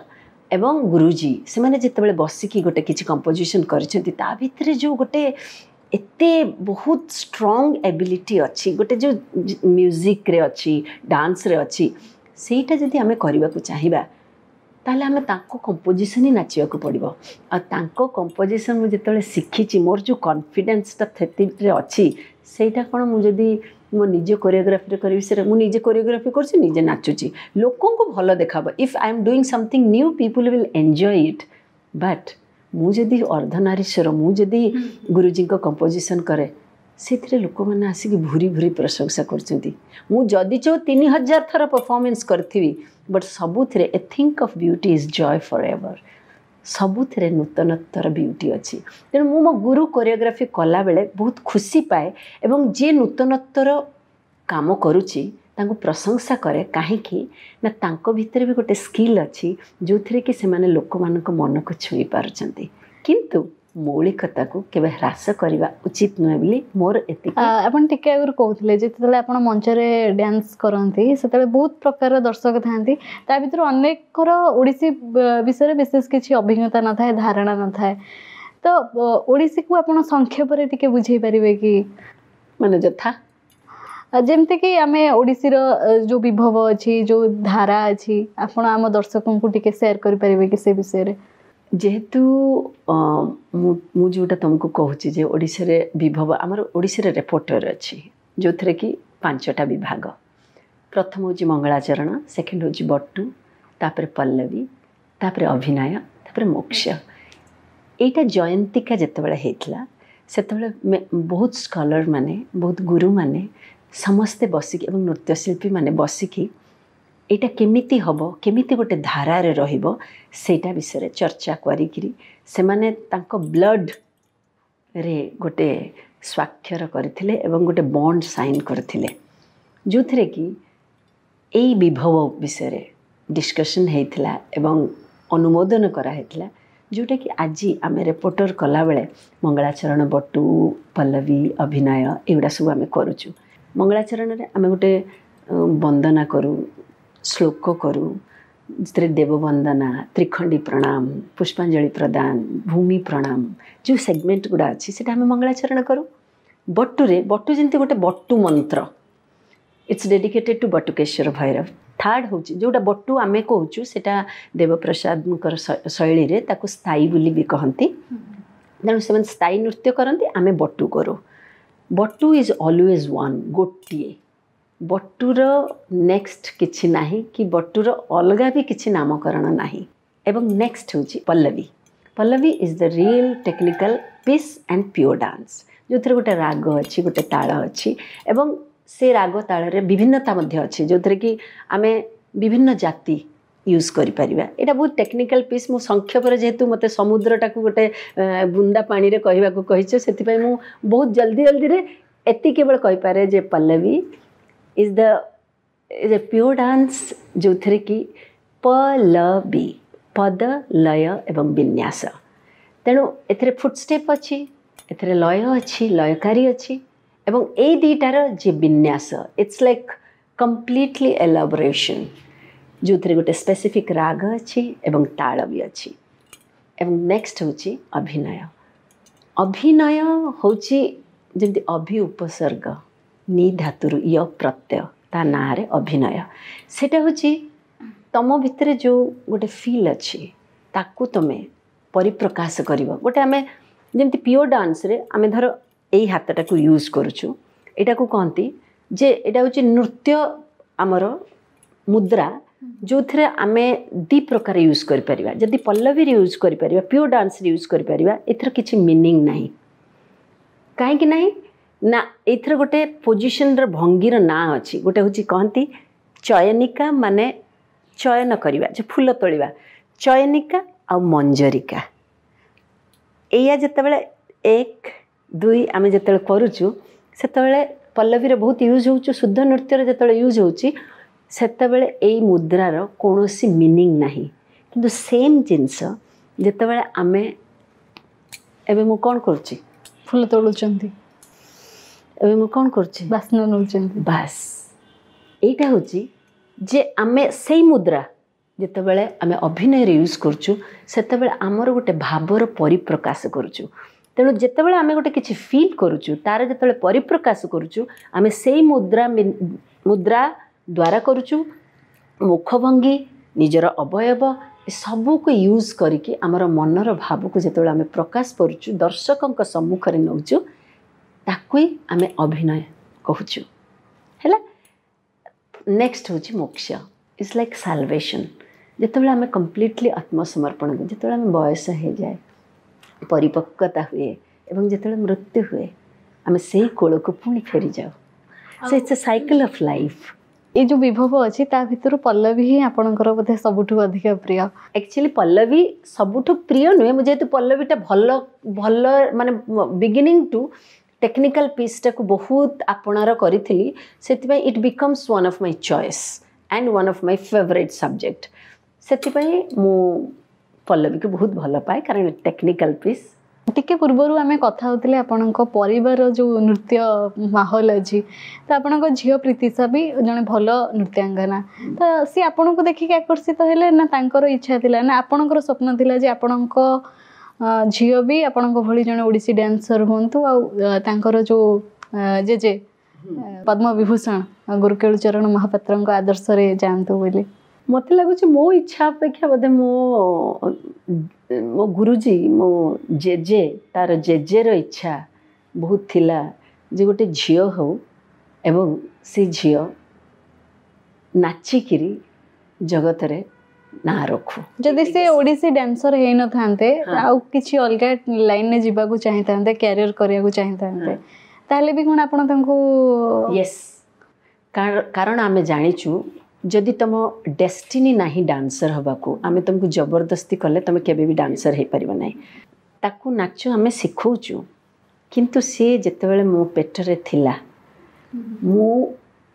ଏବଂ ଗୁରୁଜୀ, ସେମାନେ ଯେତେବେଳେ ବସିକି ଗୋଟେ କିଛି କମ୍ପୋଜିସନ୍ କରିଛନ୍ତି, ତା ଭିତରେ ଯେଉଁ ଗୋଟେ ଏତେ ବହୁତ ଷ୍ଟ୍ରଙ୍ଗ ଏବିଲିଟି ଅଛି, ଗୋଟେ ଯେଉଁ ମ୍ୟୁଜିକ୍ରେ ଅଛି, ଡାନ୍ସରେ ଅଛି, ସେଇଟା ଯଦି ଆମେ କରିବାକୁ ଚାହିଁବା ତାହେଲେ ଆମେ ତାଙ୍କ କମ୍ପୋଜିସନ୍ ହିଁ ନାଚିବାକୁ ପଡ଼ିବ। ଆଉ ତାଙ୍କ କମ୍ପୋଜିସନ୍ ମୁଁ ଯେତେବେଳେ ଶିଖିଛି, ମୋର ଯେଉଁ କନଫିଡେନ୍ସଟା ସେଥିରେ ଅଛି, ସେଇଟା କ'ଣ ମୁଁ ଯଦି ମୋ ନିଜ କୋରିଓଗ୍ରାଫିରେ କରିବି, ସେଇଟା ମୁଁ ନିଜେ କୋରିଓଗ୍ରାଫି କରୁଛି, ନିଜେ ନାଚୁଛି, ଲୋକଙ୍କୁ ଭଲ ଦେଖାବ। If I am doing something new, people will enjoy it. But ମୁଁ ଯଦି ଅର୍ଦ୍ଧନାରୀଶ୍ୱର, ମୁଁ ଯଦି ଗୁରୁଜୀଙ୍କ କମ୍ପୋଜିସନ୍ କରେ, ସେଥିରେ ଲୋକମାନେ ଆସିକି ଭୁରି ଭୁରି ପ୍ରଶଂସା କରୁଛନ୍ତି। ମୁଁ ଯଦି ଚଉ 3000 ଥର ପରଫର୍ମାନ୍ସ କରିଥିବି, ବଟ୍ ସବୁଥିରେ a think of beauty is joy for ever, ସବୁଥିରେ ନୂତନତ୍ୱର ବିୟୁଟି ଅଛି। ତେଣୁ ମୁଁ ମୋ ଗୁରୁ କୋରିଓଗ୍ରାଫି କଲାବେଳେ ବହୁତ ଖୁସି ପାଏ ଏବଂ ଯିଏ ନୂତନତ୍ୱର କାମ କରୁଛି ତାଙ୍କୁ ପ୍ରଶଂସା କରେ। କାହିଁକି ନା ତାଙ୍କ ଭିତରେ ବି ଗୋଟେ ସ୍କିଲ୍ ଅଛି ଯେଉଁଥିରେ କି ସେମାନେ ଲୋକମାନଙ୍କ ମନକୁ ଛୁଇଁ ପାରୁଛନ୍ତି। କିନ୍ତୁ ମୌଳିକତାକୁ କେବେ ହ୍ରାସ କରିବା ଉଚିତ ନୁହେଁ ବୋଲି ମୋର ଏତିକି। ଆପଣ ଟିକେ ଆଗରୁ କହୁଥିଲେ ଯେତେବେଳେ ଆପଣ ମଞ୍ଚରେ ଡ୍ୟାନ୍ସ କରନ୍ତି ସେତେବେଳେ ବହୁତ ପ୍ରକାରର ଦର୍ଶକ ଥାନ୍ତି, ତା ଭିତରୁ ଅନେକର ଓଡ଼ିଶୀ ବିଷୟରେ ବିଶେଷ କିଛି ଅଭିଜ୍ଞତା ନଥାଏ, ଧାରଣା ନଥାଏ। ତ ଓଡ଼ିଶୀକୁ ଆପଣ ସଂକ୍ଷେପରେ ଟିକେ ବୁଝେଇ ପାରିବେ କି? ମାନେ ଯଥା? ଯେମିତିକି ଆମେ ଓଡ଼ିଶୀର ଯେଉଁ ବିଭବ ଅଛି, ଯେଉଁ ଧାରା ଅଛି, ଆପଣ ଆମ ଦର୍ଶକଙ୍କୁ ଟିକେ ସେୟାର କରିପାରିବେ କି ସେ ବିଷୟରେ? ଯେହେତୁ ମୁଁ ଯେଉଁଟା ତୁମକୁ କହୁଛି ଯେ ଓଡ଼ିଶାରେ ବିଭବ, ଆମର ଓଡ଼ିଶାରେ ରେପୋର୍ଟର ଅଛି ଯେଉଁଥିରେ କି 5ଟା ବିଭାଗ। ପ୍ରଥମ ହେଉଛି ମଙ୍ଗଳାଚରଣ, ସେକେଣ୍ଡ ହେଉଛି ବଟୁ, ତାପରେ ପଲ୍ଲବୀ, ତାପରେ ଅଭିନୟ, ତାପରେ ମୋକ୍ଷ। ଏଇଟା ଜୟନ୍ତିକା ଯେତେବେଳେ ହେଇଥିଲା ସେତେବେଳେ ବହୁତ ସ୍କଲର ମାନେ, ବହୁତ ଗୁରୁମାନେ ସମସ୍ତେ ବସିକି ଏବଂ ନୃତ୍ୟଶିଳ୍ପୀମାନେ ବସିକି ଏଇଟା କେମିତି ହେବ, କେମିତି ଗୋଟେ ଧାରାରେ ରହିବ ସେଇଟା ବିଷୟରେ ଚର୍ଚ୍ଚା କରିକିରି ସେମାନେ ତାଙ୍କ ବ୍ଲଡ଼ରେ ଗୋଟେ ସ୍ୱାକ୍ଷର କରିଥିଲେ ଏବଂ ଗୋଟେ ବଣ୍ଡ ସାଇନ୍ କରିଥିଲେ, ଯେଉଁଥିରେ କି ଏଇ ବିଭବ ବିଷୟରେ ଡିସ୍କସନ୍ ହେଇଥିଲା ଏବଂ ଅନୁମୋଦନ କରାହେଇଥିଲା, ଯେଉଁଟାକି ଆଜି ଆମେ ରିପୋର୍ଟର କଲାବେଳେ ମଙ୍ଗଳାଚରଣ, ବଟୁ, ପଲ୍ଲବୀ, ଅଭିନୟ ଏଗୁଡ଼ା ସବୁ ଆମେ କରୁଛୁ। ମଙ୍ଗଳାଚରଣରେ ଆମେ ଗୋଟେ ବନ୍ଦନା କରୁ, ଶ୍ଲୋକ କରୁ, ସେଥିରେ ଦେବବନ୍ଦନା, ତ୍ରିଖଣ୍ଡି ପ୍ରଣାମ, ପୁଷ୍ପାଞ୍ଜଳି ପ୍ରଦାନ, ଭୂମି ପ୍ରଣାମ, ଯେଉଁ ସେଗମେଣ୍ଟ ଗୁଡ଼ା ଅଛି ସେଇଟା ଆମେ ମଙ୍ଗଳାଚରଣ କରୁ। ବଟୁରେ, ବଟୁ ଯେମିତି ଗୋଟେ ବଟୁ ମନ୍ତ୍ର, it's dedicated to Batukeshwar Bhairav. Third ହେଉଛି ଯେଉଁଟା ବଟୁ ଆମେ କହୁଛୁ ସେଇଟା ଦେବପ୍ରସାଦଙ୍କର ଶୈଳୀରେ ତାକୁ ସ୍ଥାୟୀ ବୋଲି ବି କହନ୍ତି। ତେଣୁ ସେମାନେ ସ୍ଥାୟୀ ନୃତ୍ୟ କରନ୍ତି, ଆମେ ବଟୁ କରୁ। ବଟୁ is always one, ଗୋଟିଏ। ବଟୁର ନେକ୍ସଟ କିଛି ନାହିଁ କି ବଟୁର ଅଲଗା ବି କିଛି ନାମକରଣ ନାହିଁ। ଏବଂ ନେକ୍ସଟ ହେଉଛି Pallavi. Pallavi is the real technical piece and pure dance, ଯେଉଁଥିରେ ଗୋଟେ ରାଗ ଅଛି, ଗୋଟେ ତାଳ ଅଛି ଏବଂ ସେ ରାଗ ତାଳରେ ବିଭିନ୍ନତା ମଧ୍ୟ ଅଛି, ଯେଉଁଥିରେ କି ଆମେ ବିଭିନ୍ନ ଜାତି ୟୁଜ୍ କରିପାରିବା। ଏଇଟା ବହୁତ ଟେକ୍ନିକାଲ ପିସ୍। ମୁଁ ସଂକ୍ଷେପରେ ଯେହେତୁ ମୋତେ ସମୁଦ୍ରଟାକୁ ଗୋଟେ ବୁନ୍ଦା ପାଣିରେ କହିବାକୁ କହିଛ, ସେଥିପାଇଁ ମୁଁ ବହୁତ ଜଲ୍ଦି ଜଲ୍ଦିରେ ଏତିକି କେବଳ କହିପାରେ ଯେ Pallavi is the is a pure dance, ଯେଉଁଥିରେ କି ପଲବି, ପଦ, ଲୟ ଏବଂ ବିନ୍ୟାସ। ତେଣୁ ଏଥିରେ ଫୁଟଷ୍ଟେପ୍ ଅଛି, ଏଥିରେ ଲୟ ଅଛି, ଲୟକାରୀ ଅଛି ଏବଂ ଏଇ ଦୁଇଟାର ଯେ ବିନ୍ୟାସ, it's like completely elaboration, ଯେଉଁଥିରେ ଗୋଟେ ସ୍ପେସିଫିକ୍ ରାଗ ଅଛି ଏବଂ ତାଳ ବି ଅଛି। ଏବଂ ନେକ୍ସଟ ହେଉଛି ଅଭିନୟ। ଅଭିନୟ ହେଉଛି ଯେମିତି ଅଭି ଉପସର୍ଗ, ନି ଧାତୁରୁ ୟ ପ୍ରତ୍ୟୟ, ତା ନାଁରେ ଅଭିନୟ। ସେଇଟା ହେଉଛି ତମ ଭିତରେ ଯେଉଁ ଗୋଟେ ଫିଲ୍ ଅଛି ତାକୁ ତମେ ପରିପ୍ରକାଶ କରିବ। ଗୋଟେ ଆମେ ଯେମିତି ପିଓର ଡାନ୍ସରେ ଆମେ ଧର ଏଇ ହାତଟାକୁ ୟୁଜ୍ କରୁଛୁ, ଏଇଟାକୁ କହନ୍ତି ଯେ ଏଇଟା ହେଉଛି ନୃତ୍ୟ ଆମର ମୁଦ୍ରା, ଯେଉଁଥିରେ ଆମେ ଦୁଇ ପ୍ରକାର ୟୁଜ୍ କରିପାରିବା। ଯଦି ପଲ୍ଲବୀରେ ୟୁଜ୍ କରିପାରିବା, ପିଓର ଡାନ୍ସରେ ୟୁଜ୍ କରିପାରିବା, ଏଥିର କିଛି ମିନିଂ ନାହିଁ। କାହିଁକି ନାହିଁ ନା ଏଇଥିରେ ଗୋଟେ ପୋଜିସନର ଭଙ୍ଗୀର ନାଁ ଅଛି। ଗୋଟେ ହେଉଛି କହନ୍ତି ଚୟନିକା, ମାନେ ଚୟନ କରିବା, ଯେ ଫୁଲ ତୋଳିବା, ଚୟନିକା ଆଉ ମଞ୍ଜରିକା। ଏଇଆ ଯେତେବେଳେ 1 2 ଆମେ ଯେତେବେଳେ କରୁଛୁ ସେତେବେଳେ ପଲ୍ଲବୀରେ ବହୁତ ୟୁଜ୍ ହେଉଛୁ, ଶୁଦ୍ଧ ନୃତ୍ୟରେ ଯେତେବେଳେ ୟୁଜ୍ ହେଉଛି ସେତେବେଳେ ଏଇ ମୁଦ୍ରାର କୌଣସି ମିନିଂ ନାହିଁ। କିନ୍ତୁ ସେମ୍ ଜିନିଷ ଯେତେବେଳେ ଆମେ ଏବେ ମୁଁ କ'ଣ କରୁଛି, ଫୁଲ ତୋଳୁଛନ୍ତି, ଏବେ ମୁଁ କ'ଣ କରୁଛି, ବାସ୍ନା ନେଉଛନ୍ତି, ବାସ୍ ଏଇଟା ହେଉଛି ଯେ ଆମେ ସେଇ ମୁଦ୍ରା ଯେତେବେଳେ ଆମେ ଅଭିନୟରେ ୟୁଜ୍ କରୁଛୁ ସେତେବେଳେ ଆମର ଗୋଟେ ଭାବର ପରିପ୍ରକାଶ କରୁଛୁ। ତେଣୁ ଯେତେବେଳେ ଆମେ ଗୋଟେ କିଛି ଫିଲ୍ କରୁଛୁ ତାର ଯେତେବେଳେ ପରିପ୍ରକାଶ କରୁଛୁ ଆମେ ସେଇ ମୁଦ୍ରା ମୁଦ୍ରା ଦ୍ୱାରା କରୁଛୁ। ମୁଖଭଙ୍ଗୀ, ନିଜର ଅବୟବ ସବୁକୁ ୟୁଜ୍ କରିକି ଆମର ମନର ଭାବକୁ ଯେତେବେଳେ ଆମେ ପ୍ରକାଶ କରୁଛୁ, ଦର୍ଶକଙ୍କ ସମ୍ମୁଖରେ ନେଉଛୁ, ତାକୁ ହିଁ ଆମେ ଅଭିନୟ କହୁଛୁ। ହେଲା। ନେକ୍ସଟ ହେଉଛି ମୋକ୍ଷ, it's like ସାଲଭେସନ୍। ଯେତେବେଳେ ଆମେ କମ୍ପ୍ଲିଟଲି ଆତ୍ମସମର୍ପଣ କରୁ, ଯେତେବେଳେ ଆମେ ବୟସ ହେଇଯାଏ, ପରିପକ୍ୱତା ହୁଏ ଏବଂ ଯେତେବେଳେ ମୃତ୍ୟୁ ହୁଏ, ଆମେ ସେଇ କୋଳକୁ ପୁଣି ଫେରିଯାଉ। So it's a cycle of life. ଏଇ ଯେଉଁ ବିଭବ ଅଛି ତା ଭିତରୁ ପଲ୍ଲବୀ ହିଁ ଆପଣଙ୍କର ବୋଧେ ସବୁଠୁ ଅଧିକ ପ୍ରିୟ। ଆକ୍ଚୁଆଲି ପଲ୍ଲବୀ ସବୁଠୁ ପ୍ରିୟ ନୁହେଁ, ମୁଁ ଯେହେତୁ ପଲ୍ଲବୀଟା ଭଲ ଭଲ ମାନେ ବିଗିନିଂ ଟୁ ଟେକ୍ନିକାଲ ପିସ୍ଟାକୁ ବହୁତ ଆପଣାର କରିଥିଲି, ସେଥିପାଇଁ it becomes one of my choice and one of my favourite subject. ସେଥିପାଇଁ ମୁଁ ପଲ୍ଲବୀକୁ ବହୁତ ଭଲ ପାଏ, କାରଣ ଟେକ୍ନିକାଲ ପିସ୍। ଟିକେ ପୂର୍ବରୁ ଆମେ କଥା ହେଉଥିଲେ ଆପଣଙ୍କ ପରିବାର ଯେଉଁ ନୃତ୍ୟ ମାହୋଲ ଅଛି, ତ ଆପଣଙ୍କ ଝିଅ ପ୍ରୀତିଶା ବି ଜଣେ ଭଲ ନୃତ୍ୟାଙ୍ଗନା, ତ ସିଏ ଆପଣଙ୍କୁ ଦେଖିକି ଆକର୍ଷିତ ହେଲେ ନା ତାଙ୍କର ଇଚ୍ଛା ଥିଲା, ନା ଆପଣଙ୍କର ସ୍ୱପ୍ନ ଥିଲା ଯେ ଆପଣଙ୍କ ଝିଅ ବି ଆପଣଙ୍କ ଭଳି ଜଣେ ଓଡ଼ିଶୀ ଡ୍ୟାନ୍ସର ହୁଅନ୍ତୁ, ଆଉ ତାଙ୍କର ଯେଉଁ ଜେଜେ ପଦ୍ମବିଭୂଷଣ ଗୁରୁ କେଳୁଚରଣ ମହାପାତ୍ରଙ୍କ ଆଦର୍ଶରେ ଯାଆନ୍ତୁ ବୋଲି? ମୋତେ ଲାଗୁଛି ମୋ ଇଚ୍ଛା ଅପେକ୍ଷା ବୋଧେ ମୋ ମୋ ଗୁରୁଜୀ, ମୋ ଜେଜେ, ତାର ଜେଜେର ଇଚ୍ଛା ବହୁତ ଥିଲା ଯେ ଗୋଟେ ଝିଅ ହଉ ଏବଂ ସେ ଝିଅ ନାଚିକିରି ଜଗତରେ ନାଁ ରଖୁ। ଯଦି ସେ ଓଡ଼ିଶୀ ଡ୍ୟାନ୍ସର ହେଇନଥାନ୍ତେ, ଆଉ କିଛି ଅଲଗା ଲାଇନରେ ଯିବାକୁ ଚାହିଁଥାନ୍ତେ, କ୍ୟାରିୟର କରିବାକୁ ଚାହିଁଥାନ୍ତେ, ତାହେଲେ ବି କ'ଣ ଆପଣ ତାଙ୍କୁ? ୟେସ୍, କାରଣ ଆମେ ଜାଣିଛୁ ଯଦି ତୁମ ଡେଷ୍ଟିନି ନାହିଁ ଡାନ୍ସର ହେବାକୁ, ଆମେ ତୁମକୁ ଜବରଦସ୍ତି କଲେ ତୁମେ କେବେ ବି ଡାନ୍ସର ହେଇପାରିବ ନାହିଁ। ତାକୁ ନାଚ ଆମେ ଶିଖଉଛୁ, କିନ୍ତୁ ସିଏ ଯେତେବେଳେ ମୋ ପେଟରେ ଥିଲା, ମୁଁ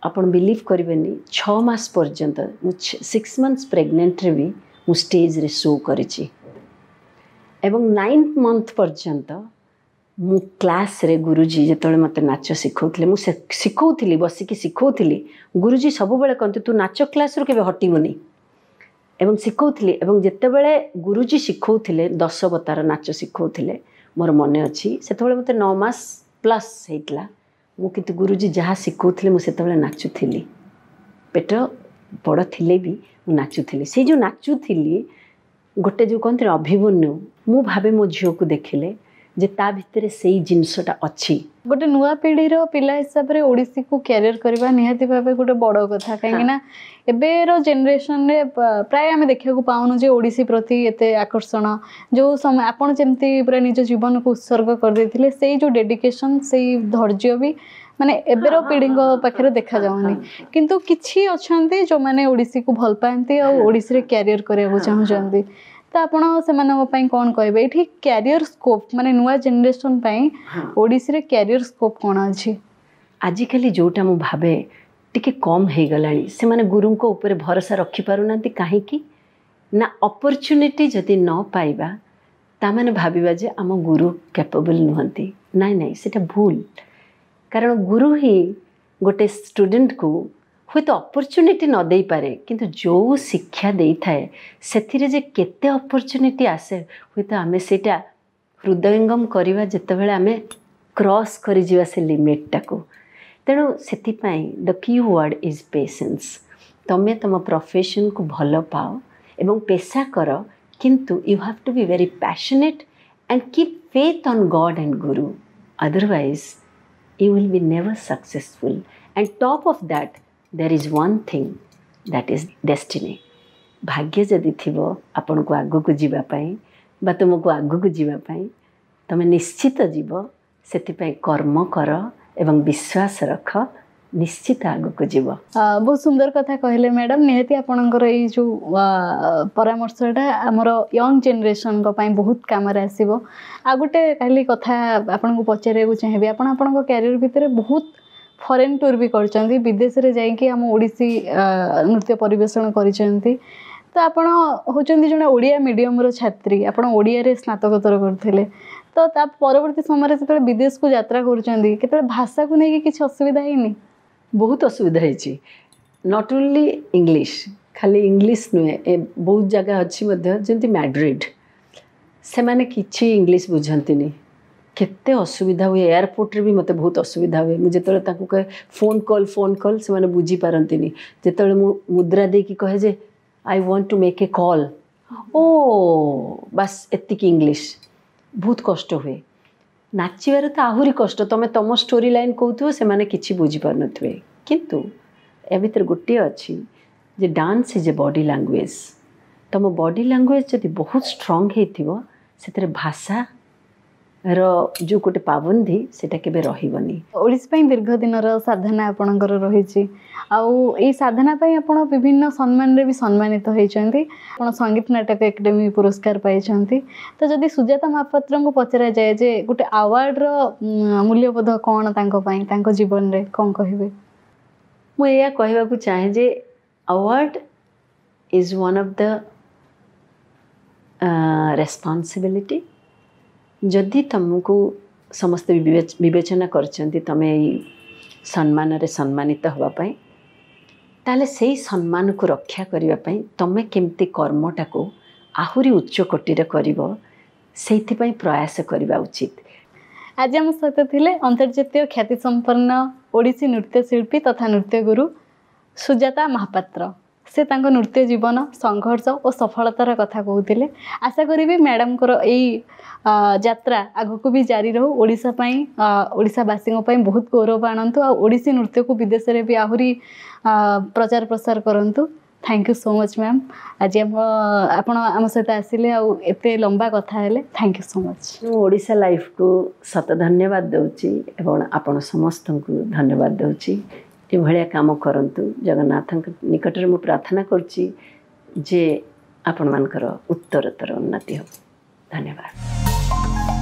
ଆପଣ ବିଲିଭ୍ କରିବେନି, 6 ମାସ ପର୍ଯ୍ୟନ୍ତ, ମୁଁ 6 ମନ୍ଥସ୍ ପ୍ରେଗନେଣ୍ଟରେ ବି ମୁଁ ଷ୍ଟେଜ୍ରେ ଶୋ କରିଛି ଏବଂ 9th month ପର୍ଯ୍ୟନ୍ତ ମୁଁ କ୍ଲାସ୍ରେ ଗୁରୁଜୀ ଯେତେବେଳେ ମୋତେ ନାଚ ଶିଖଉଥିଲେ, ମୁଁ ଶିଖଉଥିଲି, ବସିକି ଶିଖଉଥିଲି। ଗୁରୁଜୀ ସବୁବେଳେ କହନ୍ତି ତୁ ନାଚ କ୍ଲାସ୍ରୁ କେବେ ହଟିବୁନି, ଏବଂ ଶିଖଉଥିଲି। ଏବଂ ଯେତେବେଳେ ଗୁରୁଜୀ ଶିଖଉଥିଲେ, ଦଶବତାର ନାଚ ଶିଖଉଥିଲେ, ମୋର ମନେ ଅଛି ସେତେବେଳେ ମୋତେ 9 ମାସ ପ୍ଲସ୍ ହେଇଥିଲା। ମୁଁ କିନ୍ତୁ ଗୁରୁଜୀ ଯାହା ଶିଖଉଥିଲେ ମୁଁ ସେତେବେଳେ ନାଚୁଥିଲି, ପେଟ ବଡ଼ ଥିଲେ ବି ମୁଁ ନାଚୁଥିଲି। ସେଇ ଯେଉଁ ନାଚୁଥିଲି, ଗୋଟେ ଯେଉଁ କହନ୍ତି ଅଭିମନ୍ୟୁ, ମୁଁ ଭାବେ ମୋ ଝିଅକୁ ଦେଖିଲେ ଯେ ତା ଭିତରେ ସେଇ ଜିନିଷଟା ଅଛି। ଗୋଟେ ନୂଆ ପିଢ଼ିର ପିଲା ହିସାବରେ ଓଡ଼ିଶୀକୁ କ୍ୟାରିୟର କରିବା ନିହାତି ଭାବେ ଗୋଟେ ବଡ଼ କଥା, କାହିଁକି ନା ଏବେର ଜେନେରେସନରେ ପ୍ରାୟ ଆମେ ଦେଖିବାକୁ ପାଉନୁ ଯେ ଓଡ଼ିଶୀ ପ୍ରତି ଏତେ ଆକର୍ଷଣ। ଯେଉଁ ସମୟ ଆପଣ ଯେମିତି ପୁରା ନିଜ ଜୀବନକୁ ଉତ୍ସର୍ଗ କରିଦେଇଥିଲେ, ସେଇ ଯେଉଁ ଡେଡିକେସନ୍, ସେଇ ଧୈର୍ଯ୍ୟ ବି ମାନେ ଏବେର ପିଢ଼ିଙ୍କ ପାଖରେ ଦେଖାଯାଉନି। କିନ୍ତୁ କିଛି ଅଛନ୍ତି ଯେଉଁମାନେ ଓଡ଼ିଶୀକୁ ଭଲ ପାଆନ୍ତି ଆଉ ଓଡ଼ିଶୀରେ କ୍ୟାରିୟର କରିବାକୁ ଚାହୁଁଛନ୍ତି, ତ ଆପଣ ସେମାନଙ୍କ ପାଇଁ କ'ଣ କହିବେ? ଏଇଠି କ୍ୟାରିୟର ସ୍କୋପ୍, ମାନେ ନୂଆ ଜେନେରେସନ୍ ପାଇଁ ଓଡ଼ିଶୀରେ କ୍ୟାରିୟର ସ୍କୋପ୍ କ'ଣ ଅଛି? ଆଜିକାଲି ଯେଉଁଟା ମୁଁ ଭାବେ ଟିକେ କମ୍ ହେଇଗଲାଣି, ସେମାନେ ଗୁରୁଙ୍କ ଉପରେ ଭରସା ରଖିପାରୁନାହାନ୍ତି। କାହିଁକି ନା ଅପରଚ୍ୟୁନିଟି ଯଦି ନ ପାଇବା, ତାମାନେ ଭାବିବା ଯେ ଆମ ଗୁରୁ କ୍ୟାପେବଲ୍ ନୁହନ୍ତି। ନାଇଁ ନାଇଁ, ସେଇଟା ଭୁଲ। କାରଣ ଗୁରୁ ହିଁ ଗୋଟେ ଷ୍ଟୁଡେଣ୍ଟକୁ ହୁଏତ ଅପରଚ୍ୟୁନିଟି ନ ଦେଇପାରେ, କିନ୍ତୁ ଯେଉଁ ଶିକ୍ଷା ଦେଇଥାଏ ସେଥିରେ ଯେ କେତେ ଅପରଚ୍ୟୁନିଟି ଆସେ, ହୁଏତ ଆମେ ସେଇଟା ହୃଦୟଙ୍ଗମ କରିବା ଯେତେବେଳେ ଆମେ କ୍ରସ୍ କରିଯିବା ସେ ଲିମିଟଟାକୁ। ତେଣୁ ସେଥିପାଇଁ the key word is patience. ତୁମେ ତୁମ ପ୍ରଫେସନକୁ ଭଲ ପାଅ ଏବଂ ପେଶା କର, କିନ୍ତୁ you have to be very passionate and keep faith on God and guru, otherwise you will be never successful. And top of that, there is one thing, that is destiny. ଭାଗ୍ୟ ଯଦି ଥିବ ଆପଣଙ୍କୁ ଆଗକୁ ଯିବା ପାଇଁ ବା ତୁମକୁ ଆଗକୁ ଯିବା ପାଇଁ, ତୁମେ ନିଶ୍ଚିତ ଯିବ। ସେଥିପାଇଁ କର୍ମ କର ଏବଂ ବିଶ୍ୱାସ ରଖ, ନିଶ୍ଚିତ ଆଗକୁ ଯିବ। ବହୁତ ସୁନ୍ଦର କଥା କହିଲେ ମ୍ୟାଡ଼ାମ୍। ନିହାତି ଆପଣଙ୍କର ଏଇ ଯେଉଁ ପରାମର୍ଶଟା ଆମର ୟଙ୍ଗ ଜେନେରେସନଙ୍କ ପାଇଁ ବହୁତ କାମରେ ଆସିବ। ଆଉ ଗୋଟେ ଖାଲି କଥା ଆପଣଙ୍କୁ ପଚାରିବାକୁ ଚାହିଁବି, ଆପଣ ଆପଣଙ୍କ କ୍ୟାରିୟର ଭିତରେ ବହୁତ ଫରେନ୍ ଟୁର୍ ବି କରିଛନ୍ତି, ବିଦେଶରେ ଯାଇକି ଆମ ଓଡ଼ିଶୀ ନୃତ୍ୟ ପରିବେଷଣ କରିଛନ୍ତି। ତ ଆପଣ ହେଉଛନ୍ତି ଜଣେ ଓଡ଼ିଆ ମିଡ଼ିୟମର ଛାତ୍ରୀ, ଆପଣ ଓଡ଼ିଆରେ ସ୍ନାତକୋତ୍ତର କରୁଥିଲେ, ତ ତା ପରବର୍ତ୍ତୀ ସମୟରେ ଯେତେବେଳେ ବିଦେଶକୁ ଯାତ୍ରା କରୁଛନ୍ତି, କେତେବେଳେ ଭାଷାକୁ ନେଇକି କିଛି ଅସୁବିଧା ହେଇନି? ବହୁତ ଅସୁବିଧା ହେଇଛି। Not only English, ଖାଲି ଇଂଲିଶ ନୁହେଁ, ଏ ବହୁତ ଜାଗା ଅଛି ମଧ୍ୟ, ଯେମିତି ମ୍ୟାଡ୍ରିଡ଼, ସେମାନେ କିଛି ଇଂଲିଶ ବୁଝନ୍ତିନି। କେତେ ଅସୁବିଧା ହୁଏ। ଏୟାରପୋର୍ଟରେ ବି ମୋତେ ବହୁତ ଅସୁବିଧା ହୁଏ। ମୁଁ ଯେତେବେଳେ ତାଙ୍କୁ କହେ ଫୋନ୍ କଲ୍, ଫୋନ୍ କଲ୍, ସେମାନେ ବୁଝିପାରନ୍ତିନି। ଯେତେବେଳେ ମୁଁ ମୁଦ୍ରା ଦେଇକି କହେ ଯେ I want to make a call, ଓ ବାସ୍ ଏତିକି ଇଂଲିଶ। ବହୁତ କଷ୍ଟ ହୁଏ। ନାଚିବାରେ ତ ଆହୁରି କଷ୍ଟ, ତୁମେ ତୁମ ଷ୍ଟୋରି ଲାଇନ୍ କହୁଥିବ, ସେମାନେ କିଛି ବୁଝିପାରୁନଥିବେ। କିନ୍ତୁ ଏ ଭିତରେ ଗୋଟିଏ ଅଛି ଯେ dance is a body language. ତୁମ ବଡି ଲାଙ୍ଗୁଏଜ୍ ଯଦି ବହୁତ ଷ୍ଟ୍ରଙ୍ଗ ହେଇଥିବ, ସେଥିରେ ଭାଷାର ଯେଉଁ ଗୋଟେ ପାବନ୍ଦି ସେଇଟା କେବେ ରହିବନି। ଓଡ଼ିଶୀ ପାଇଁ ଦୀର୍ଘ ଦିନର ସାଧନା ଆପଣଙ୍କର ରହିଛି, ଆଉ ଏଇ ସାଧନା ପାଇଁ ଆପଣ ବିଭିନ୍ନ ସମ୍ମାନରେ ବି ସମ୍ମାନିତ ହେଇଛନ୍ତି। ଆପଣ ସଙ୍ଗୀତ ନାଟକ ଏକାଡେମୀ ପୁରସ୍କାର ପାଇଛନ୍ତି। ତ ଯଦି ସୁଜାତା ମହାପାତ୍ରଙ୍କୁ ପଚରାଯାଏ ଯେ ଗୋଟେ ଆୱାର୍ଡ଼ର ମୂଲ୍ୟବୋଧ କ'ଣ ତାଙ୍କ ପାଇଁ, ତାଙ୍କ ଜୀବନରେ, କ'ଣ କହିବେ? ମୁଁ ଏଇଆ କହିବାକୁ ଚାହେଁ ଯେ award is one of the responsibility. ଯଦି ତୁମକୁ ସମସ୍ତେ ବିବେଚନା କରିଛନ୍ତି ତୁମେ ଏଇ ସମ୍ମାନରେ ସମ୍ମାନିତ ହେବା ପାଇଁ, ତାହେଲେ ସେଇ ସମ୍ମାନକୁ ରକ୍ଷା କରିବା ପାଇଁ ତୁମେ କେମିତି କର୍ମଟାକୁ ଆହୁରି ଉଚ୍ଚ କୋଟିରେ କରିବ, ସେଇଥିପାଇଁ ପ୍ରୟାସ କରିବା ଉଚିତ। ଆଜି ଆମ ସହିତ ଥିଲେ ଅନ୍ତର୍ଜାତୀୟ ଖ୍ୟାତିସମ୍ପନ୍ନ ଓଡ଼ିଶୀ ନୃତ୍ୟଶିଳ୍ପୀ ତଥା ନୃତ୍ୟଗୁରୁ ସୁଜାତା ମହାପାତ୍ର। ସେ ତାଙ୍କ ନୃତ୍ୟ ଜୀବନ, ସଂଘର୍ଷ ଓ ସଫଳତାର କଥା କହୁଥିଲେ। ଆଶା କରିବି ମ୍ୟାଡ଼ାମଙ୍କର ଏଇ ଯାତ୍ରା ଆଗକୁ ବି ଜାରି ରହୁ, ଓଡ଼ିଶା ପାଇଁ, ଓଡ଼ିଶାବାସୀଙ୍କ ପାଇଁ ବହୁତ ଗୌରବ ଆଣନ୍ତୁ ଆଉ ଓଡ଼ିଶୀ ନୃତ୍ୟକୁ ବିଦେଶରେ ବି ଆହୁରି ପ୍ରଚାର ପ୍ରସାର କରନ୍ତୁ। Thank you so much ma'am, ଆଜି ଆମ ଆପଣ ଆମ ସହିତ ଆସିଲେ ଆଉ ଏତେ ଲମ୍ବା କଥା ହେଲେ। Thank you so much. ମୁଁ ଓଡ଼ିଶା ଲାଇଫକୁ ଶତ ଧନ୍ୟବାଦ ଦେଉଛି ଏବଂ ଆପଣ ସମସ୍ତଙ୍କୁ ଧନ୍ୟବାଦ ଦେଉଛି। ଏଭଳିଆ କାମ କରନ୍ତୁ। ଜଗନ୍ନାଥଙ୍କ ନିକଟରେ ମୁଁ ପ୍ରାର୍ଥନା କରୁଛି ଯେ ଆପଣମାନଙ୍କର ଉତ୍ତରୋତ୍ତର ଉନ୍ନତି ହେବ। ଧନ୍ୟବାଦ।